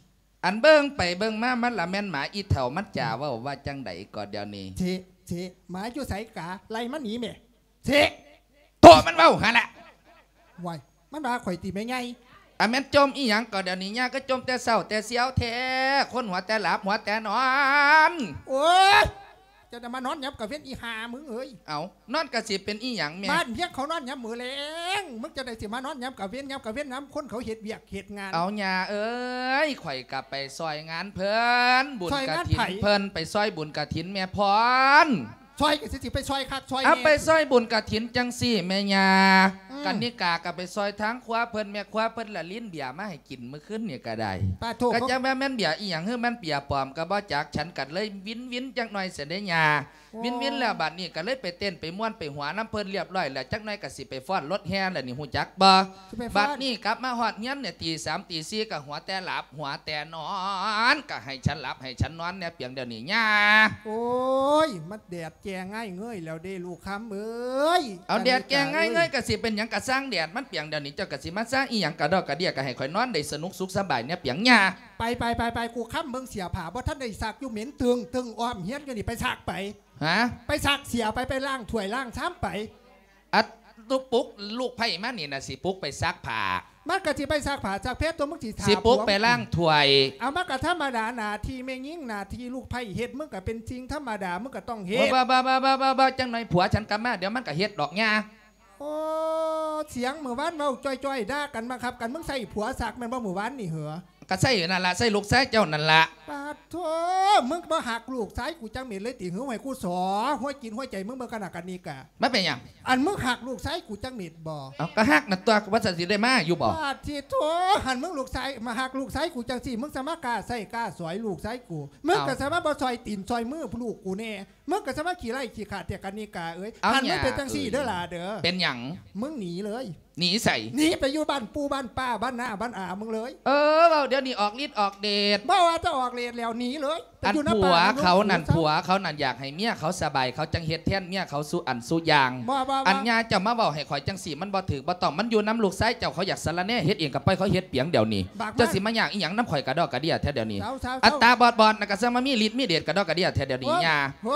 ອັນເບິ່ງໄປເບິ່ງມາ ມັນລະແມ່ນໝາອີ່ເຖົ້າ ມັນຈາເວົ້າວ່າຈັ່ງໃດກໍດຽວນີ້? ເທ ເທ ໝາຢູ່ໃສກາ ໄລ່ມັນໜີແມ້. ເທ ໂຕມັນເວົ້າຫັ້ນລະ. ວ້າຍ ມັນວ່າຂ້ອຍຕິແມ່ໃຫຍ່? ອາ ແມ່ນຈົ່ມອີ່ຫຍັງກໍດຽວນີ້ ຍ່າກໍຈົ່ມແຕ່ເຊົ້າແຕ່ຊຽວແທ້ ຄົນຫົວແຕ່ຫຼັບຫົວແຕ່ນອນ. ໂອ້ຍ ເຈົ້າຈະມານອນຍາມກາງເວັນອີ່ຫ່າມຶງເອີຍ. ເອົ້າ ນອນກະຊິເປັນອີ່ຫຍັງແມ່? ບ້ານພຽງເຂົານອນຍາມມື້ແລງ ມຶງຈັ່ງໃດຊິມານອນຍາມກາງເວັນ ຍາມກາງເວັນນຳຄົນເຂົາເຮັດວຽກເຮັດງານ. ເອົາ ຍ່າເອີຍ ຂ້ອຍກະໄປຊ່ອຍງານເພິ່ນ ບຸນກະຖິນເພິ່ນ ໄປຊ່ອຍບຸນກະຖິນແມ່ພອນ. ຊ່ອຍກະຊິ ຊິໄປຊ່ອຍຄັກຊ່ອຍແນ່ ເອົາ ໄປຊ່ອຍບຸນກະຖິນຈັ່ງຊີ້ແມ່ຍ່າ. ອືມ ກັນນິກາກະໄປຊ່ອຍທາງຄົວເພິ່ນ ແມ່ຄົວເພິ່ນລະລິນເບຍມາໃຫ້ກິນມື້ຄືນນີ້ກະໄດ້. ປາໂທ ກະຈັກວ່າແມ່ນເບຍອີ່ຫຍັງ ຫຼືແມ່ນເບຍປອມກະບໍ່ຈັກ ສັນກະເລີຍວິນໆຈັກໜ່ອຍຊັ້ນເດ້ຍ່າ. ໂອ້ ວິນໆແລ້ວບາດນີ້ກະເລີຍໄປເຕັ້ນໄປມ່ວນໄປຫົວນຳເພິ່ນລຽບຮ້ອຍແລ້ວ ຈັກໜ່ອຍກະຊິໄປຟ້ອນລົດແຫ່ແລ້ວນີ້ ຮູ້ຈັກບໍ່? ຊິໄປຟ້ອນ ບາດນີ້ກັບມາຮອດເຮືອນນີ້ ຕີສາມຕີສີ່ກະຫົວແຕ່ຫຼັບຫົວແຕ່ນອນ ກະໃຫ້ສັນຫຼັບໃຫ້ສັນນອນແດ່ປຽງດຽວນີ້ຍ່າ. ໂອ້ຍ ມັນແດດແກ່ງາຍເງີຍແລ້ວເດ້ລູກຄຳເອີຍ. ເອົາ ແດດແກ່ງາຍເງີຍກະຊິເປັນຫຍັງ ກະຊ່າງແດດມັນປຽງດຽວນີ້ ເຈົ້າກະຊິມາຊ່າງອີ່ຫຍັງກະດອກກະເດຍ ກະໃຫ້ຂ້ອຍນອນໄດ້ສະໜຸກສຸກສະບາຍແນ່ປຽງຍ່າ. ໄປໆໆໆ ກູຄຳເບິ່ງເສື້ອຜ້າບໍ່ທັນໄດ້ຊັກຢູ່ ເໝັນຕຶງໆ ອ້ອມເຮືອນຢູ່ນີ້ ໄປຊັກໄປ. ຫາ? ໄປຊັກເສື້ອໄປ ໄປລ້າງຖ້ວຍລ້າງຊາມໄປ. ອັດ ຕຸກປຸກລູກໃພ້ມານີ້ນະ ຊິປຸກໄປຊັກຜ້າ. ມັນກະຊິໄປຊັກຜ້າຊັກແພຕົວະ ມຶງຊິຖ້າ ຊິປຸກໄປລ້າງຖ້ວຍ. ເອົາ ມັນກະທຳມະດາໜ້າທີ່ແມ່ຍິງ ໜ້າທີ່ລູກໃພ້ເຮັດ ມຶງກະເປັນສິ່ງທຳມະດາ ມຶງກະຕ້ອງເຮັດ. ບໍ່ໆໆໆໆ ຈັກໜ້ອຍຜົວສັນກັບມາ ດຽວມັນກະເຮັດດອກຍ່າ. ໂອ້ ສຽງມື້ວານເວົ້າຈ່ອຍໆ ດ່າກັນບັງຄັບກັນ ມຶງໃຊ້ຜົວຊັກແມ່ນບໍ່ມື້ວານນີ້ເຫີ? ກະໃຊ້ນັ້ນລະ ໃຊ້ລູກຊາຍເຈົ້ານັ້ນລະ. ປາດໂທ ມຶງບໍ່ຮັກລູກຊາຍກູຈັກເມັດເລີຍຕິ? ຫື ໃຫ້ກູສໍຫົວຈິດຫົວໃຈມຶງເບິ່ງກະໜາກະນິກາ. ມັນເປັນຫຍັງ? ອັນມຶງຮັກລູກຊາຍກູຈັກເມັດບໍ່? ເອົ້າ ກະຮັກນັ້ນຕົວະ ວ່າຊັ້ນຊິໄດ້ມາຢູ່ບໍ່? ປາດທິໂທ ຫັ້ນມຶງລູກຊາຍ ມາຮັກລູກຊາຍກູຈັ່ງຊີ້ ມຶງສາມາກ້າໃຊ້ກ້າສອຍລູກຊາຍກູ ມຶງກະສາມາບໍ່ຊ່ອຍຕີນຊ່ອຍມືລູກກູແນ່. ມຶງກະສາມາຂີ້ໄຮ້ຂີ້ຂາດແທ້ກະນິກາເອີຍ. ເອົ້າ ຄັນມຶງເປັນຈັ່ງຊີ້ເດີຫຼ້າເດີ. ເປັນຫຍັງ? ມຶງໜີເລີຍ. ໜີໃສ? ໜີໄປຢູ່ບ້ານປູ່ບ້ານປ້າ ບ້ານນ້າບ້ານອາມຶງເລີຍ. ເອີ ເວົ້າດຽວນີ້ອອກລິດອອກເດດ. ບໍ່ວ່າຈະອອກເດດແລ້ວ ໜີເລີຍ. ອັນຜົວເຂົານັ້ນ ຜົວເຂົານັ້ນຢາກໃຫ້ເມຍເຂົາສະບາຍ ເຂົາຈັ່ງເຮັດແທນເມຍເຂົາສູ່ອັນສູ່ຢ່າງ. ອັນຍ່າເຈົ້າມາເວົ້າໃຫ້ຂ້ອຍຈັ່ງຊີ້ ມັນບໍ່ຖືກບໍ່ຕ້ອງ. ມັນຢູ່ນຳລູກຊາຍເຈົ້າ ເຂົາຢາກສະລະແໜ່ເຮັດເອງກະປ່ອຍເຂົາເຮັດປຽງດຽວນີ້. ເຈົ້າຊິມາຍາກອີ່ຫຍັງນຳຂ້ອຍກະດອກກະເດຍແທ້ດຽວນີ້. ອັດຕາບອດໆນັ້ນກະຊ່າງມາມີລິດມີເດດກະດອກກະເດຍແທ້ດຽວນີ້ຍ່າ. ໂອ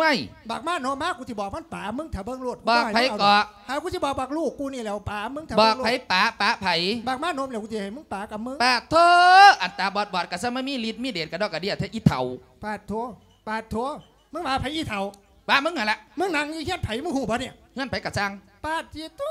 ້ຍ ບັກມາໂນມາ ກູຊິບອກມັນປາມຶງ ຖ້າເບິ່ງໂລດ. ບອກໃຜເກາະ? ຫາ ກູຊິບອກບັກລູກກູນີ້ແຫຼ້ວປາມຶງ ຖ້າເບິ່ງໂລດ. ບອກໃຜປາ ປາໃຜ? ບັກມາໂນມແຫຼ້ວ ກູຊິໃຫ້ມຶງປາກັບມຶງ. ປາດໂທ ອັນຕາບອດໆກະຊ່າງມາມີລິດມີເດດກະດອກກະເດຍແທ້ ອີ່ເຖົ້າ. ປາດໂທ ປາດໂທ ມຶງວ່າໃຜອີ່ເຖົ້າ? ວ່າມຶງຫັ້ນລະ. ມຶງນັ່ງຢູ່ເຮືອນໃຜ ມຶງຮູ້ບໍ່ນີ້? ເຮືອນໃຜກະຊ່າງ. ປາດທິໂທ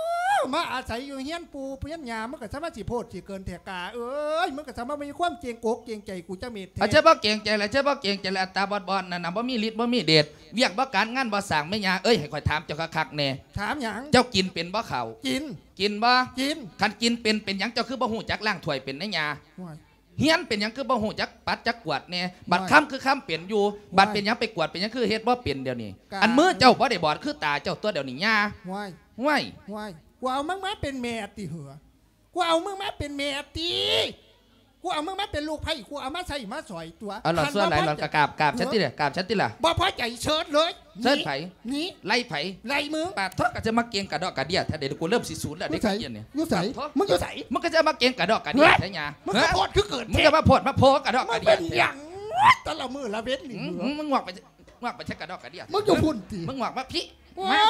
ມາອາໄສຢູ່ເຮືອນປູ່ເຮືອນຍ່າ ມຶງກະຊ່າງມາຊິໂພດຊິເກີນແທ້ກາເອີຍ. ມຶງກະຊ່າງມາບໍ່ມີຄວາມເກງອົກເກງໃຈກູຈັກເມັດແທ້. ອາ ເຈົ້າບໍ່ເກງໃຈລະ ເຈົ້າບໍ່ເກງໃຈລະ. ອັນຕາບອດໆນັ້ນນະ ບໍ່ມີລິດບໍ່ມີເດດ ວຽກບໍ່ການງານບໍ່ສ້າງ. ແມ່ຍ່າເອີຍ ໃຫ້ຂ້ອຍຖາມເຈົ້າຄັກໆແນ່. ຖາມຫຍັງ? ເຈົ້າກິນເປັນບໍ່ເຂົ້າ? ກິນ. ກິນບໍ່? ກິນ. ຄັນກິນເປັນ ເປັນຫຍັງເຈົ້າຄືບໍ່ຮູ້ຈັກລ້າງຖ້ວຍເປັນນະຍ່າ? ໂອ້ຍ ຮຽນເປັນຫຍັງຄືບໍ່ຮູ້ຈັກປັດຈັກກວາດແນ່? ບັດຄຳຄືຄຳເປັນຢູ່ ບັດເປັນຫຍັງໄປກວາດ ເປັນຫຍັງຄືເຮັດບໍ່ເປັນດຽວນີ້? ອັນມືເຈົ້າບໍ່ໄດ້ບອດຄືຕາເຈົ້າຕົວະດຽວນີ້ຍ່າ. ຫ້ວຍ ຫ້ວຍ ຫ້ວຍ ກູເອົາມຶງມາເປັນແມ່ຕິເຫີ? ກູເອົາມຶງມາເປັນແມ່ຕິ? ກູເອົາມຶງມາເປັນລູກໃພ້ ກູເອົາມາໃຊ້ມາສອຍຕົວະ. ເອົາຫຼອດຊົ່ວຫຼາຍຫຼອດກະກາບ ກາບ ເອີ ກາບສັນຕິລະ ກາບສັນຕິລະ. ບໍ່ພໍໃຈເຊີນເລີຍ. ເຊີນໃຜ? ໜີ. ໄລ່ໃຜ? ໄລ່ມຶງ. ປາດໂທ ກະຈະມາເກັ່ງກະດອກກະເດຍແທ້ເດ ກູເລີ່ມຊິສູນແລ້ວເດ້. ຢູ່ໃສ? ມຶງຢູ່ໃສ? ມຶງກະຈະມາເກັ່ງກະດອກກະເດຍແທ້ຍາ. ມຶງກະໂພດຄືເກີນ. ມຶງກະມາໂພດມາໂພກະດອກກະເດຍແທ້. ມັນເປັນຫຍັງ? ແຕ່ລະມື້ລະເວັນນີ້ ອືມ ມຶງງອກໄປ ງອກໄປໃສກະດອກກະເດຍ? ມຶງຢູ່ພຸ້ນຕິ? ມຶງງອກມາພີ້. ມາ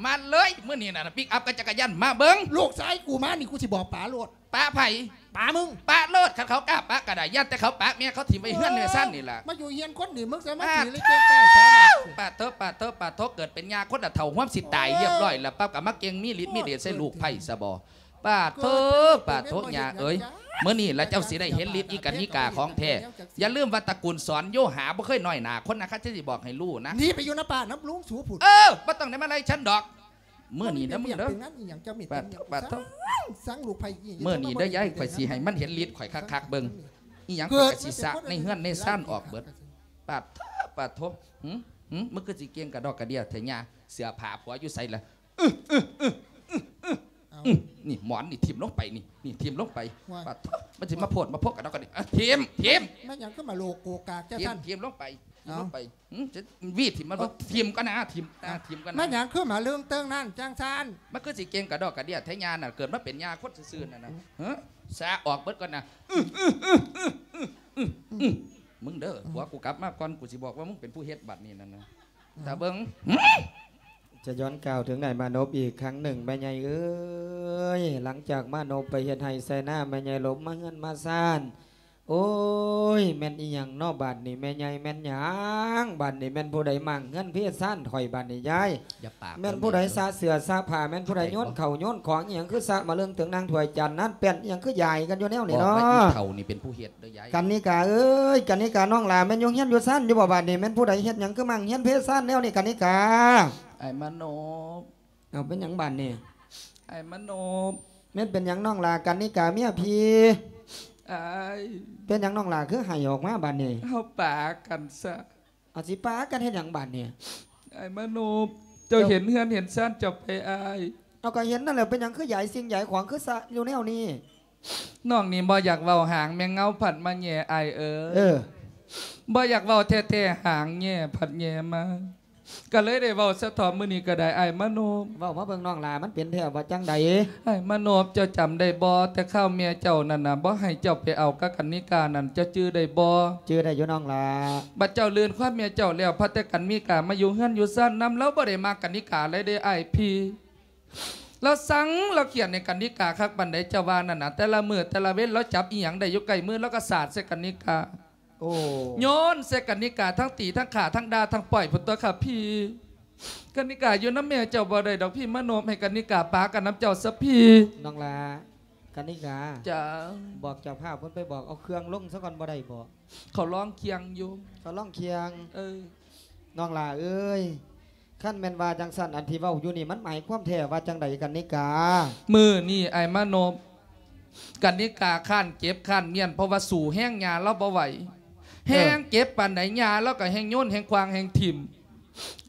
ມາເລີຍ. ມື້ນີ້ນະ ປິກອັບກັບຈັກກະຍານ ມາເບິ່ງ. ລູກຊາຍກູມານີ້ ກູຊິບອກປາໂລດ. ປາໃຜ? ປາມຶງ. ປາໂລດ ຄັນເຂົາກ້າປາກະໄດ້ ຢ້ານແຕ່ເຂົາປາກແມ່ເຂົາຖິ້ມໄວ້ເຮືອນໃນຊານນີ້ລະ. ມາຢູ່ເຮືອນຄົນນີ້ ມຶງສາມາດຊິເລີຍເກັ່ງກ້າສາມາດ. ປາດໂທ ປາດໂທ ປາດໂທ ເກີດເປັນຍ່າຄົນລະເຖົ້າ ຮວມຊິຕາຍລຽບຮ້ອຍລະ ປັບກະມາເກັ່ງມີລິດມີເດດໃສ່ລູກໃພ້ຊະບໍ? ປາດໂທ ປາດໂທ ຍ່າເອີຍ ມື້ນີ້ລະເຈົ້າຊິໄດ້ເຫັນລິດອີກະນິກາຂອງແທ້. ຢ່າລືມວ່າຕະກູນສອນໂຍຫາບໍ່ເຄີຍນ້ອຍໜ້າຄົນນະ ຂ້າຈະຊິບອກໃຫ້ຮູ້ນະ. ໜີໄປຢູ່ນຳປ້ານຳລຸງສູພຸ້ນ. ເອີ ບໍ່ຕ້ອງໄດ້ມາໄລ່ສັນດອກ. ມື້ນີ້ເດີ ມຶງເດີ. ປາດໂທ ປາດໂທ ສັງລູກໃພ້ອີ່ ມື້ນີ້ເດີຍາຍ ຂ້ອຍຊິໃຫ້ມັນເຫັນລິດຂ້ອຍຄັກໆເບິ່ງ. ອີ່ຫຍັງຂ້ອຍກະຊິສະໃນເຮືອນໃນຊານອອກເບິດ. ປາດໂທ ປາດໂທ ຫຶ ຫຶ ມຶງຄືຊິເກັ່ງກະດອກກະເດຍແທ້ຍາ. ເສື້ອຜ້າຜົວຢູ່ໃສລະ? ອື ອື ອື ອື ອື. ອືມ ນີ້ໝອນນີ້ຖິ້ມລົງໄປ ນີ້ ນີ້ຖິ້ມລົງໄປ ວ່າ ປາດໂທ້ ມັນຊິມາໂພດມາໂພກກັນເນາະ ກັນນີ້ ອ່ະ ຖິ້ມ ຖິ້ມ ແມ່ນຫຍັງຄືມາໂລກໂກກາກຈັ່ງຊັ້ນ ຖິ້ມ ຖິ້ມລົງໄປ ຖິ້ມລົງໄປ ຫືມ ຈະຫວີຖິ້ມມັນບໍ່ ອ່າ ຖິ້ມກ່ອນນະ ຖິ້ມ ອ່າ ອ່າ ຖິ້ມກ່ອນນະ ແມ່ນຫຍັງຄືມາເລື່ອງເຕີງນັ້ນຈັ່ງຊັ້ນ ມັນຄືຊິເກັ່ງກະດອກກະເດຍແທ້ ຍ່ານະ ເກີດມາເປັນຍ່າຄົນຊື່ໆ ນັ້ນນະ ຫືມ ສາອອກເບິດກ່ອນນະ ອື ອື ອື ອື ອື ອື ອື ມຶງເດີ ອືມ ຜົວກູກັບມາກ່ອນ ກູຊິບອກວ່າມຶງເປັນຜູ້ເຮັດບັດນີ້ນັ້ນນະ ຕາເບິ່ງ ຈະຍ້ອນກ່າວເຖິງນາຍມານົບອີກຄັ້ງໜຶ່ງ ແມ່ໃຫຍ່ເອີຍ, ຫຼັງຈາກມານົບໄປເຮັດໄຮ່ໃສ່ນາ ແມ່ໃຫຍ່ຫຼົບມາເຮືອນມາຊານ. ໂອ້ຍ ແມ່ນອີ່ຫຍັງເນາະບາດນີ້ ແມ່ໃຫຍ່ ແມ່ນຫຍັງບາດນີ້? ແມ່ນຜູ້ໃດມ້າງເຮືອນເພຊານຂ້ອຍບາດນີ້ຍາຍ? ຢ່າປາກ ແມ່ນຜູ້ໃດສະເສື້ອສະຜ້າ? ແມ່ນຜູ້ໃດໂຍນເຂົ້າໂຍນຂອງອີ່ຫຍັງ ຄືສະມາເລິງເຖິງນາງຖ້ວຍຈານນັ້ນແປ້ນ ອີ່ຫຍັງຄືຢາຍກັນຢູ່ແນວນີ້ເນາະ? ບອກວ່າອີ່ເຖົ້ານີ້ເປັນຜູ້ເຮັດ ເດີຍາຍ ກັນນິກາເອີຍ ກັນນິການ້ອງຫຼ້າ ແມ່ນຢູ່ເຮືອນຢູ່ຊານຢູ່ບໍ່ບາດນີ້? ແມ່ນຜູ້ໃດເຮັດຫຍັງຄືມ້າງເຮືອນເພຊານແນວນີ້ ກັນນິກາ? ອ້າຍມານົບ. ເອົາ ເປັນຫຍັງບາດນີ້? ອ້າຍມານົບ. ແມ່ນເປັນຫຍັງນ້ອງຫຼ້າ ກັນນິກາເມຍພີ່? ອ້າຍ. ເປັນຫຍັງນ້ອງຫຼ້າຄືໄຫ້ອອກມາບາດນີ້? ເຮົາປາກັນຊະ. ເອົາ ຊິປາກັນເຮັດຫຍັງບາດນີ້? ອ້າຍມານົບ ເຈົ້າເຫັນເຮືອນເຫັນຊານເຈົ້າໄປອ້າຍ? ເອົາ ກໍເຫັນນັ້ນແຫຼະ ເປັນຫຍັງຄືຢາຍສິ່ງຢາຍຂອງ ຄືສະຢູ່ແນວນີ້? ນ້ອງນີ້ບໍ່ຢາກເວົ້າຫາງແມງເງົາ ພັດມາແຍ່ອ້າຍເອີຍ. ເອີ ບໍ່ຢາກເວົ້າແທ້ໆ ຫາງແຍ່ພັດແຍ່ມາ ກະເລີຍໄດ້ເວົ້າຊະເຖາະມື້ນີ້ກະໄດ້ ອ້າຍມານົບ. ເວົ້າມາເບິ່ງນ້ອງຫຼ້າ ມັນເປັນແທ້ວ່າຈັ່ງໃດ? ອ້າຍມານົບ ເຈົ້າຈຳໄດ້ບໍ່ ແຕ່ຄາວແມ່ເຈົ້ານັ້ນນະ ບໍ່ໃຫ້ເຈົ້າໄປເອົາກັບກັນນິການັ້ນ ເຈົ້າຈື່ໄດ້ບໍ່? ຈື່ໄດ້ຢູ່ນ້ອງຫຼ້າ. ບັດເຈົ້າລື່ນຄວາມແມ່ເຈົ້າແລ້ວ ພັດແຕ່ກັນນິກາມາຢູ່ເຮືອນຢູ່ຊານນຳ ລາວບໍ່ໄດ້ມັກກັນນິກາເລີຍເດ້ອ້າຍພີ່. ລາວຊັງລາວຂຽນໃຫ້ກັນນິກາຄັກປານໃດ ເຈົ້າວ່ານັ້ນນະ. ແຕ່ລະມື້ແຕ່ລະເວັນລາວຈັບອີ່ຫຍັງໄດ້ຢູ່ໃກ້ມື ລາວກໍສາດໃສ່ກັນນິກາ. ໂອ້ ໂຍນໃສ່ກັນນິກາ ທັງຕີທັງຂ້າທັງດ່າທັງປ້ອຍພຸ້ນຕົວະຄ່ະພີ່. ກັນນິກາຢູ່ນຳແມ່ເຈົ້າບໍ່ໄດ້ດອກພີ່ມານົບ ໃຫ້ກັນນິກາປາກັນນຳເຈົ້າຊະພີ່. ນ້ອງຫຼ້າ ກັນນິກາ. ຈ້າ. ບອກເຈົ້າພາບເພິ່ນໄປບອກເອົາເຄື່ອງລົງຊະກ່ອນບໍ່ໄດ້ບໍ? ເຂົາລອງຄຽງຢູ່. ເຂົາລອງຄຽງ. ເອີ. ນ້ອງຫຼ້າເອີຍ ຄັນແມ່ນວ່າຈັ່ງຊັ້ນ ອັນທີ່ເວົ້າຢູ່ນີ້ ມັນໝາຍຄວາມແທ້ວ່າຈັ່ງໃດກັນນິກາ? ມື້ນີ້ອ້າຍມານົບ ກັນນິກາຄ້ານເຈັບຄ້ານມ້ຽນ ເພາະວ່າສູ້ແຮງຍ່າລາວບໍ່ໄຫວ. ເອີ ແຮງເຈັບປານໃດ ຍ່າລາວກໍແຮງໂຍນແຮງຂວ້າງແຮງຖິ້ມ.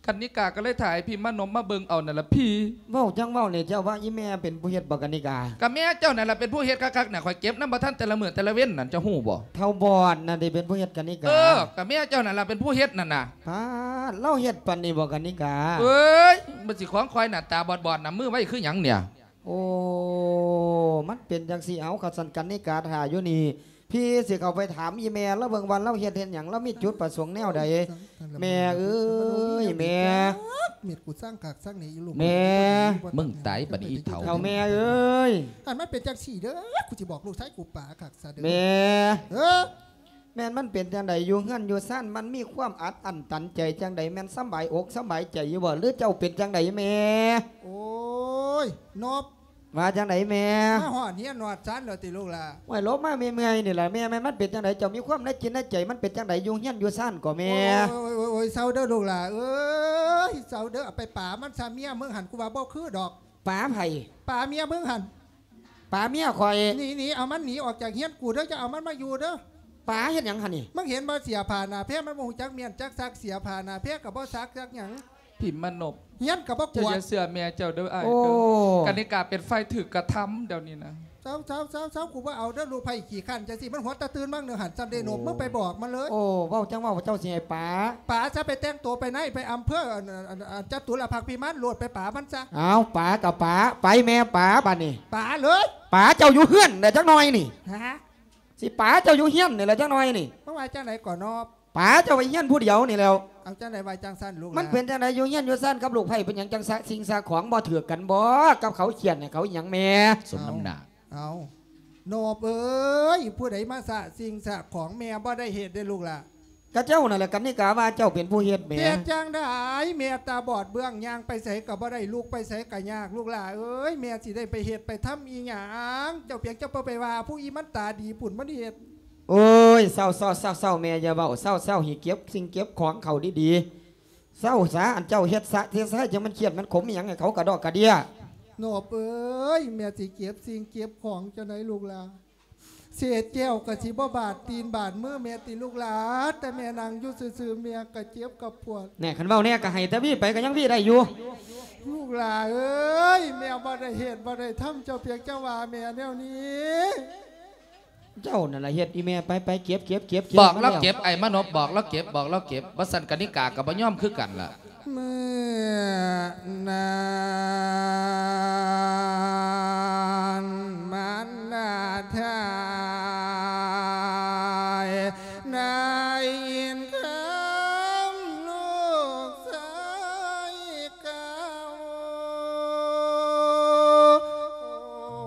ກັນນິກາກໍເລີຍຖ່າຍໃຫ້ພີ່ມານົບມາເບິ່ງເອົານັ້ນລະພີ່. ເວົ້າຈັ່ງເວົ້ານີ້ ເຈົ້າວ່າອີ່ແມ່ເປັນຜູ້ເຮັດບໍ່ກັນນິກາ? ກໍແມ່ເຈົ້ານັ້ນລະເປັນຜູ້ເຮັດຄັກໆນະ ຂ້ອຍເກັບນຳບໍ່ທັນແຕ່ລະມື້ແຕ່ລະເວັນນັ້ນ ເຈົ້າຮູ້ບໍ່? ທ້າວບອດນັ້ນເດ້ເປັນຜູ້ເຮັດກັນນິກາ. ເອີ ກໍແມ່ເຈົ້ານັ້ນລະເປັນຜູ້ເຮັດນັ້ນນະ. ປາດ ລາວເຮັດປານນີ້ບໍ່ກັນນິກາ? ເອີຍ ມັນຊິຂອງຂ້ອຍໜ້າຕາບອດໆນະ ມືໄວຄືຫຍັງເນຍ? ໂອ້ ມັນເປັນຈັ່ງຊີ້. ເອົາ ຄັນຊັ້ນກັນນິກາຖ້າຢູ່ນີ້ ພີ່ຊິເຂົ້າໄປຖາມອີ່ແມ່ລາວເບິ່ງວ່າລາວເຮັດ ເຮັດຫຍັງ ລາວມີຈຸດປະສົງແນວໃດ. ແມ່ເອີຍ ແມ່ ເມັດ ກູສ້າງຄັກສ້າງແນ່ອີ່ລູກ. ແມ່ ມຶງຕາຍບັດນີ້ອີ່ເຖົ້າ. ເຖົ້າແມ່ເອີຍ ອັນມັນເປັນຈັ່ງຊີ້ເດີ ກູຊິບອກລູກຊາຍກູປາຄັກຊະເດີ. ແມ່ ເອີ ແມ່ນມັນເປັນຈັ່ງໃດ ຢູ່ເຮືອນຢູ່ຊານ ມັນມີຄວາມອັດອັ້ນຕັນໃຈຈັ່ງໃດ? ແມ່ນສຳບາຍອົກສຳບາຍໃຈຢູ່ບໍ່ ຫຼືເຈົ້າເປັນຈັ່ງໃດແມ່? ໂອ້ຍ ນົບ ວ່າຈັ່ງໃດແມ່? ມາຮອດເຮືອນຮອດຊານແລ້ວຕິລູກຫຼ້າ? ໂອ້ຍ ຫຼົບມາເມື່ອຍໆນີ້ລະແມ່. ແມ່ນມັນເປັນຈັ່ງໃດ ເຈົ້າມີຄວາມໃນຈິດໃນໃຈ ມັນເປັນຈັ່ງໃດ ຢູ່ເຮືອນຢູ່ຊານກໍແມ່? ໂອ້ຍ ໂອ້ຍ ເຊົາເດີລູກຫຼ້າເອີຍ ເຊົາເດີ. ເອົາໄປປາມັນຊະ ເມຍມຶງຫັ້ນ ກູວ່າບໍ່ຄືດອກ. ປາໃຜ? ປາເມຍມຶງຫັ້ນ. ປາເມຍຂ້ອຍ. ໜີ ໜີ ເອົາມັນໜີອອກຈາກເຮືອນກູເດີ ຢ່າເອົາມັນມາຢູ່ເດີ. ປາເຮັດຫຍັງຫັ້ນນີ້? ມຶງເຫັນບໍ່ ເສື້ອຜ້າໜ້າແພ ມັນບໍ່ຮູ້ຈັກມ້ຽນຈັກຊັກ ເສື້ອຜ້າໜ້າແພກໍບໍ່ຊັກຈັກຫຍັງ. ພິມມະນົບ ເຮືອນກໍບໍ່ກວາດ. ເຈົ້າຢ່າເຊື່ອແມ່ເຈົ້າເດີອ້າຍ. ໂອ້ ເອີ ກັນນິກາເປັນຝ່າຍຖືກກະທຳດຽວນີ້ນະ. ເຊົາ ເຊົາ ເຊົາ ເຊົາ ກູບໍ່ເອົາເດີ ລູກໃຜຂີ້ຄ້ານຈັ່ງຊີ້. ມັນຫົວແຕ່ຕື່ນມາເໜືອຫັ້ນ ຊ່ຳໄດ້ນົບ. ໂອ້ ມຶງໄປບອກມັນເລີຍ. ໂອ້ ເວົ້າຈັ່ງເວົ້າ ເຈົ້າຊິໃຫ້ປາ? ປາຊະ ໄປແຕ່ງໂຕໄປໃນ ໄປອຳເພີ ອັນ ອັນ ອັນ ຈະຕຸລະພັກພິມານໂລດ ໄປປາມັນຊະ. ເອົາ ປາກໍປາ ໄປແມ່ປາບາດນີ້. ປາເລີຍ. ປາເຈົ້າຢູ່ເຮືອນແດ່ຈັກໜ່ອຍນີ້. ຮະ? ຊິປາເຈົ້າຢູ່ເຮືອນນີ້ແຫຼະຈັກໜ່ອຍນີ້. ເມື່ອວານຈັ່ງໃດກໍນອບ? ປາເຈົ້າໄປເຮືອນຜູ້ດຽວນີ້ແລ້ວ. ເອົາ ຈັ່ງໃດວ່າຈັ່ງຊັ້ນລູກຫຼ້າ? ມັນເປັນຈັ່ງໃດ ຢູ່ເຮືອນຢູ່ຊານກັບລູກໃພ້ ເປັນຫຍັງຈັ່ງສະສິ່ງສະຂອງບໍ່ຖືກກັນບໍ ກັບເຂົາຂຽນໃຫ້ເຂົາອີ່ຫຍັງແມ່? ສົມນ້ຳໜ້າ. ເອົາ ເອົາ ໂນບເອີຍ ຜູ້ໃດມາສະສິ່ງສະຂອງ ແມ່ບໍ່ໄດ້ເຮັດເດ້ລູກຫຼ້າ. ກະເຈົ້ານັ້ນແຫຼະ ກັນນິກາວ່າເຈົ້າເປັນຜູ້ເຮັດແໝ. ເຮັດຈັ່ງໃດ ແມ່ຕາບອດເບື້ອງ ຍ່າງໄປໃສກະບໍ່ໄດ້ ລຸກໄປໃສກະຍາກ ລູກຫຼ້າເອີຍ. ແມ່ຊິໄດ້ໄປເຮັດໄປທຳອີ່ຫຍັງ? ເຈົ້າພຽງເຈົ້າບໍ່ໄປວ່າຜູ້ອີ່ມັນຕາດີພຸ້ນ ມັນເຮັດ. ໂອ້ຍ ເຊົາໆໆໆ ແມ່ຢ່າເວົ້າ ເຊົາໆ ໃຫ້ເກັບສິ່ງເກັບຂອງເຂົ້າດີໆ. ເຊົາສາ ອັນເຈົ້າເຮັດສະເຮັດສາ ຈັ່ງມັນຄຽດມັນຂົມອີ່ຫຍັງໃຫ້ເຂົາກະດອກກະເດຍ. ໂນບເອີຍ ແມ່ຊິເກັບສິ່ງເກັບຂອງຈັ່ງໃດລູກຫຼ້າ? ເສດແກ້ວກະຊິບໍ່ບາດຕີນບາດມືແມ່ຕິລູກຫຼ້າ? ແຕ່ແມ່ນັ່ງຢູ່ຊື່ໆ ແມ່ກະເຈັບກະປວດ. ແນ່ ຄັນເວົ້າແນ່ກະໃຫ້ແຕ່ວີໄປກະຍັງວີໄດ້ຢູ່. ລູກຫຼ້າເອີຍ ແມ່ບໍ່ໄດ້ເຮັດບໍ່ໄດ້ທຳ ເຈົ້າພຽງຈະວ່າແມ່ແນວນີ້. ເຈົ້ານັ້ນລະເຮັດອີ່ແມ່ ໄປໆ ເກັບໆໆໆ ບອກລາວເກັບ ມາແລ້ວ ອ້າຍມານົບ ບອກລາວເກັບ ບອກລາວເກັບ ບໍ່ຊັ້ນກະນິກາກໍບໍ່ຍອມຄືກັນລະ. ເມື່ອນັ້ນມານດາໄດ້ຍິນຄຳລູກຊາຍ ກ່າວ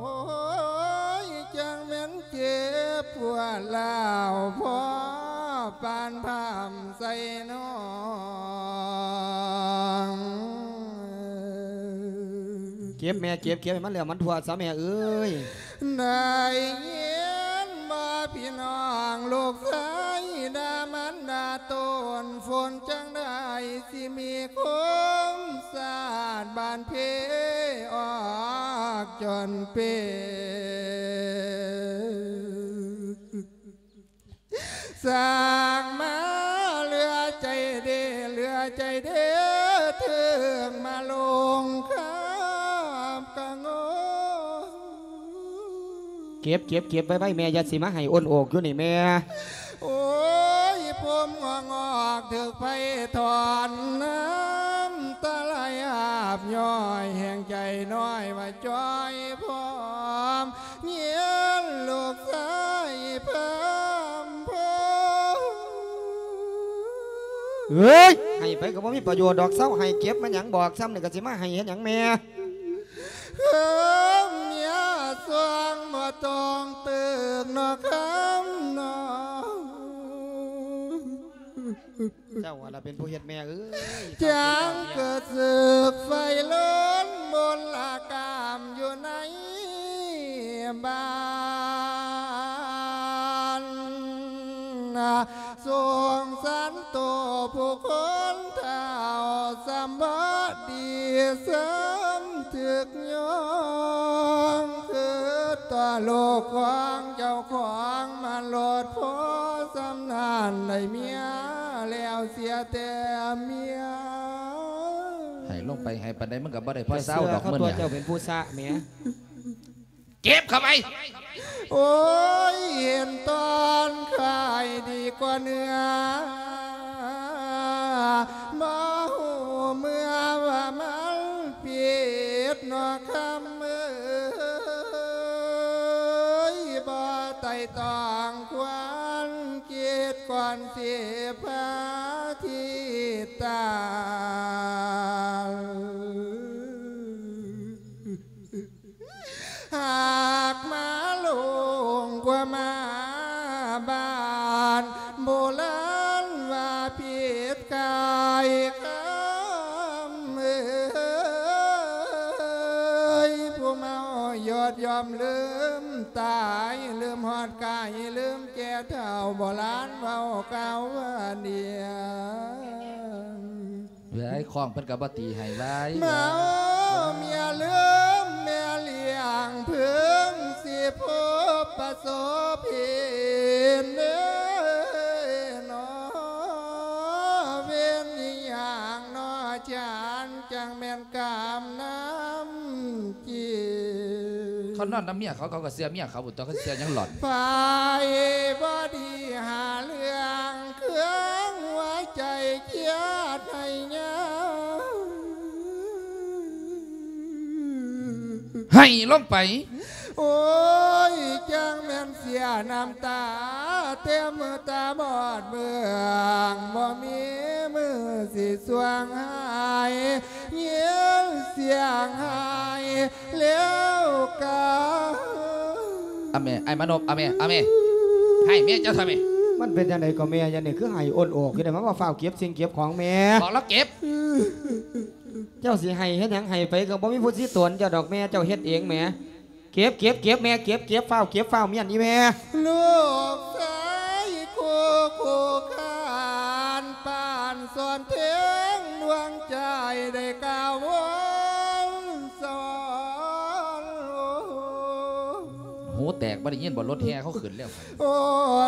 ໂອ້ຍ ຈັ່ງແມ່ນເຈັບປວດຮ້າວພໍປານພ້ຳໃສ່ນ້ອງ. ເກັບແມ່ເກັບ ເກັບໃຫ້ມັນແລ້ວມັນທົ່ວຊະແມ່ເອີຍ. ໄດ້ຍິນບໍ່ພີ່ນ້ອງ ລູກຊາຍດ່າມານດາໂຕນ ຝົນຈັ່ງໃດຊິມີຄົມສາດບ້ານເພ ອອກຈົນເປ ສ້າງມາເຫຼືອໃຈເດ ເຫຼືອໃຈເດ ເຖິງມາລົງຄາບກະງໍ. ເກັບ ເກັບ ເກັບໄວ້ໆ ແມ່ ຢ່າຊິມາໄຫ້ໂອນໂອກຢູ່ນີ້ແມ່. ໂອ້ຍ ຜົມງອກໆ ຖືກໄຟຖອນ ນ້ຳຕາໄຫຼອາບຍ້ອຍ ແຮງໃຈນ້ອຍວ່າຈ່ອຍພ້ອມ ຍິນລູກຊາຍພາມໂພ. ເອີຍ ໃຫ້ໄປກໍບໍ່ມີປະໂຫຍດດອກ ເຊົາໃຫ້ ເກັບມາຫຍັງ ບອກຊ່ຳນີ້ກໍຊິມາໃຫ້ເຮັດຫຍັງແມ່. ເອີ ເມຍຊ່ວງບໍ່ຕ້ອງຕຶກເນາະຄຳເນາະ. ເຈົ້າຫັ້ນລະເປັນຜູ້ເຮັດແມ່ເອີຍ. ຈັ່ງເກີດສຶກໄຟລົນມົນລະກາມຢູ່ໃນບ້ານ ສົງສານໂຕຜູ້ຄົນເຖົ້າ ສ່ຳບໍ່ດີສ່ຳຖືກຍ້ອງ ຄືຕໍ່ລູກຂອງເຈົ້າຂອງມາໂລດ ພໍສ່ຳນັ້ນໄດ້ເມຍແລ້ວເສຍແຕ່ເມຍ. ໃຫ້ລົງໄປໃຫ້ປານໃດມັນກໍບໍ່ໄດ້ພໍເຊົາດອກ ເຊື່ອຄັນ ມື້ນີ້ ເຈົ້າເປັນຜູ້ຊະແໝ. ເຈັບເຂົ້າໄປ. ໂອ້ຍ ເຫັນຕອນຂາຍດີກວ່າເນື້ອ ບໍ່ຮູ້ເມື່ອວ່າມັນຜິດເນາະຄຳເອີຍ ບໍ່ໄຕ່ຕອງຄວນຄິດກ່ອນຊິພາທີ່ຕາຍ. ຫາກມາຫຼົງກວ່າມາບ້ານ ໂບລານວ່າຜິດກາຍຄຳເອີຍ ຜູ້ເມົາຢອດຍ່ອມລືມຕາຍ ລືມຮອດກາຍ ລືມແກ່ເຖົ້າ ໂບລານເວົ້າກ່າວວ່າເນຍ. ເອີຍ ຄ້ອງເພິ່ນກໍບໍ່ຕີໃຫ້ວາຍ ເມົາເມຍລືມແມ່ລ້ຽງ ເພິ່ງຊິພົບປະສົບເຫັນເດີເນາະ ເວນອີ່ຫຍັງເນາະ ຈານ ຈັ່ງແມ່ນກຳນ້ຳຈິດ. ເຂົານອນນຳເມຍເຂົາ ເຂົາກໍເຊື່ອເມຍເຂົາພຸ້ນຕົວະ ເຂົາເຊື່ອຫຍັງຫຼອນ. ໄປບໍ່ດີຫາເລື່ອງ ເຄື່ອງຫົວໃຈຄຽດໃຫ້ຍາວ ໃຫ້ລົງໄປ. ໂອ້ຍ ຈັ່ງແມ່ນເສຍນ້ຳຕາ ແຕ່ມືຕາບອດເບື້ອງ ບໍ່ມີມືຊິຊ່ວງຫາຍ ຍິນສຽງຫາຍແລ້ວກະ. ອາແມ່ ອ້າຍມານົບ ອາແມ່ ອາແມ່ ໃຫ້ແມ່ເຈົ້າຊະແມ່. ມັນເປັນຈັ່ງໃດກໍແມ່ ຢ່ານີ້ຄືໄຫ້ໂອນໂອກຢູ່ເດ້ ມາວ່າຟ້າວເກັບສິ່ງເກັບຂອງແມ່ ບອກລາວເກັບ. ເຈົ້າຊິໄຫ້ເຮັດຫຍັງ ໄຫ້ໄປກໍບໍ່ມີຜູ້ຊິຕົນເຈົ້າດອກແມ່ ເຈົ້າເຮັດເອງແໝ. ເກັບ ເກັບ ເກັບແມ່ ເກັບ ເກັບ ຟ້າວເກັບ ຟ້າວມ້ຽນອີ່ແມ່. ລູກຊາຍຄູ່ຄູ່ຄານ ປານສອນເທິງດວງໃຈ ໄດ້ກ່າວວອນສອນ. ຫູແຕກ ບໍ່ໄດ້ຍິນບໍ່? ລົດແຫ່ເຂົາຂຶ້ນແລ້ວ. ໂອ້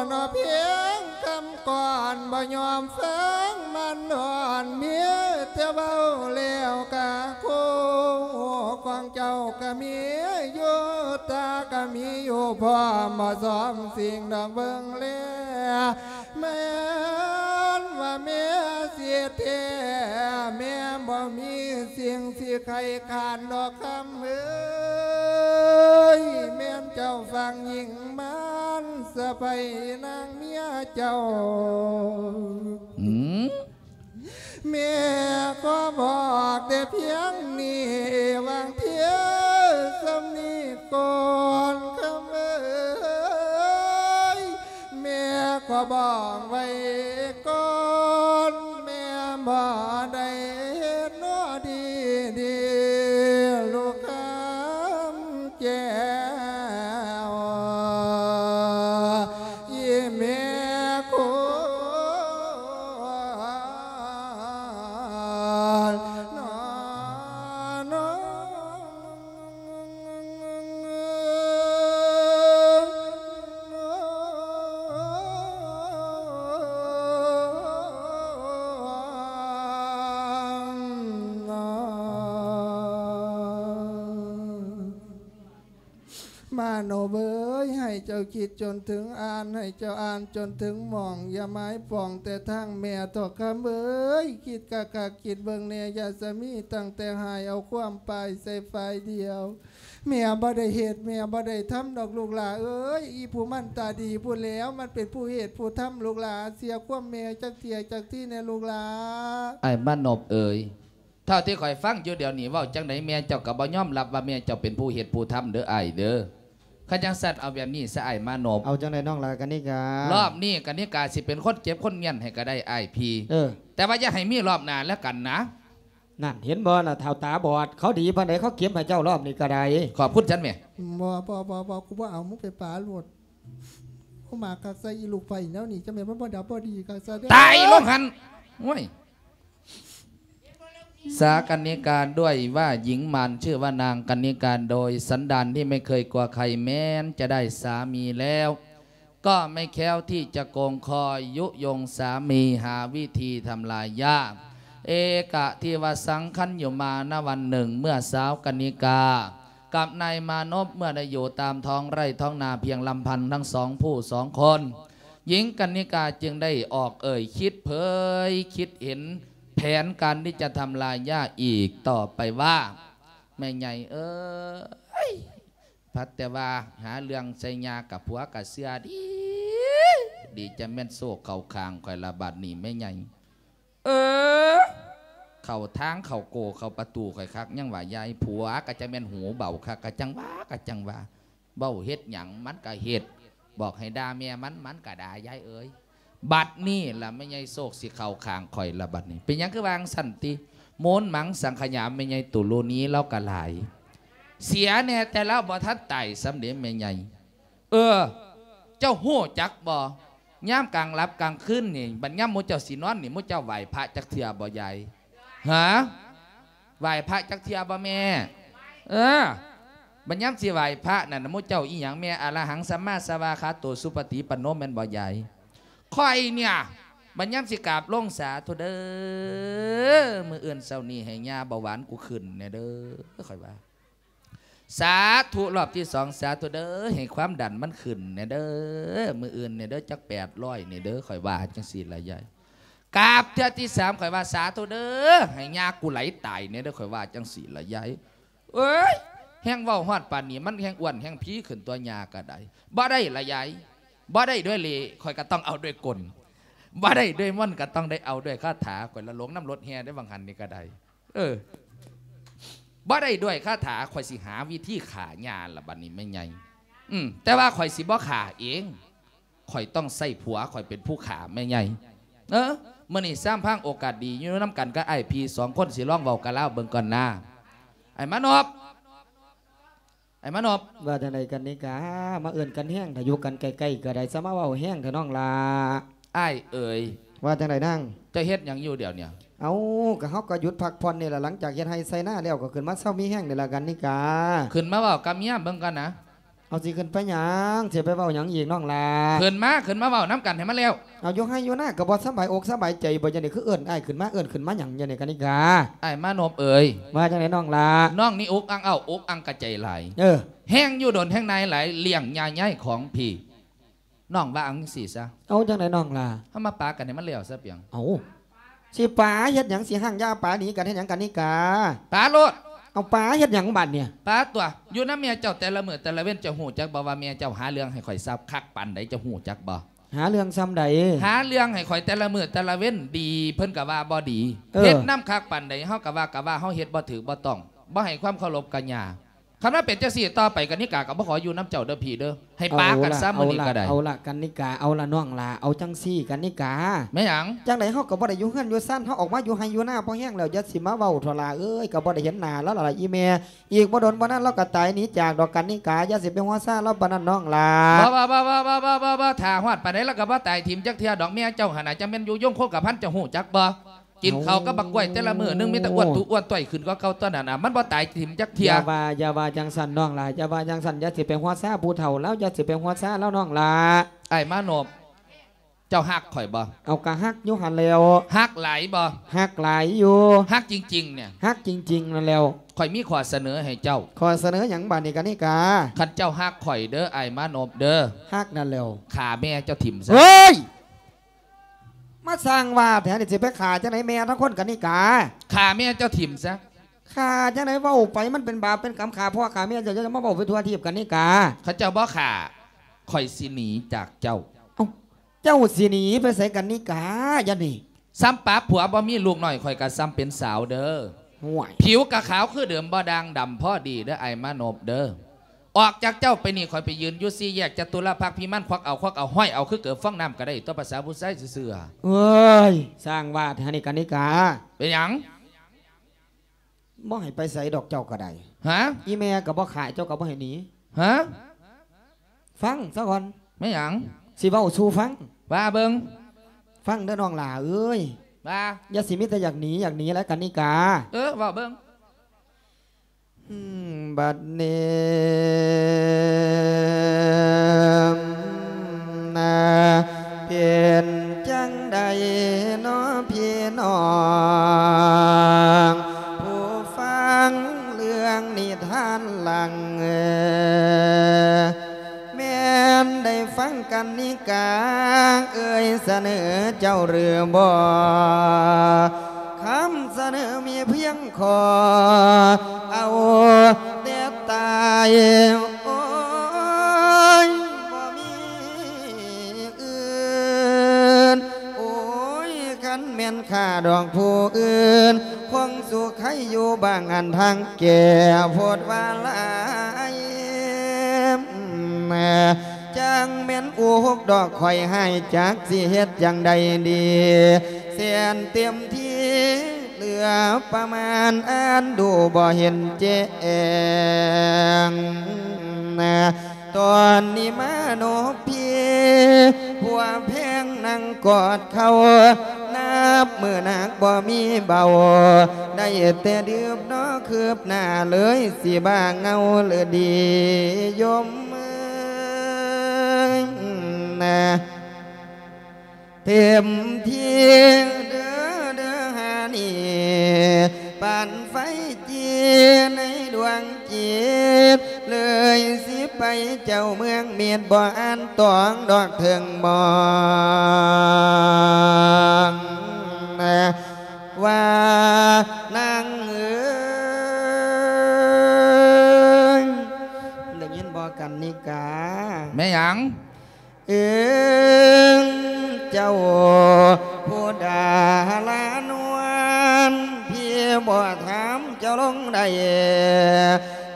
ເນາະ ພຽງຄຳກ່ອນ ນບໍ່ຍອມຟັງມັນອ່ອນ ມີແຕ່ເວົ້າແລ້ວກະໂຄ ຂອງເຈົ້າກະມີຢູ່ ຕາກະມີຢູ່ ພ້ອມບໍ່ຊອມສິ່ງດອກເບິ່ງແລ ແມ່ນວ່າແມ່ຊິແທ້ ແມ່ບໍ່ມີສິ່ງຊິໄຂ້ຄານດອກຄຳເອີຍ ແມ່ນເຈົ້າຟັງຍິງມານສະໃພນາງເມຍເຈົ້າ ອືມ ແມ່ຂໍບອກແຕ່ພຽງນີ້ ຫວ່າງພຽງສ່ຳນີ້ກ່ອນຄຳເອີຍ ແມ່ຂໍບອກໄວ້ກ່ອນ ແມ່ບໍ່ໄດ້ເຮັດໜໍດີດີ ລູກຄຳແກ້ວ ອີ່ແມ່ຄົນ ມາໂນບເອີຍ ໃຫ້ເຈົ້າຄິດຈົນເຖິງອ່ານ ໃຫ້ເຈົ້າອ່ານຈົນເຖິງໝ່ອງ ຢ່າໝາຍປ່ອງແຕ່ທາງແມ່ເຖາະຄຳເອີຍ ຄິດຄັກໆ ຄິດເບິ່ງແດ່ ຢ່າສະມີຕັ້ງແຕ່ຫາຍເອົາຄວາມປາຍໃສ່ຝ່າຍດຽວ ແມ່ບໍ່ໄດ້ເຮັດ ແມ່ບໍ່ໄດ້ທຳດອກລູກຫຼ້າເອີຍ ອີ່ຜູ້ມັນຕາດີພຸ້ນແລ້ວ ມັນເປັນຜູ້ເຮັດຜູ້ທຳລູກຫຼ້າ ເສຍຄວາມແມ່ຈັກເທື່ອຈັກທີແດ່ລູກຫຼ້າ ອ້າຍມານົບເອີຍ ເທົ່າທີ່ຂ້ອຍຟັງຢູ່ດຽວນີ້ ເວົ້າຈັ່ງໃດແມ່ເຈົ້າກໍບໍ່ຍອມຮັບວ່າແມ່ເຈົ້າເປັນຜູ້ເຮັດຜູ້ທຳເດີອ້າຍເດີ. ຄັນຈັ່ງຊັ້ນເອົາແບບນີ້ຊະອ້າຍມານົບ. ເອົາຈັ່ງໃດນ້ອງຫຼ້າກະນິກາ? ລອບນີ້ກະນິກາຊິເປັນຄົນເກັບຄົນມ້ຽນໃຫ້ກໍໄດ້ອ້າຍພີ່. ເອີ ແຕ່ວ່າຢ່າໃຫ້ມີລອບໜ້າແລ້ວກັນນະ. ນັ້ນ ເຫັນບໍ່ລະ ເຖົ້າຕາບອດ ເຂົາດີປານໃດ ເຂົາເກັບໃຫ້ເຈົ້າລອບນີ້ກໍໄດ້. ຂອບຄຸນຊັ້ນແມ່. ບໍ່ ບໍ່ ບໍ່ ກູບໍ່ເອົາ ມຶງໄປປາໂລດ. ໂອ້ ມາຄັກໃສ່ອີລູກໄຟແນວນີ້ ຈັ່ງແມ່ນມັນບໍ່ດັບບໍ່ດີຄັກຊະເດີ. ຕາຍລົງຫັ້ນ. ໂອ້ຍ. ສາກະນິກາ ດ້ວຍວ່າຍິງມານ ຊື່ວ່ານາງກະນິກາ ໂດຍສັນດານທີ່ໄມ່ເຄີຍກົວໃຄ ແມ້ນຈະໄດ້ສາມີແລ້ວ ກໍໄມ່ແຄ້ວທີ່ຈະໂກງຄອຍຍຸຍົງສາມີ ຫາວິທີທຳລາຍຢາກ ເອກະທິວະສັງຄັນຢູ່ມານະວັນໜຶ່ງ ເມື່ອສາວກະນິກາ ກັບນາຍມານົບ ເມື່ອໄດ້ຢູ່ຕາມທ້ອງໄຮ່ທ້ອງນາພຽງລຳພັງທັງສອງຜູ້ສອງຄົນ, ຍິງກະນິກາຈຶ່ງໄດ້ອອກເອີ່ຍຄິດເຜີຍຄິດເຫັນແຜນການທີ່ຈະທຳລາຍຢາກອີກຕໍ່ໄປວ່າ, ແມ່ໃຫຍ່ເອີຍ, ພັດແຕ່ວ່າຫາເລື່ອງໃສ່ຍ່າກັບຜົວກະເຊື່ອດີ, ດີຈະແມ່ນໂຊກເຂົ້າຂ້າງຂ້ອຍລະບາດນີ້ແມ່ໃຫຍ່. ເອີ ເຂົ້າທາງເຂົ້າໂກເຂົ້າປະຕູຂ້ອຍຄັກ ຍັງວ່າຍາຍ ຜົວກະຈະແມ່ນຫູເບົາຄັກ ກະຈັ່ງວ່າ ກະຈັ່ງວ່າ ເວົ້າເຮັດຫຍັງມັນກະເຮັດ ບອກໃຫ້ດ່າແມ່ມັນ ມັນກະດ່າຍາຍເອີຍ. ບັດນີ້ລະແມ່ໃຫຍ່ໂຊກຊິເຂົ້າຂ້າງຂ້ອຍລະບັດນີ້. ເປັນຫຍັງຄືວ່າຈັ່ງຊັ້ນຕິ? ມູນມັງສັງຂະຍາແມ່ໃຫຍ່ຕຸລຸນີລາວກະຫຼາຍ ເສຍແດ່ແຕ່ລາວບໍ່ທັນຕາຍຊ້ຳເດແມ່ໃຫຍ່. ເອີ ເຈົ້າຮູ້ຈັກບໍ່? ຍາມກາງຫຼັບກາງຄືນນີ້ ບັດຍາມໝູ່ເຈົ້າຊິນອນນີ້ ໝູ່ເຈົ້າໄຫວ້ພະຈັກເທື່ອບໍ່ຍາຍ? ຫາ? ໄຫວ້ພະຈັກເທື່ອບໍ່ແມ່? ເອີ ບັດຍາມຊິໄຫວ້ພະນັ້ນ ໝູ່ເຈົ້າອີ່ຫຍັງແມ່? ອະລະຫັງສຳມາສະວາຄາໂຕ ສຸປະຕິປັນໂນ ແມ່ນບໍ່ຍາຍ? ຂ້ອຍເນຍ ບັດຍາມຊິກາບລົງ ສາທຸເດີ ມື້ອື່ນເຊົ້ານີ້ໃຫ້ຍ່າເບົາຫວານກູຂຶ້ນແດ່ເດີ ຂ້ອຍວ່າ. ສາທຸ ລອບທີສອງ ສາທຸເດີ ໃຫ້ຄວາມດັນມັນຂຶ້ນແດ່ເດີ ມື້ອື່ນແດ່ເດີ ຈັກແປດຮ້ອຍແດ່ເດີ ຂ້ອຍວ່າຈັ່ງຊີ້ລະຍາຍ. ກາບເທື່ອທີສາມ ຂ້ອຍວ່າ ສາທຸເດີ ໃຫ້ຍ່າກູໄຫຼຕາຍແດ່ເດີ ຂ້ອຍວ່າຈັ່ງຊີ້ລະຍາຍ. ເອີຍ ແຮ່ງເວົ້າຮອດປານນີ້ ມັນແຮ່ງອ້ວນແຮ່ງພີຂຶ້ນຕົວະ ຍ່າກະໄດ້. ບໍ່ໄດ້ລະຍາຍ ບໍ່ໄດ້ດ້ວຍເລ່ ຂ້ອຍກະຕ້ອງເອົາດ້ວຍກົນ ບໍ່ໄດ້ດ້ວຍມົນ ກະຕ້ອງໄດ້ເອົາດ້ວຍຄາຖາ. ຂ້ອຍລະຫຼົງນຳລົດແຫ່ເດ້ ຫວ່າງຫັ້ນນີ້ກະໄດ້. ເອີ ບໍ່ໄດ້ດ້ວຍຄາຖາ ຂ້ອຍຊິຫາວິທີຂ້າຍ່າລະບັດນີ້ແມ່ໃຫຍ່. ອືມ ແຕ່ວ່າຂ້ອຍຊິບໍ່ຂ້າເອງ ຂ້ອຍຕ້ອງໃຊ້ຜົວຂ້ອຍເປັນຜູ້ຂ້າແມ່ໃຫຍ່. ເອີ ມື້ນີ້ສາມພັງໂອກາດດີ ຢູ່ນຳກັນກັບອ້າຍພີ່ສອງຄົນ ຊິລອງເວົ້າກັບລາວເບິ່ງກ່ອນນາ ອ້າຍມານົບ. ອ້າຍມານົບ ວ່າຈັ່ງໃດກັນນີ້ກາ ມາເອີ້ນກັນແຮງ ຖ້າຢູ່ກັນໃກ້ໆກໍໄດ້ ສະມາເວົ້າແຮງແທ້ນ້ອງຫຼ້າ. ອ້າຍເອີຍ ວ່າຈັ່ງໃດນາງ? ເຈົ້າເຮັດຫຍັງຢູ່ດຽວນີ້? ເອົ້າ ກໍເຮົາກໍຢຸດພັກຜ່ອນນີ້ລະ ຫຼັງຈາກເຮັດໄຮ່ໄຊນາແລ້ວ ກໍຂຶ້ນມາເຊົາມີແຮງນີ້ລະກັນນີ້ກາ. ຂຶ້ນມາເວົ້າກັບເມຍເບິ່ງກ່ອນນະ. ເອົາ ຊິຂຶ້ນໄປຫຍັງ? ຊິໄປເວົ້າຫຍັງອີກນ້ອງຫຼ້າ? ຂຶ້ນມາ ຂຶ້ນມາເວົ້ານຳກັນໃຫ້ມັນແລ້ວ. ເອົາ ຢູ່ໄຮ່ຢູ່ນາກໍບໍ່ສະບາຍອົກສະບາຍໃຈບໍ່? ຈັ່ງໃດຄືເອີ້ນອ້າຍຂຶ້ນມາ ເອີ້ນຂຶ້ນມາຫຍັງຈັ່ງໃດກະນິກາ? ອ້າຍມານົບເອີຍ. ວ່າຈັ່ງໃດນ້ອງຫຼ້າ? ນ້ອງນີ້ອຸກອັ່ງເອົ້າ ອຸກອັ່ງກະໃຈຫຼາຍ. ເອີ ແຮງຢູ່ດົນແຮງນາຍຫຼາຍ ລ້ຽງຍ່າຍຍາຍຂອງພີ້. ນ້ອງວ່າເອົາຈັ່ງຊີ້ຊະ. ເອົາຈັ່ງໃດນ້ອງຫຼ້າ? ເຮົາມາປາກັນໃຫ້ມັນແລ້ວຊະປຽງ. ເອົາ ຊິປາເຮັດຫຍັງ? ຊິຮ້າງຢາປາໜີກັນເຮັດຫຍັງກະນິກາ? ປາໂລດ. ເອົາ ປາເຮັດຫຍັງບາດນີ້? ປາຕົວະ ຢູ່ນຳແມ່ເຈົ້າແຕ່ລະມື້ແຕ່ລະເວັນ ເຈົ້າຮູ້ຈັກບໍ່ວ່າແມ່ເຈົ້າຫາເລື່ອງໃຫ້ຂ້ອຍຊະຄັກປານໃດ? ເຈົ້າຮູ້ຈັກບໍ່? ຫາເລື່ອງຊ່ຳໃດ? ຫາເລື່ອງໃຫ້ຂ້ອຍແຕ່ລະມື້ແຕ່ລະເວັນ ດີເພິ່ນກະວ່າບໍ່ດີ. ເອີ ເຮັດນຳຄັກປານໃດ ເຮົາກະວ່າ ກະວ່າເຮົາເຮັດບໍ່ຖືກບໍ່ຕ້ອງ ບໍ່ໃຫ້ຄວາມເຄົາລົບກັບຍ່າ. ຄັນວ່າເປັນຈັ່ງຊີ້ຕໍ່ໄປ ກະນິກາກໍບໍ່ຂໍຢູ່ນຳເຈົ້າເດີພີ່ເດີ ໃຫ້ປາກັນຊະມື້ນີ້ກໍໄດ້. ເອົາລະ ເອົາລະ ເອົາລະ ກະນິກາ ເອົາລະນ້ອງຫຼ້າ ເອົາຈັ່ງຊີ້ກະນິກາ. ແມ່ນຫຍັງ? ຈັ່ງໃດເຮົາກໍບໍ່ໄດ້ຢູ່ເຮືອນຢູ່ຊານ ເຮົາອອກມາຢູ່ໄຮ່ຢູ່ນາພໍແຮງແລ້ວ. ຢ່າຊິມາເວົ້າເຖົ້າຫຼ້າເອີຍ ກໍບໍ່ໄດ້ເຫັນໜ້າລາວລະລະອີ່ແມ່. ອີກບໍ່ດົນບໍ່ນານລາວກໍຕາຍໜີຈາກດອກກະນິກາ. ຢ່າຊິໄປຫົວຊາລາວປານນັ້ນນ້ອງຫຼ້າ. ບໍ່ ບໍ່ ຖ້າຮອດປານໃດລາວກໍບໍ່ຕາຍຖິ້ມຈັກເທື່ອດອກ. ແມ່ເຈົ້າຫັ້ນນະ ຈັ່ງແມ່ນຢູ່ຍົງຄົງກະພັນ ເຈົ້າຮູ້ຈັກບໍ່? ກິນເຂົ້າກັບບັກກ້ວຍແຕ່ລະມື້ໜຶ່ງ ມີແຕ່ອ້ວນຕຸອ້ວນຕ້ອຍຂຶ້ນກວ່າເກົ່າຕົວະນັ້ນນະ ມັນບໍ່ຕາຍຖິ້ມຈັກເທື່ອ. ຢ່າວ່າ ຢ່າວ່າຈັ່ງຊັ້ນນ້ອງຫຼ້າ ຢ່າວ່າຈັ່ງຊັ້ນ ຢ່າຊິໄປຫົວຊາຜູ້ເຖົ້າລາວ ຢ່າຊິໄປຫົວຊາລາວນ້ອງຫຼ້າ. ອ້າຍມານົບ ເຈົ້າຮັກຂ້ອຍບໍ່? ເອົາ ກະຮັກຢູ່ຫັ້ນແລ້ວ. ຮັກຫຼາຍບໍ່? ຮັກຫຼາຍຢູ່. ຮັກຈິງໆ ນີ້? ຮັກຈິງໆ ນັ້ນແລ້ວ. ຂ້ອຍມີຂໍ້ສະເໜີໃຫ້ເຈົ້າ. ຂໍ້ສະເໜີຫຍັງບາດນີ້ກະນິກາ? ຄັນເຈົ້າຮັກຂ້ອຍເດີ ອ້າຍມານົບເດີ ຮັກນັ້ນແລ້ວ ຂ້າແມ່ເຈົ້າຖິ້ມຊະ. ເຮີ້ຍ! ມາສ້າງວ່າແທ້ນີ້ ຊິໄປຂ້າຈັ່ງໃດແມ່ທັງຄົນກະນິກາ? ຂ້າແມ່ເຈົ້າຖິ້ມຊະ. ຂ້າຈັ່ງໃດ? ເວົ້າໄປມັນເປັນບາບເປັນກຳ ຂ້າພໍ່ຂ້າແມ່ເຈົ້າ ເຈົ້າຈະມາເວົ້າໄປທົ່ວທີບກະນິກາ. ຄັນເຈົ້າບໍ່ຂ້າ ຂ້ອຍຊິໜີຈາກເຈົ້າ. ເອົ້າ ເຈົ້າຊິໜີໄປໃສກະນິກາ? ຢ່າໜີ. ສ່ຳປາຜົວບໍ່ມີລູກນ້ອຍ ຂ້ອຍກະສ່ຳເປັນສາວເດີ. ຫ້ວຍ ຜິວກະຂາວຄືເດີມ ບໍ່ດ່າງດຳ ພໍດີເດີ ອ້າຍມານົບເດີ. ອອກຈາກເຈົ້າໄປນີ້ ຂ້ອຍໄປຢືນຢູ່ສີ່ແຍກຈະຕຸລະພັກພິມານ ຄວັກເອົາ ຄວັກເອົາ ຫ້ອຍເອົາຄືເກີບຟອງນ້ຳກະໄດ້ຕົວະ ພາສາຜູ້ຊາຍຊື່ໆ. ເອີຍ ສ້າງວ່າແທ້ນີ້ກະນິກາ. ເປັນຫຍັງ? ບໍ່ໃຫ້ໄປໃສດອກເຈົ້າກະໄດ້. ຮະ? ອີ່ແມ່ກະບໍ່ຂາຍ ເຈົ້າກະບໍ່ໃຫ້ໜີ. ຮະ? ຟັງຊະກ່ອນ. ແມ່ນຫຍັງ? ຊິເວົ້າສູ່ຟັງ. ວ່າເບິ່ງ. ຟັງເດີນ້ອງຫຼ້າເອີຍ. ວ່າ? ຢ່າຊິມີແຕ່ຢາກໜີ ຢາກໜີແຫຼະກະນິກາ. ເອີ ເວົ້າເບິ່ງ. ອືມ ບັດນີ້ນາ ເປັນຈັ່ງໃດນໍພີ່ນ້ອງ ຜູ້ຟັງເລື່ອງນິທານຫຼັງ ແມ່ນໄດ້ຟັງກະນິກາເອີຍສະເໜີເຈົ້າຫຼືບໍ່? ຄຳສະເໜີມີພຽງຂໍ້ ເອົາແຕ່ຕາຍ ໂອ້ຍ ບໍ່ມີອື່ນ ໂອ້ຍ ຄັນແມ່ນຂ້າດອກຜູ້ອື່ນ ຄົງສຸກໄຄຢູ່ບ້າງອັນທາງແກ່ໂພດວ່າຫຼາຍ ຈັ່ງແມ່ນອຸຫົກດອກຂ້ອຍຮ້າຍ ຈັກຊິເຮັດຈັ່ງໃດດີ ແສນເຕັມທີ່ ເຫຼືອປະມານອັນດູບໍ່ເຫັນແຈ້ງ ຕອນນີ້ມານົບພີ້ ຜົວແພງນັ່ງກອດເຂົ່າ ນັບມື້ໜັກບໍ່ມີເບົາ ໄດ້ແຕ່ດື່ມເນາະຄືບໜ້າ ເລີຍຊິບ້າເຫງົາເລີຍດີ ໂຍມເອີຍ ເຕັມທີ່ເດີ ເດີຫານີ້ ປານໄຟຈີໃນດວງຈິດ ເລີຍຊິໄປເຈົ້າເມືອງມິດ ບໍ່ອ່ານຕອງດອກເຖິງມອງ ວ່ານາງເອີຍ ໄດ້ຍິນບໍ່ກັນນິກາ? ແມ່ນຫຍັງ? ເອີ ເຈົ້າຜູ້ດາລານວນ ພີ່ບໍ່ຖາມເຈົ້າລົງໄດ້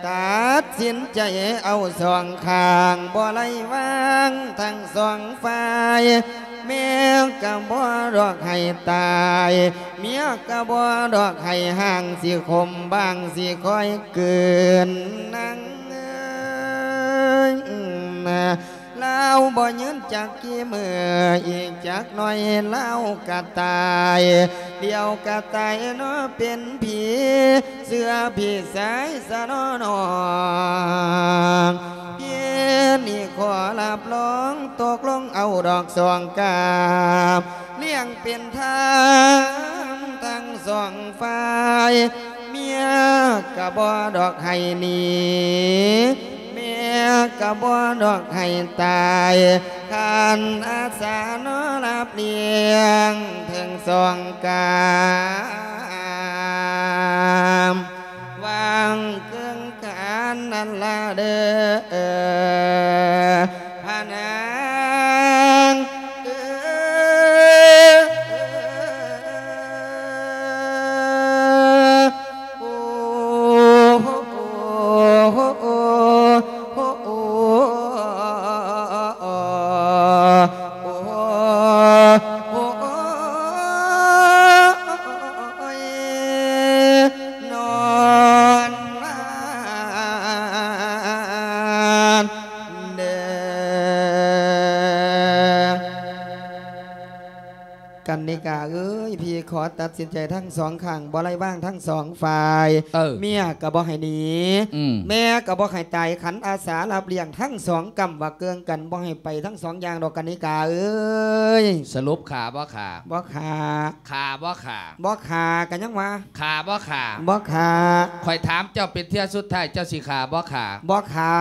ຕັດສິນໃຈເອົາສອງຂ້າງ ບໍ່ໄດ້ວາງທັງສອງຝ່າຍ ແມ່ກະບໍ່ດອກໃຫ້ຕາຍ ເມຍກະບໍ່ດອກໃຫ້ຮ້າງ ຊິຂົມບາງຊິຄ່ອຍກືນ ນາງເອີຍ ນາ ລາວບໍ່ຍືນຈັກກີ້ມື້ ອີກຈັກໜ້ອຍລາວກະຕາຍ ດຽວກະຕາຍເນາະເປັນຜີ ເຊື່ອພີ່ຊາຍຊະເນາະນ້ອງ ເພຍນີ້ຂໍຮັບຮອງ ຕົກລົງເອົາດອກສອງກາບ ລ້ຽງເປັນທານທັງສອງຝ່າຍ ເມຍກະບໍ່ດອກໃຫ້ໜີ ແມ່ກະບໍ່ດອກໃຫ້ຕາຍ ຄັນອາສາເນາະຮັບລ້ຽງເຖິງສອງກາມ ຫວ່າງເຄິ່ງການນັ້ນລະເດີ ພະນາງເອີ. ກັນນິກາເອີຍ ພີ່ຂໍຕັດສິນໃຈທັງສອງຂ້າງ ບໍ່ໄດ້ວາງທັງສອງຝ່າຍ ເອີ ເມຍກໍບໍ່ໃຫ້ໜີ ອືມ ແມ່ກໍບໍ່ໃຫ້ຕາຍ ຂັນອາສາຮັບລ້ຽງທັງສອງກຳ ວ່າເກີງກັນ ບໍ່ໃຫ້ໄປທັງສອງຢ່າງດອກ ກັນນິກາເອີຍ. ສະຫຼຸບຂ້າບໍ່ຂ້າ? ບໍ່ຂ້າ. ຂ້າບໍ່ຂ້າ? ບໍ່ຂ້າ ກໍຍັງວ່າ ຂ້າບໍ່ຂ້າ? ບໍ່ຂ້າ. ຂ້ອຍຖາມເຈົ້າເປັນເທື່ອສຸດທ້າຍ ເຈົ້າຊິຂ້າບໍ່ຂ້າ? ບໍ່ຂ້າ.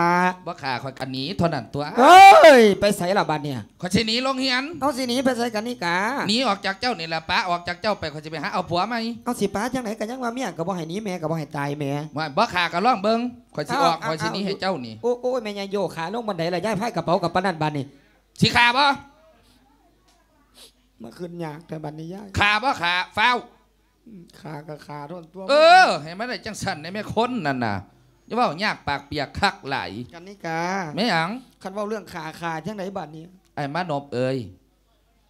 ບໍ່ຂ້າ ຂ້ອຍກໍໜີເທົ່ານັ້ນຕົວະ. ເອີຍ ໄປໃສລະບັດນີ້? ຂ້ອຍຊິໜີໂລງຮຽນ. ເອົາ ຊິໜີໄປໃສກັນນິກາ? ໜີອອກຈາກເຈົ້ານີ້ລະ ປະອອກຈາກເຈົ້າໄປ ຂ້ອຍຊິໄປຫາເອົາຜົວໃໝ່. ເອົາ ຊິປະຈັ່ງໃດ ກໍຍັງວ່າເມຍກໍບໍ່ໃຫ້ໜີ ແມ່ກໍບໍ່ໃຫ້ຕາຍແມ່. ວ່າ ບໍ່ຂ້າກໍລອງເບິ່ງ ຂ້ອຍຊິອອກ ເອົາ ຂ້ອຍຊິໜີໃຫ້ເຈົ້ານີ້. ໂອ້ ໂອ້ຍ ແມ່ໃຫຍ່ໂຢຂາລົງບັນໄດລະ ຍ້າຍພາຍກະເປົາກັບປານນັ້ນບາດນີ້. ຊິຂ້າບໍ່? ມາຂຶ້ນຍາກແທ້ບາດນີ້ຍາຍ. ຂ້າບໍ່ຂ້າ? ຟ້າວ. ອືມ ຂ້າກໍຂ້າໂລດຕົວະ. ເອີ ໃຫ້ມັນໄດ້ຈັ່ງຊັ້ນແດ່ແມ່ ຄົນນັ້ນນະ ຢ່າເວົ້າຍາກປາກປຽກຄັກຫຼາຍ. ກັນນິກາ ແມ່ນຫຍັງ? ຄັນເວົ້າເລື່ອງຂ້າ ຂ້າຈັ່ງໃດບາດນີ້? ອ້າຍມານົບເອີຍ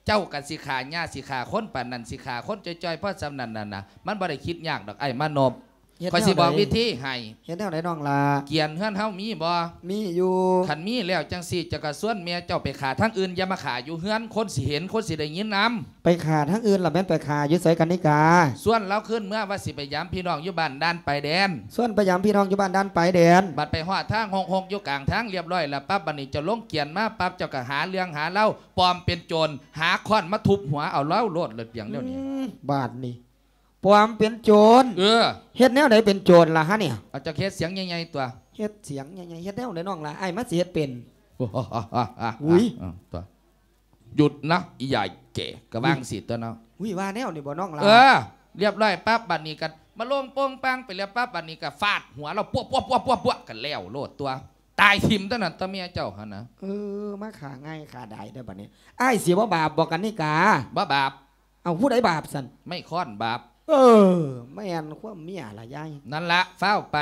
ເຈົ້າກໍຊິຂ້າຫຍ້າ ຊິຂ້າຄົນປານນັ້ນ ຊິຂ້າຄົນຈ່ອຍໆ ພໍສ່ຳນັ້ນນັ້ນນະ ມັນບໍ່ໄດ້ຄິດຍາກດອກ ອ້າຍມານົບ. ເຮັດ ຂ້ອຍຊິບອກ ແນວໃດ? ວິທີໃຫ້. ເຮັດແນວໃດນ້ອງຫຼ້າ? ກຽນເຮືອນເຮົາມີບໍ່? ມີຢູ່. ຄັນມີແລ້ວຈັ່ງຊີ້ ເຈົ້າກໍຊວນແມ່ເຈົ້າໄປຂ້າທາງອື່ນ ຢ່າມາຂ້າຢູ່ເຮືອນ ຄົນຊິເຫັນ ຄົນຊິໄດ້ຍິນນຳ. ໄປຂ້າທາງອື່ນລະແມ່ນໄປຂ້າຢູ່ໃສກັນນິກາ? ຊວນລາວຄືນເມືອ ວ່າຊິໄປຢາມພີ່ນ້ອງຢູ່ບ້ານດ່ານປາຍແດນ. ຊວນໄປຢາມພີ່ນ້ອງຢູ່ບ້ານດ່ານປາຍແດນ. ບັດໄປຮອດທາງຮົກໆ ຢູ່ກາງທາງລຽບຮ້ອຍລະປັບ ບັດນີ້ເຈົ້າລົງກຽນມາປັບ ເຈົ້າກໍຫາເລື່ອງຫາລາວ ປອມເປັນໂຈນ ຫາຄ້ອນມາທຸບຫົວເອົາລາວໂລດ ເລີດປຽງດຽວນີ້. ອືມ ບາດນີ້ ປອມເປັນໂຈນ. ເອີ ເຮັດແນວໃດເປັນໂຈນລະຫະນີ້? ເອົາ ເຈົ້າເຮັດສຽງໃຫຍ່ໆ ຕົວະ. ເຮັດສຽງໃຫຍ່ໆ ເຮັດແນວໃດນ້ອງຫຼ້າ? ອ້າຍມັນຊິເຮັດເປັນ. ອຸ້ຍ ເອີ ຕົວະ ຢຸດນະ ອີໃຫຍ່ແກ່ ກໍວ່າງຊີ້ຕົວະເນາະ. ອຸ້ຍ ວ່າແນວນີ້ບໍ່ນ້ອງຫຼ້າ? ເອີ ລຽບຮ້ອຍປັບ ບັດນີ້ກໍມາລົງໂປ່ງປັງໄປແລ້ວປັບ ບັດນີ້ກໍຟາດຫົວລາວ ປວກໆໆໆ ກໍແລ້ວໂລດຕົວະ. ຕາຍຖິ້ມຕົວະນັ້ນຕົວະ ເມຍເຈົ້າຫັ້ນນະ. ເອີ ມາຂ້າງ່າຍຂ້າດາຍເດີ້ບັດນີ້. ອ້າຍຊິບໍ່ບາບບໍ່ກັນນິກາ? ບໍ່ບາບ. ເອົາ ຜູ້ໃດບາບຊັ້ນ? ໄມ້ຄ້ອນບາບ. ເອີ ແມ່ນຄວາມເມຍລະຍາຍ. ນັ້ນລະ ຟ້າວໄປ.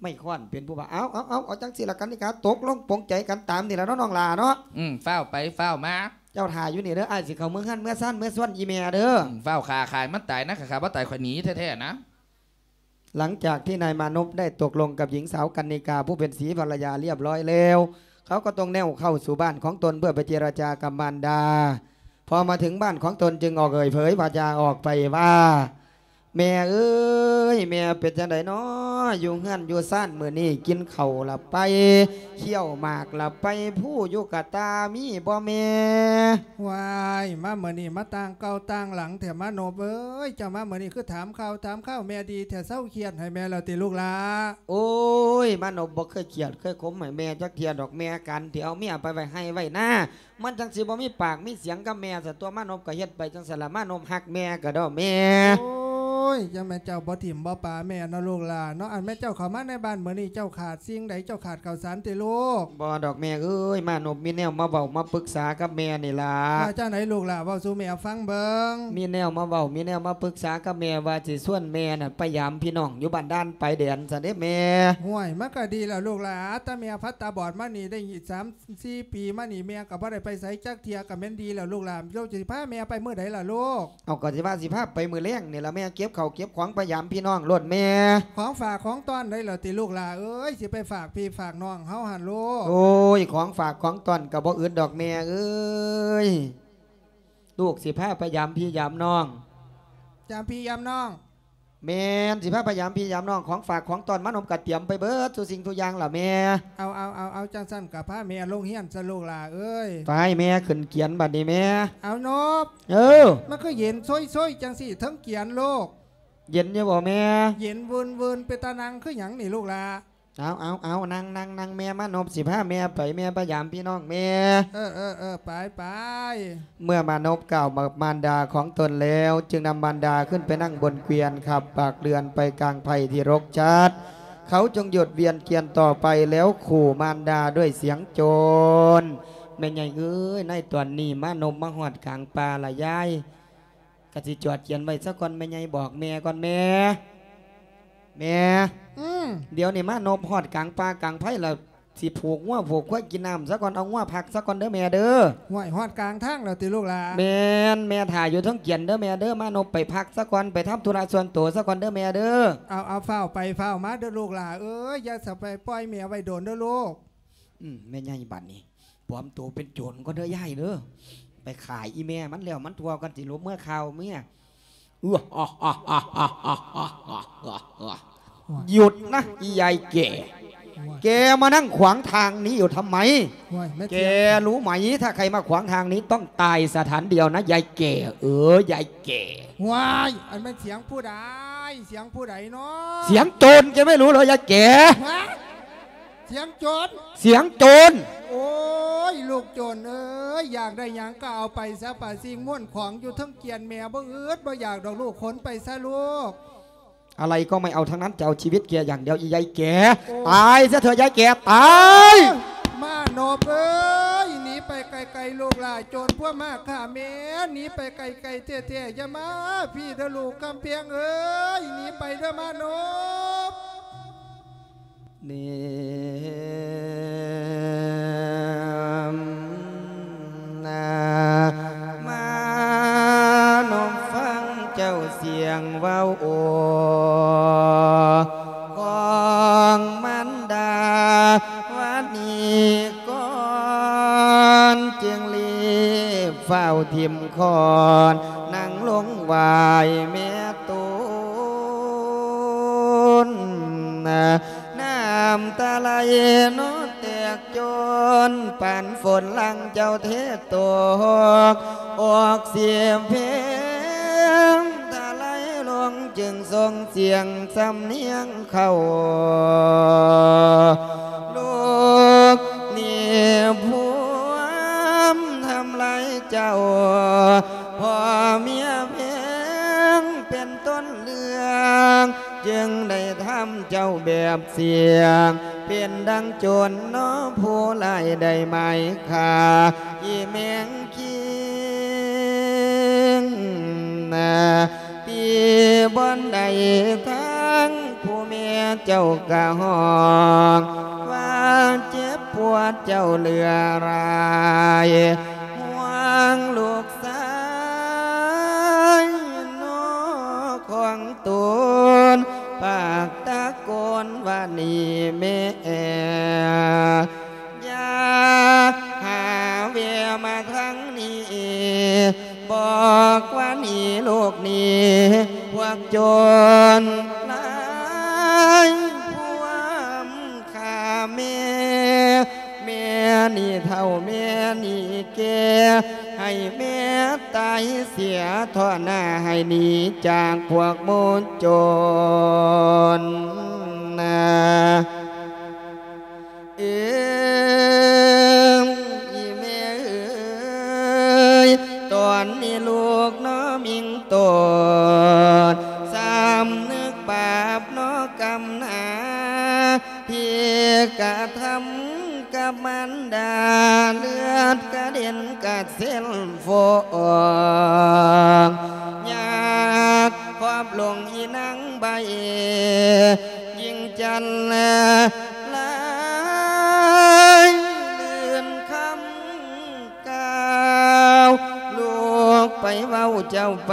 ໄມ້ຄ້ອນເປັນຜູ້ບາບ. ເອົາ ເອົາ ເອົາ ເອົາ ຈັ່ງຊີ້ລະກັນນິກາ ຕົກລົງປົງໃຈກັນຕາມນີ້ລະເນາະ ນ້ອງຫຼ້າເນາະ. ອືມ ຟ້າວໄປ ຟ້າວມາ. ເຈົ້າຖ້າຢູ່ນີ້ເດີ້ ອ້າຍຊິເຂົ້າເມືອເຮືອນເມືອຊານ ເມືອຊວນອີ່ແມ່ເດີ້. ອືມ ຟ້າວຂ້າ ຂ້າໃຫ້ມັນຕາຍນະ ຂ້າບໍ່ຕາຍຂ້ອຍໜີແທ້ໆນະ. ຫຼັງຈາກທີ່ນາຍມານົບໄດ້ຕົກລົງກັບຍິງສາວກັນນິກາ ຜູ້ເປັນສີພັນລະຍາລຽບຮ້ອຍແລ້ວ ເຂົາກໍຕ້ອງແນວເຂົ້າສູ່ບ້ານຂອງຕົນເພື່ອໄປເຈລະຈາກັບມານດາ. ພໍມາເຖິງບ້ານຂອງຕົນຈຶ່ງອອກເອີ່ຍເຜີຍວາຈາອອກໄປວ່າ ແມ່ເອີຍ ແມ່ເປັນຈັ່ງໃດນໍ ຢູ່ເຮືອນຢູ່ຊານມື້ນີ້ ກິນເຂົ້າລະໄປ ຄ້ຽວໝາກລະໄປ ພູຢູ່ກະຕ່າມີບໍ່ແມ່? ວ້າຍ ມາມື້ນີ້ມາຕ່າງເກົ່າຕ່າງຫຼັງແທ້ມານົບເອີຍ ເຈົ້າມາມື້ນີ້ຄືຖາມຂ່າວຖາມຄາວແມ່ດີແທ້ ເຊົາຄຽດໃຫ້ແມ່ແລ້ວຕິລູກຫຼ້າ? ໂອ້ຍ ມານົບບໍ່ເຄີຍຄຽດເຄີຍຂົມໃຫ້ແມ່ຈັກເທື່ອດອກ ແມ່ການທີ່ເອົາເມຍໄປໄວ້ໄຮ່ໄວ້ນາ ມັນຈັ່ງຊິບໍ່ມີປາກມີສຽງກັບແມ່ຊັ້ນຕົວະ ມານົບກໍເຮັດໄປຈັ່ງຊັ້ນລະ ມານົບຮັກແມ່ກະດອກແມ່. ໂອ້ຍ ຈັ່ງແມ່ນເຈົ້າບໍ່ຖິ້ມບໍ່ປະແມ່ເນາະລູກຫຼ້າເນາະ ອັນແມ່ເຈົ້າເຂົ້າມາໃນບ້ານມື້ນີ້ ເຈົ້າຂາດສິ່ງໃດ ເຈົ້າຂາດເຂົ້າສານຕິລູກ? ບໍ່ດອກແມ່ເອີຍ ມານົບມີແນວມາເວົ້າມາປຶກສາກັບແມ່ນີ້ລະ. ວ່າຈັ່ງໃດລູກຫຼ້າ ເວົ້າສູ່ແມ່ຟັງເບິ່ງ. ມີແນວມາເວົ້າ ມີແນວມາປຶກສາກັບແມ່ ວ່າຊິຊວນແມ່ນະໄປຢາມພີ່ນ້ອງຢູ່ບ້ານດ່ານປາຍແດນຊັ້ນເດ້ແມ່. ຫ້ວຍ ມັນກໍດີແລ້ວລູກຫຼ້າ ຕາແມ່ພັດຕາບອດມານີ້ໄດ້ສາມ ສີ່ປີມານີ້ແມ່ກໍບໍ່ໄດ້ໄປໃສຈັກເທື່ອ ກໍແມ່ນດີແລ້ວລູກຫຼ້າ ເຈົ້າຊິພາແມ່ໄປມື້ໃດລະລູກ? ເອົາ ກໍຊິວ່າຊິພາໄປມື້ແລງນີ້ລະແມ່ ເກັບ ເຂົ້າເກັບຂອງໄປຢາມພີ່ນ້ອງໂລດແມ່. ຂອງຝາກຂອງຕ້ອນໄດ້ແລ້ວຕິລູກຫຼ້າເອີຍ? ຊິໄປຝາກພີ່ຝາກນ້ອງເຮົາຫັ້ນລູກ. ໂອ້ຍ ຂອງຝາກຂອງຕ້ອນກໍບໍ່ອຶດດອກແມ່ເອີຍ. ລູກຊິພາໄປຢາມພີ່ຢາມນ້ອງ. ຢາມພີ່ຢາມນ້ອງ? ແມ່ນ ຊິພາໄປຢາມພີ່ຢາມນ້ອງ. ຂອງຝາກຂອງຕ້ອນມານົບກໍຕຽມໄປເບິດສູ່ສິ່ງທຸກຢ່າງລະແມ່. ເອົາ ເອົາ ເອົາ ເອົາ ຈັ່ງຊັ້ນກໍພາແມ່ລົງຮຽນຊະລູກຫຼ້າເອີຍ. ໄປແມ່ຂຶ້ນກຽນບັດນີ້ແມ່. ເອົານົບ. ເອີ ມັນຄືເຢັນໂຊຍໆ ຈັ່ງຊີ້ເທິງກຽນລູກ. ເຢັນຢູ່ບໍ່ແມ່? ເຢັນວືນໆ ເປັນຕານັ່ງຄືຫຍັງນີ້ລູກຫຼ້າ? ເອົາ ເອົາ ເອົາ ນັ່ງ ນັ່ງ ນັ່ງ ແມ່ມານົບ ຊິພາແມ່ໄປ ແມ່ໄປຢາມພີ່ນ້ອງແມ່. ເອີ ເອີ ເອີ ໄປ ໄປ. ເມື່ອມານົບກ່າວກັບມານດາຂອງຕົນແລ້ວ ຈຶ່ງນຳມານດາຂຶ້ນໄປນັ່ງບົນເກວຽນ ຂັບປາກເລື່ອນໄປກາງໄພທີ່ລົກຈັດ. ເຂົາຈຶ່ງຢຸດວຽນກຽນຕໍ່ໄປ ແລ້ວຂູ່ມານດາດ້ວຍສຽງໂຈນ. ແມ່ໃຫຍ່ເອີຍ ໃນຕອນນີ້ມານົບມາຮອດກາງປ່າລະຍາຍ. ກະຊິຈອດກຽນໄວ້ຊະກ່ອນ ແມ່ໃຫຍ່ບອກແມ່ກ່ອນແມ່. ແມ່ ອືມ ດຽວນີ້ມານົບຮອດກາງປ່າກາງໄພລະ ຊິຜູກງົວຜູກຄວາຍກິນນ້ຳຊະກ່ອນ ເອົາງົວພັກຊະກ່ອນເດີແມ່ເດີ. ຫ້ວຍ ຮອດກາງທາງແລ້ວຕິລູກຫຼ້າ? ແມ່ນ ແມ່ຖ້າຢູ່ເທິງກຽນເດີແມ່ເດີ. ມານົບໄປພັກຊະກ່ອນ ໄປທຳທຸລະສ່ວນໂຕຊະກ່ອນເດີແມ່ເດີ. ເອົາ ເອົາ ຟ້າວໄປຟ້າວມາເດີລູກຫຼ້າເອີຍ ຢ່າສະໄປປ່ອຍແມ່ໄວ້ດົນເດີລູກ. ອືມ ແມ່ໃຫຍ່ບັດນີ້ ປອມໂຕເປັນໂຈນກ່ອນເດີຍາຍເດີ. ໄປຂ້າອີແມ່ມັນແລ້ວມັນທົ່ວກ່ອນ ຊິຫຼົບເມືອຂ່າວເມຍ. ຢຸດນະອີຍາຍແກ່. ແກມານັ່ງຂວາງທາງນີ້ຢູ່ທຳໄມ? ແກຮູ້ໄໝ ຖ້າໃຄມາຂວາງທາງນີ້ຕ້ອງຕາຍສະຖານດຽວນະ ຍາຍແກ່ເອີຍ ຍາຍແກ່. ວ້າຍ ອັນແມ່ນສຽງຜູ້ໃດ? ສຽງຜູ້ໃດເນາະ? ສຽງໂຈນ ແກໄມ່ຮູ້ເລີຍ ຍາຍແກ່. ສຽງໂຈນ? ສຽງໂຈນ. ໂອ້ຍ ລູກໂຈນເອີຍ ຢາກໄດ້ຫຍັງກໍເອົາໄປຊະ ປາສິ່ງມ້ວນຂອງຢູ່ເທິງກຽນແມ່ບໍ່ອຶດບໍ່ຢາກດອກລູກ ຂົນໄປຊະລູກ. อะไรก็ไม่เอาทั้งนั้น จะเอาชีวิตแกอย่างเดียว อียายแก่. โอ้ ตายซะเถอะยายแก่ ตาย. โอ้ มานพเอ้ย หนีไปไกลๆ ลูกหล้า โจรพวกมาฆ่าแม่ หนีไปไกลๆ แท้ๆ อย่ามาพี้เด้อลูก กำแพงเอ้ย หนีไปเด้อมานพ. ເນມນາ ມານົບຟັງເຈົ້າສຽງເວົ້າໂອ້ ຂອງມານດາ ວານີກ່ອນ ຈຶ່ງລີບຟ້າວຖິ້ມຄ້ອນ ນັ່ງລົງໄຫວ້ແມ່ໂຕນ. ນ້ຳຕາໄຫຼເນາະແຕກໂຈນ ປານຝົນຫຼັງເຈົ້າເທຕົກ ອອກສຽມເພງ ຕາໄຫຼລົງຈຶ່ງສົ່ງສຽງສຳນຽງເຂົ້າ ລູກນີ້ພວມທຳລາຍເຈົ້າ ພໍ່ເມຍເພງເປັນຕົ້ນເລື່ອງ ຈຶ່ງໄດ້ທຳເຈົ້າແບບສ່ຽງ ເປັນດັ່ງໂຈນເນາະ ຜູ້ຮ້າຍໄດ້ໝາຍຂ້າ ອີແມງຄີງນາ ຕີບ່ອນໃດທາງ ຜູ້ແມ່ເຈົ້າກະຮ້ອງວ່າເຈັບປວດເຈົ້າເຫຼືອຫຼາຍ ຫ່ວງລູກຊາຍເນາະຂອງຕົນ ປາກຕະໂກນວ່ານີ້ແມ່ ຢ່າຫາແວ່ມາທາງນີ້ ບອກວ່າໜີລູກໜີ ພວກໂຈນຫຼາຍພວມຂ້າແມ່ ແມ່ນີ້ເຖົ້າແມ່ນີ້ແກ່ ໃຫ້ແມ່ຕາຍເສຍເທາະໜ້າ ໃຫ້ໜີຈາກພວກໝູ່ໂຈນນາ. ເອີ ອີແມ່ເອີຍ ຕອນນີ້ລູກເນາະມິ່ງໂຕນ ສຳນຶກບາບເນາະກຳໜາ ທີ່ກະທຳກັບມານດາ ເລືອດກະເດັນກະເຊັນຟອງ ຢາກຂອບລົງອີນາງໃບ ຍິ່ງຈັນລະລາຍ ລື່ນຄຳກ່າວລູກໄປ ເວົ້າເຈົ້າໄປ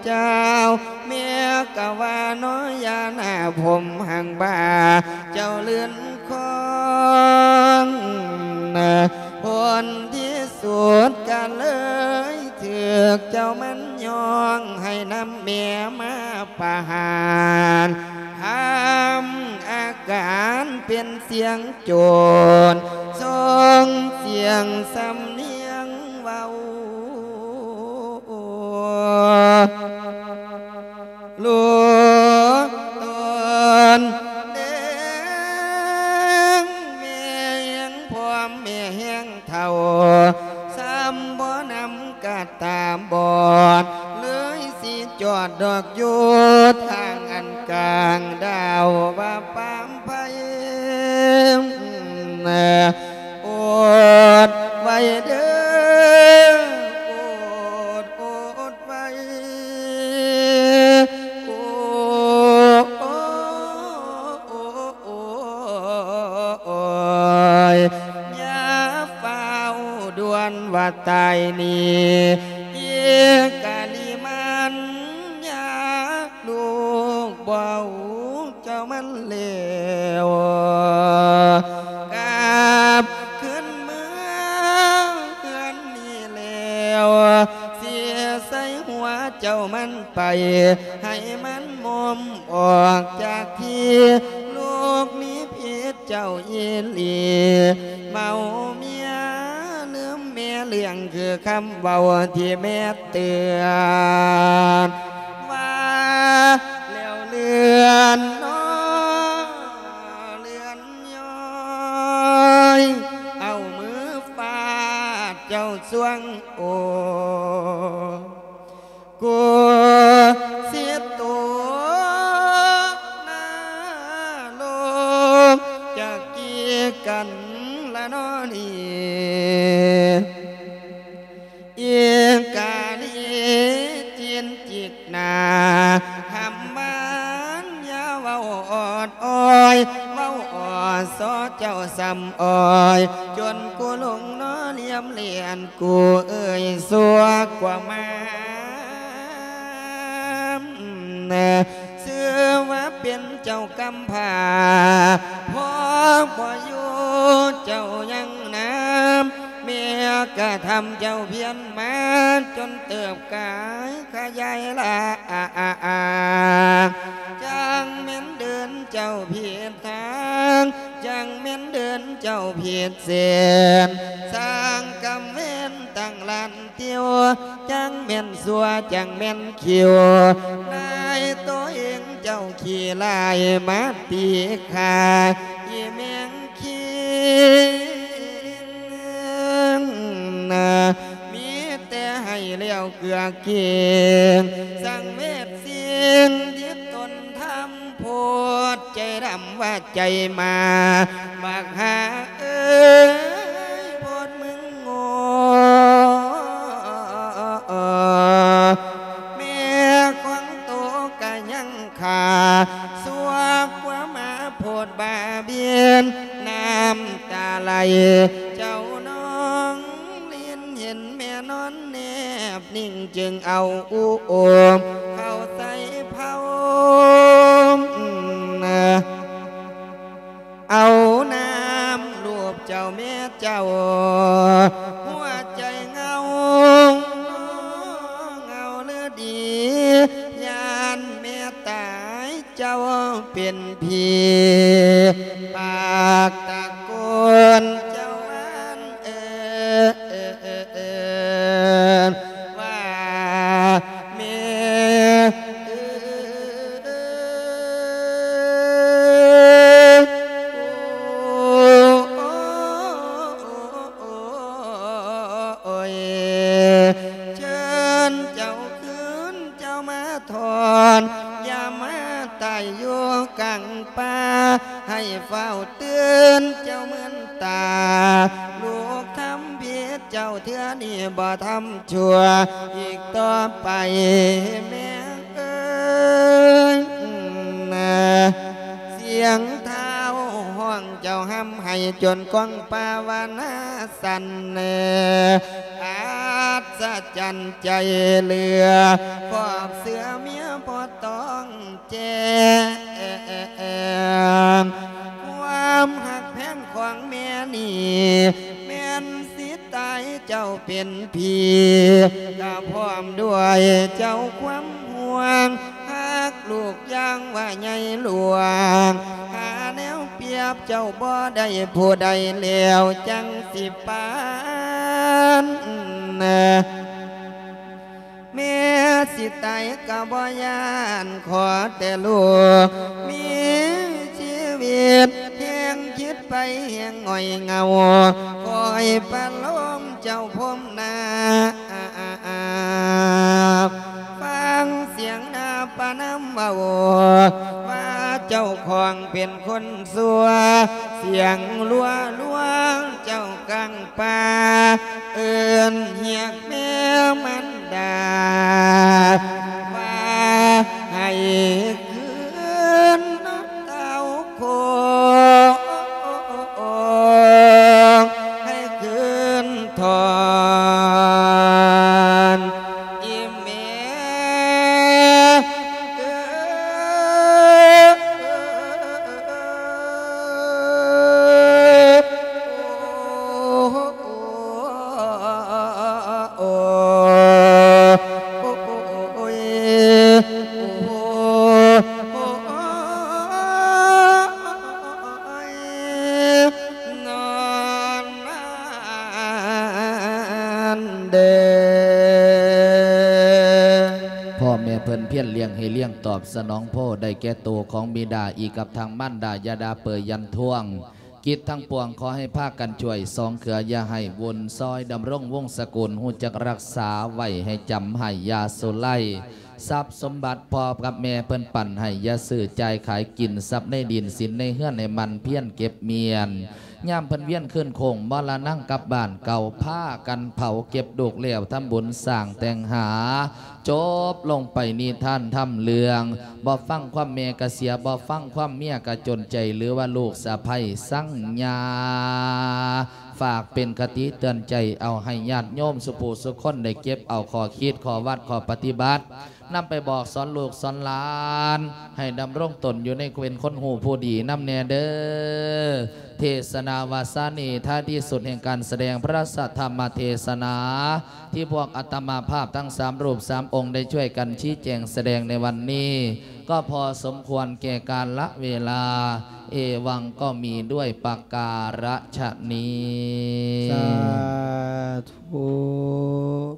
ເຈົ້າ ແມ່ກໍວ່ານ້ອຍຢ່າໜ້າຜົມຫາງບ່າເຈົ້າເລື່ອນຄອງ ຜົນທີ່ສຸດກໍເລີຍຖືກເຈົ້າມັນຍ້ອງໃຫ້ນຳແມ່ມາປະຫານ ທຳອາການເປັນສຽງໂຈນ ສົ່ງສຽງສຳນຽງເວົ້າ ລູກຕົນແດງ ແມ່ແຮງພ້ອມແມ່ແຮງເຖົ້າ ສ່ຳບໍ່ນຳກະຕາບອດ ເລີຍຊິຈອດດອກຢູ່ທາງອັນກາງດາວວ່າປາມໄພ ອົດໄວ້ເດີ ອົດ ອົດໄວ້ ໂອ ໂອ ໂອ ໂອ ໂອຍ ຢ່າຟ້າວດ່ວນວ່າຕາຍນີ້ ອີກະລິມັນຍາ ລູກບໍ່ຮູ້ເຈົ້າມັນແລ້ວ ກັບຄືນເມືອເຮືອນນີ້ແລ້ວ ຊິໃສ່ຫົວເຈົ້າມັນໄປ ໃຫ້ມັນໝົມອອກຈາກທີ່ ລູກມີຜິດເຈົ້າອີ່ຫຼີ ເມົາເມຍລືມແມ່ເລື່ອງ ຄືຄຳເວົ້າທີ່ແມ່ເຕືອນ ວ່າແລ້ວເລື່ອນນ້ອເລື່ອນຍ້ອຍ ເອົາມືຟາດເຈົ້າຊ່ວງໂອ ກູຊິໂຕນາລົງ ຈະກີກັນລະນອນີ້ ອີກາລີຈີນຈິກໜ້າ ຫຳມານຢ່າເວົ້າອອດອ້ອຍ ເວົ້າອອດຊໍເຈົ້າສ່ຳອ້ອຍ ຈົນກູຫຼົງໜໍລຽມລຽນ ກູເອີຍຊົ່ວກວ່າມາ ຊື່ວ່າເປັນເຈົ້າກຳພ້າ ພໍ່ບໍ່ຢູ່ເຈົ້າຍັງນຳ ແມ່ກະທຳເຈົ້າພຽນມາ ຈົນເຕີບກາຍຂະຫຍາຍຫຼາ ຈັ່ງແມ່ນເດີນເຈົ້າຜິດທາງ ຈັ່ງແມ່ນເດີນເຈົ້າຜິດເສັ້ນ ສ້າງກຳເວັນຕັ້ງລ້ານ ຕິວ ຈັ່ງແມ່ນຊົ່ວ ຈັ່ງແມ່ນຄິວ ນາຍໂຕເອງເຈົ້າຂີ້ຮ້າຍມາຕີຂ້າ ອີ່ແມງຄີ ມີແຕ່ໃຫ້ແລ້ວເກືອເກງ ສັງເວດສິ່ງທີ່ຕົນທຳ ໂພດໃຈດຳວ່າໃຈໝາ ບັກຫ່າເອີຍ ໂພດມຶງໂງ່ ແມ່ຂອງໂຕກະຍັງຂ້າ ຊົ່ວກວ່າໝາໂພດບ້າບຽນ ນ້ຳຕາໄຫຼເຈົ້ານອງລິນ ເຫັນແມ່ນອນແນບ ນິ້ງຈຶ່ງເອົາອູໂອມເຂົ້າໃສ່ເພົາ ເອົານ້ຳລູບເຈົ້າແມ່ເຈົ້າ ຫົວໃຈເຫງົາ ເຫງົາເລີດດີ ຢ້ານແມ່ຕາຍ ເຈົ້າເປັນຜີ ປາກຕະໂກນເຈົ້າວ່າ ເອີ້ນວ່າແມ່ເອີຍ ໂອ້ຍ ເຊີນເຈົ້າຄືນ ເຈົ້າມາທອນ ຢ່າມາຕາຍຢູ່ກາງປ່າ ໃຫ້ຟ້າວຕື່ນເຈົ້າເມີນຕາ ລູກທຳຜິດເຈົ້າເທື່ອນີ້ບໍ່ທຳຊົ່ວອີກຕໍ່ໄປ ແມ່ເອີຍ ສຽງທ້າວຮ້ອງເຈົ້າຮ່ຳໄຫ້ ຈົນກ້ອງປ່າວານາສັ່ນ ອັດສະ ນໃຈເຫຼືອ ຄອບເສື້ອເມຍບໍ່ຕ້ອງແຈ້ງ ຄວາມຮັກແພງຂອງແມ່ນີ້ ແມ່ນຊິຕາຍເຈົ້າເປັນຜີ ກະພ້ອມດ້ວຍເຈົ້າຄວາມຫ່ວງ ຮັກລູກຢ່າງວ່າໃຫຍ່ຫຼວງ ຫາແນວປຽບເຈົ້າບໍ່ໄດ້ຜູ້ໃດແລ້ວຈັ່ງຊິປານ ແມ່ຊິຕາຍກໍບໍ່ຢ້ານ ຂໍແຕ່ລູກມີຊີວິດ ແຮງຄິດໄປແຮງຫງອຍເຫງົາ ຄອຍປະໂລມເຈົ້າພົມນາ ຟັງສຽງນາປະນຳເວົ້າ ວ່າເຈົ້າຂອງເປັນຄົນຊົ່ວ ສຽງລັວໆ ເຈົ້າກາງປ່າ ເອີ້ນຮຽກແມ່ມານດາ ວ່າໃຫ້ຄືນເຕົ້າໂຄ ໃຫ້ຄືນທອນ ອີ່ແມ່ເອີຍ ໂອ້ ໂອ້ ໂອ້ຍ ໂອ້ຍ ໂອ້ຍ ນອນນານເດີ. ພໍ່ແມ່ເພິ່ນພຽນລ້ຽງໃຫ້ລ້ຽງຕອບສະໜອງໂພ ໄດ້ແກ່ໂຕຂອງບິດາ ອີກກັບທາງມານດາ ຢ່າດ່າເປີຍຢັນທວງ. ກິດທັງປວງຂໍໃຫ້ພາກັນຊ່ວຍສອງເຄືອ ຢ່າໃຫ້ວຸ່ນຊອຍ ດຳລົງວົງສະກຸນ ຮູ້ຈັກຮັກສາໄວ້ໃຫ້ຈຳ ໃຫ້ຢ່າສູນໄຫຼ. ຊັບສົມບັດພໍ່ກັບແມ່ເພິ່ນປັນໃຫ້ ຢ່າຊື້ຈ່າຍຂາຍກິນ ຊັບໃນດິນສິນໃນເຮືອນໃຫ້ໝັ່ນພຽນເກັບມ້ຽນ ຍາມເພິ່ນວຽນຄືນໂຄ້ງມໍລະນັງກັບບ້ານເກົ່າ ພາກັນເຜົາເກັບລູກແລ້ວ ທຳບຸນສ້າງແຕ່ງຫາ ຈົບລົງໄປນິທານທຳເລື່ອງ ບໍ່ຟັງຄວາມແມ່ກະເສຍ ບໍ່ຟັງຄວາມເມຍກະຈົນໃຈ ຫຼືວ່າລູກສະໃພ້ສັງຍາ ຝາກເປັນຄະຕິເຕືອນໃຈ ເອົາໃຫ້ຍາດໂຍມສູ່ຜູ້ສູ່ຄົນໄດ້ເກັບເອົາຂໍ້ຄິດ ຂໍ້ວັດ ຂໍ້ປະຕິບັດ ນຳໄປບອກສອນລູກສອນຫຼານ ໃຫ້ດຳລົງຕົນຢູ່ໃນເປັນຄົນຮູ້ຜູ້ດີນຳແດ່ເດີ. ເທສະນາວາສານີ້ ທ້າຍທີ່ສຸດແຫ່ງການສະແດງພະທຳມະເທສະນາ ທີ່ພວກອາດຕະມາພາບທັງສາມຮູບສາມອົງໄດ້ຊ່ວຍກັນຊີ້ແຈງສະແດງໃນວັນນີ້ ກໍພໍສົມຄວນແກ່ກາລະເວລາ ເອວັງກໍມີດ້ວຍປະກາລະຊະນີ້ ສາທຸ.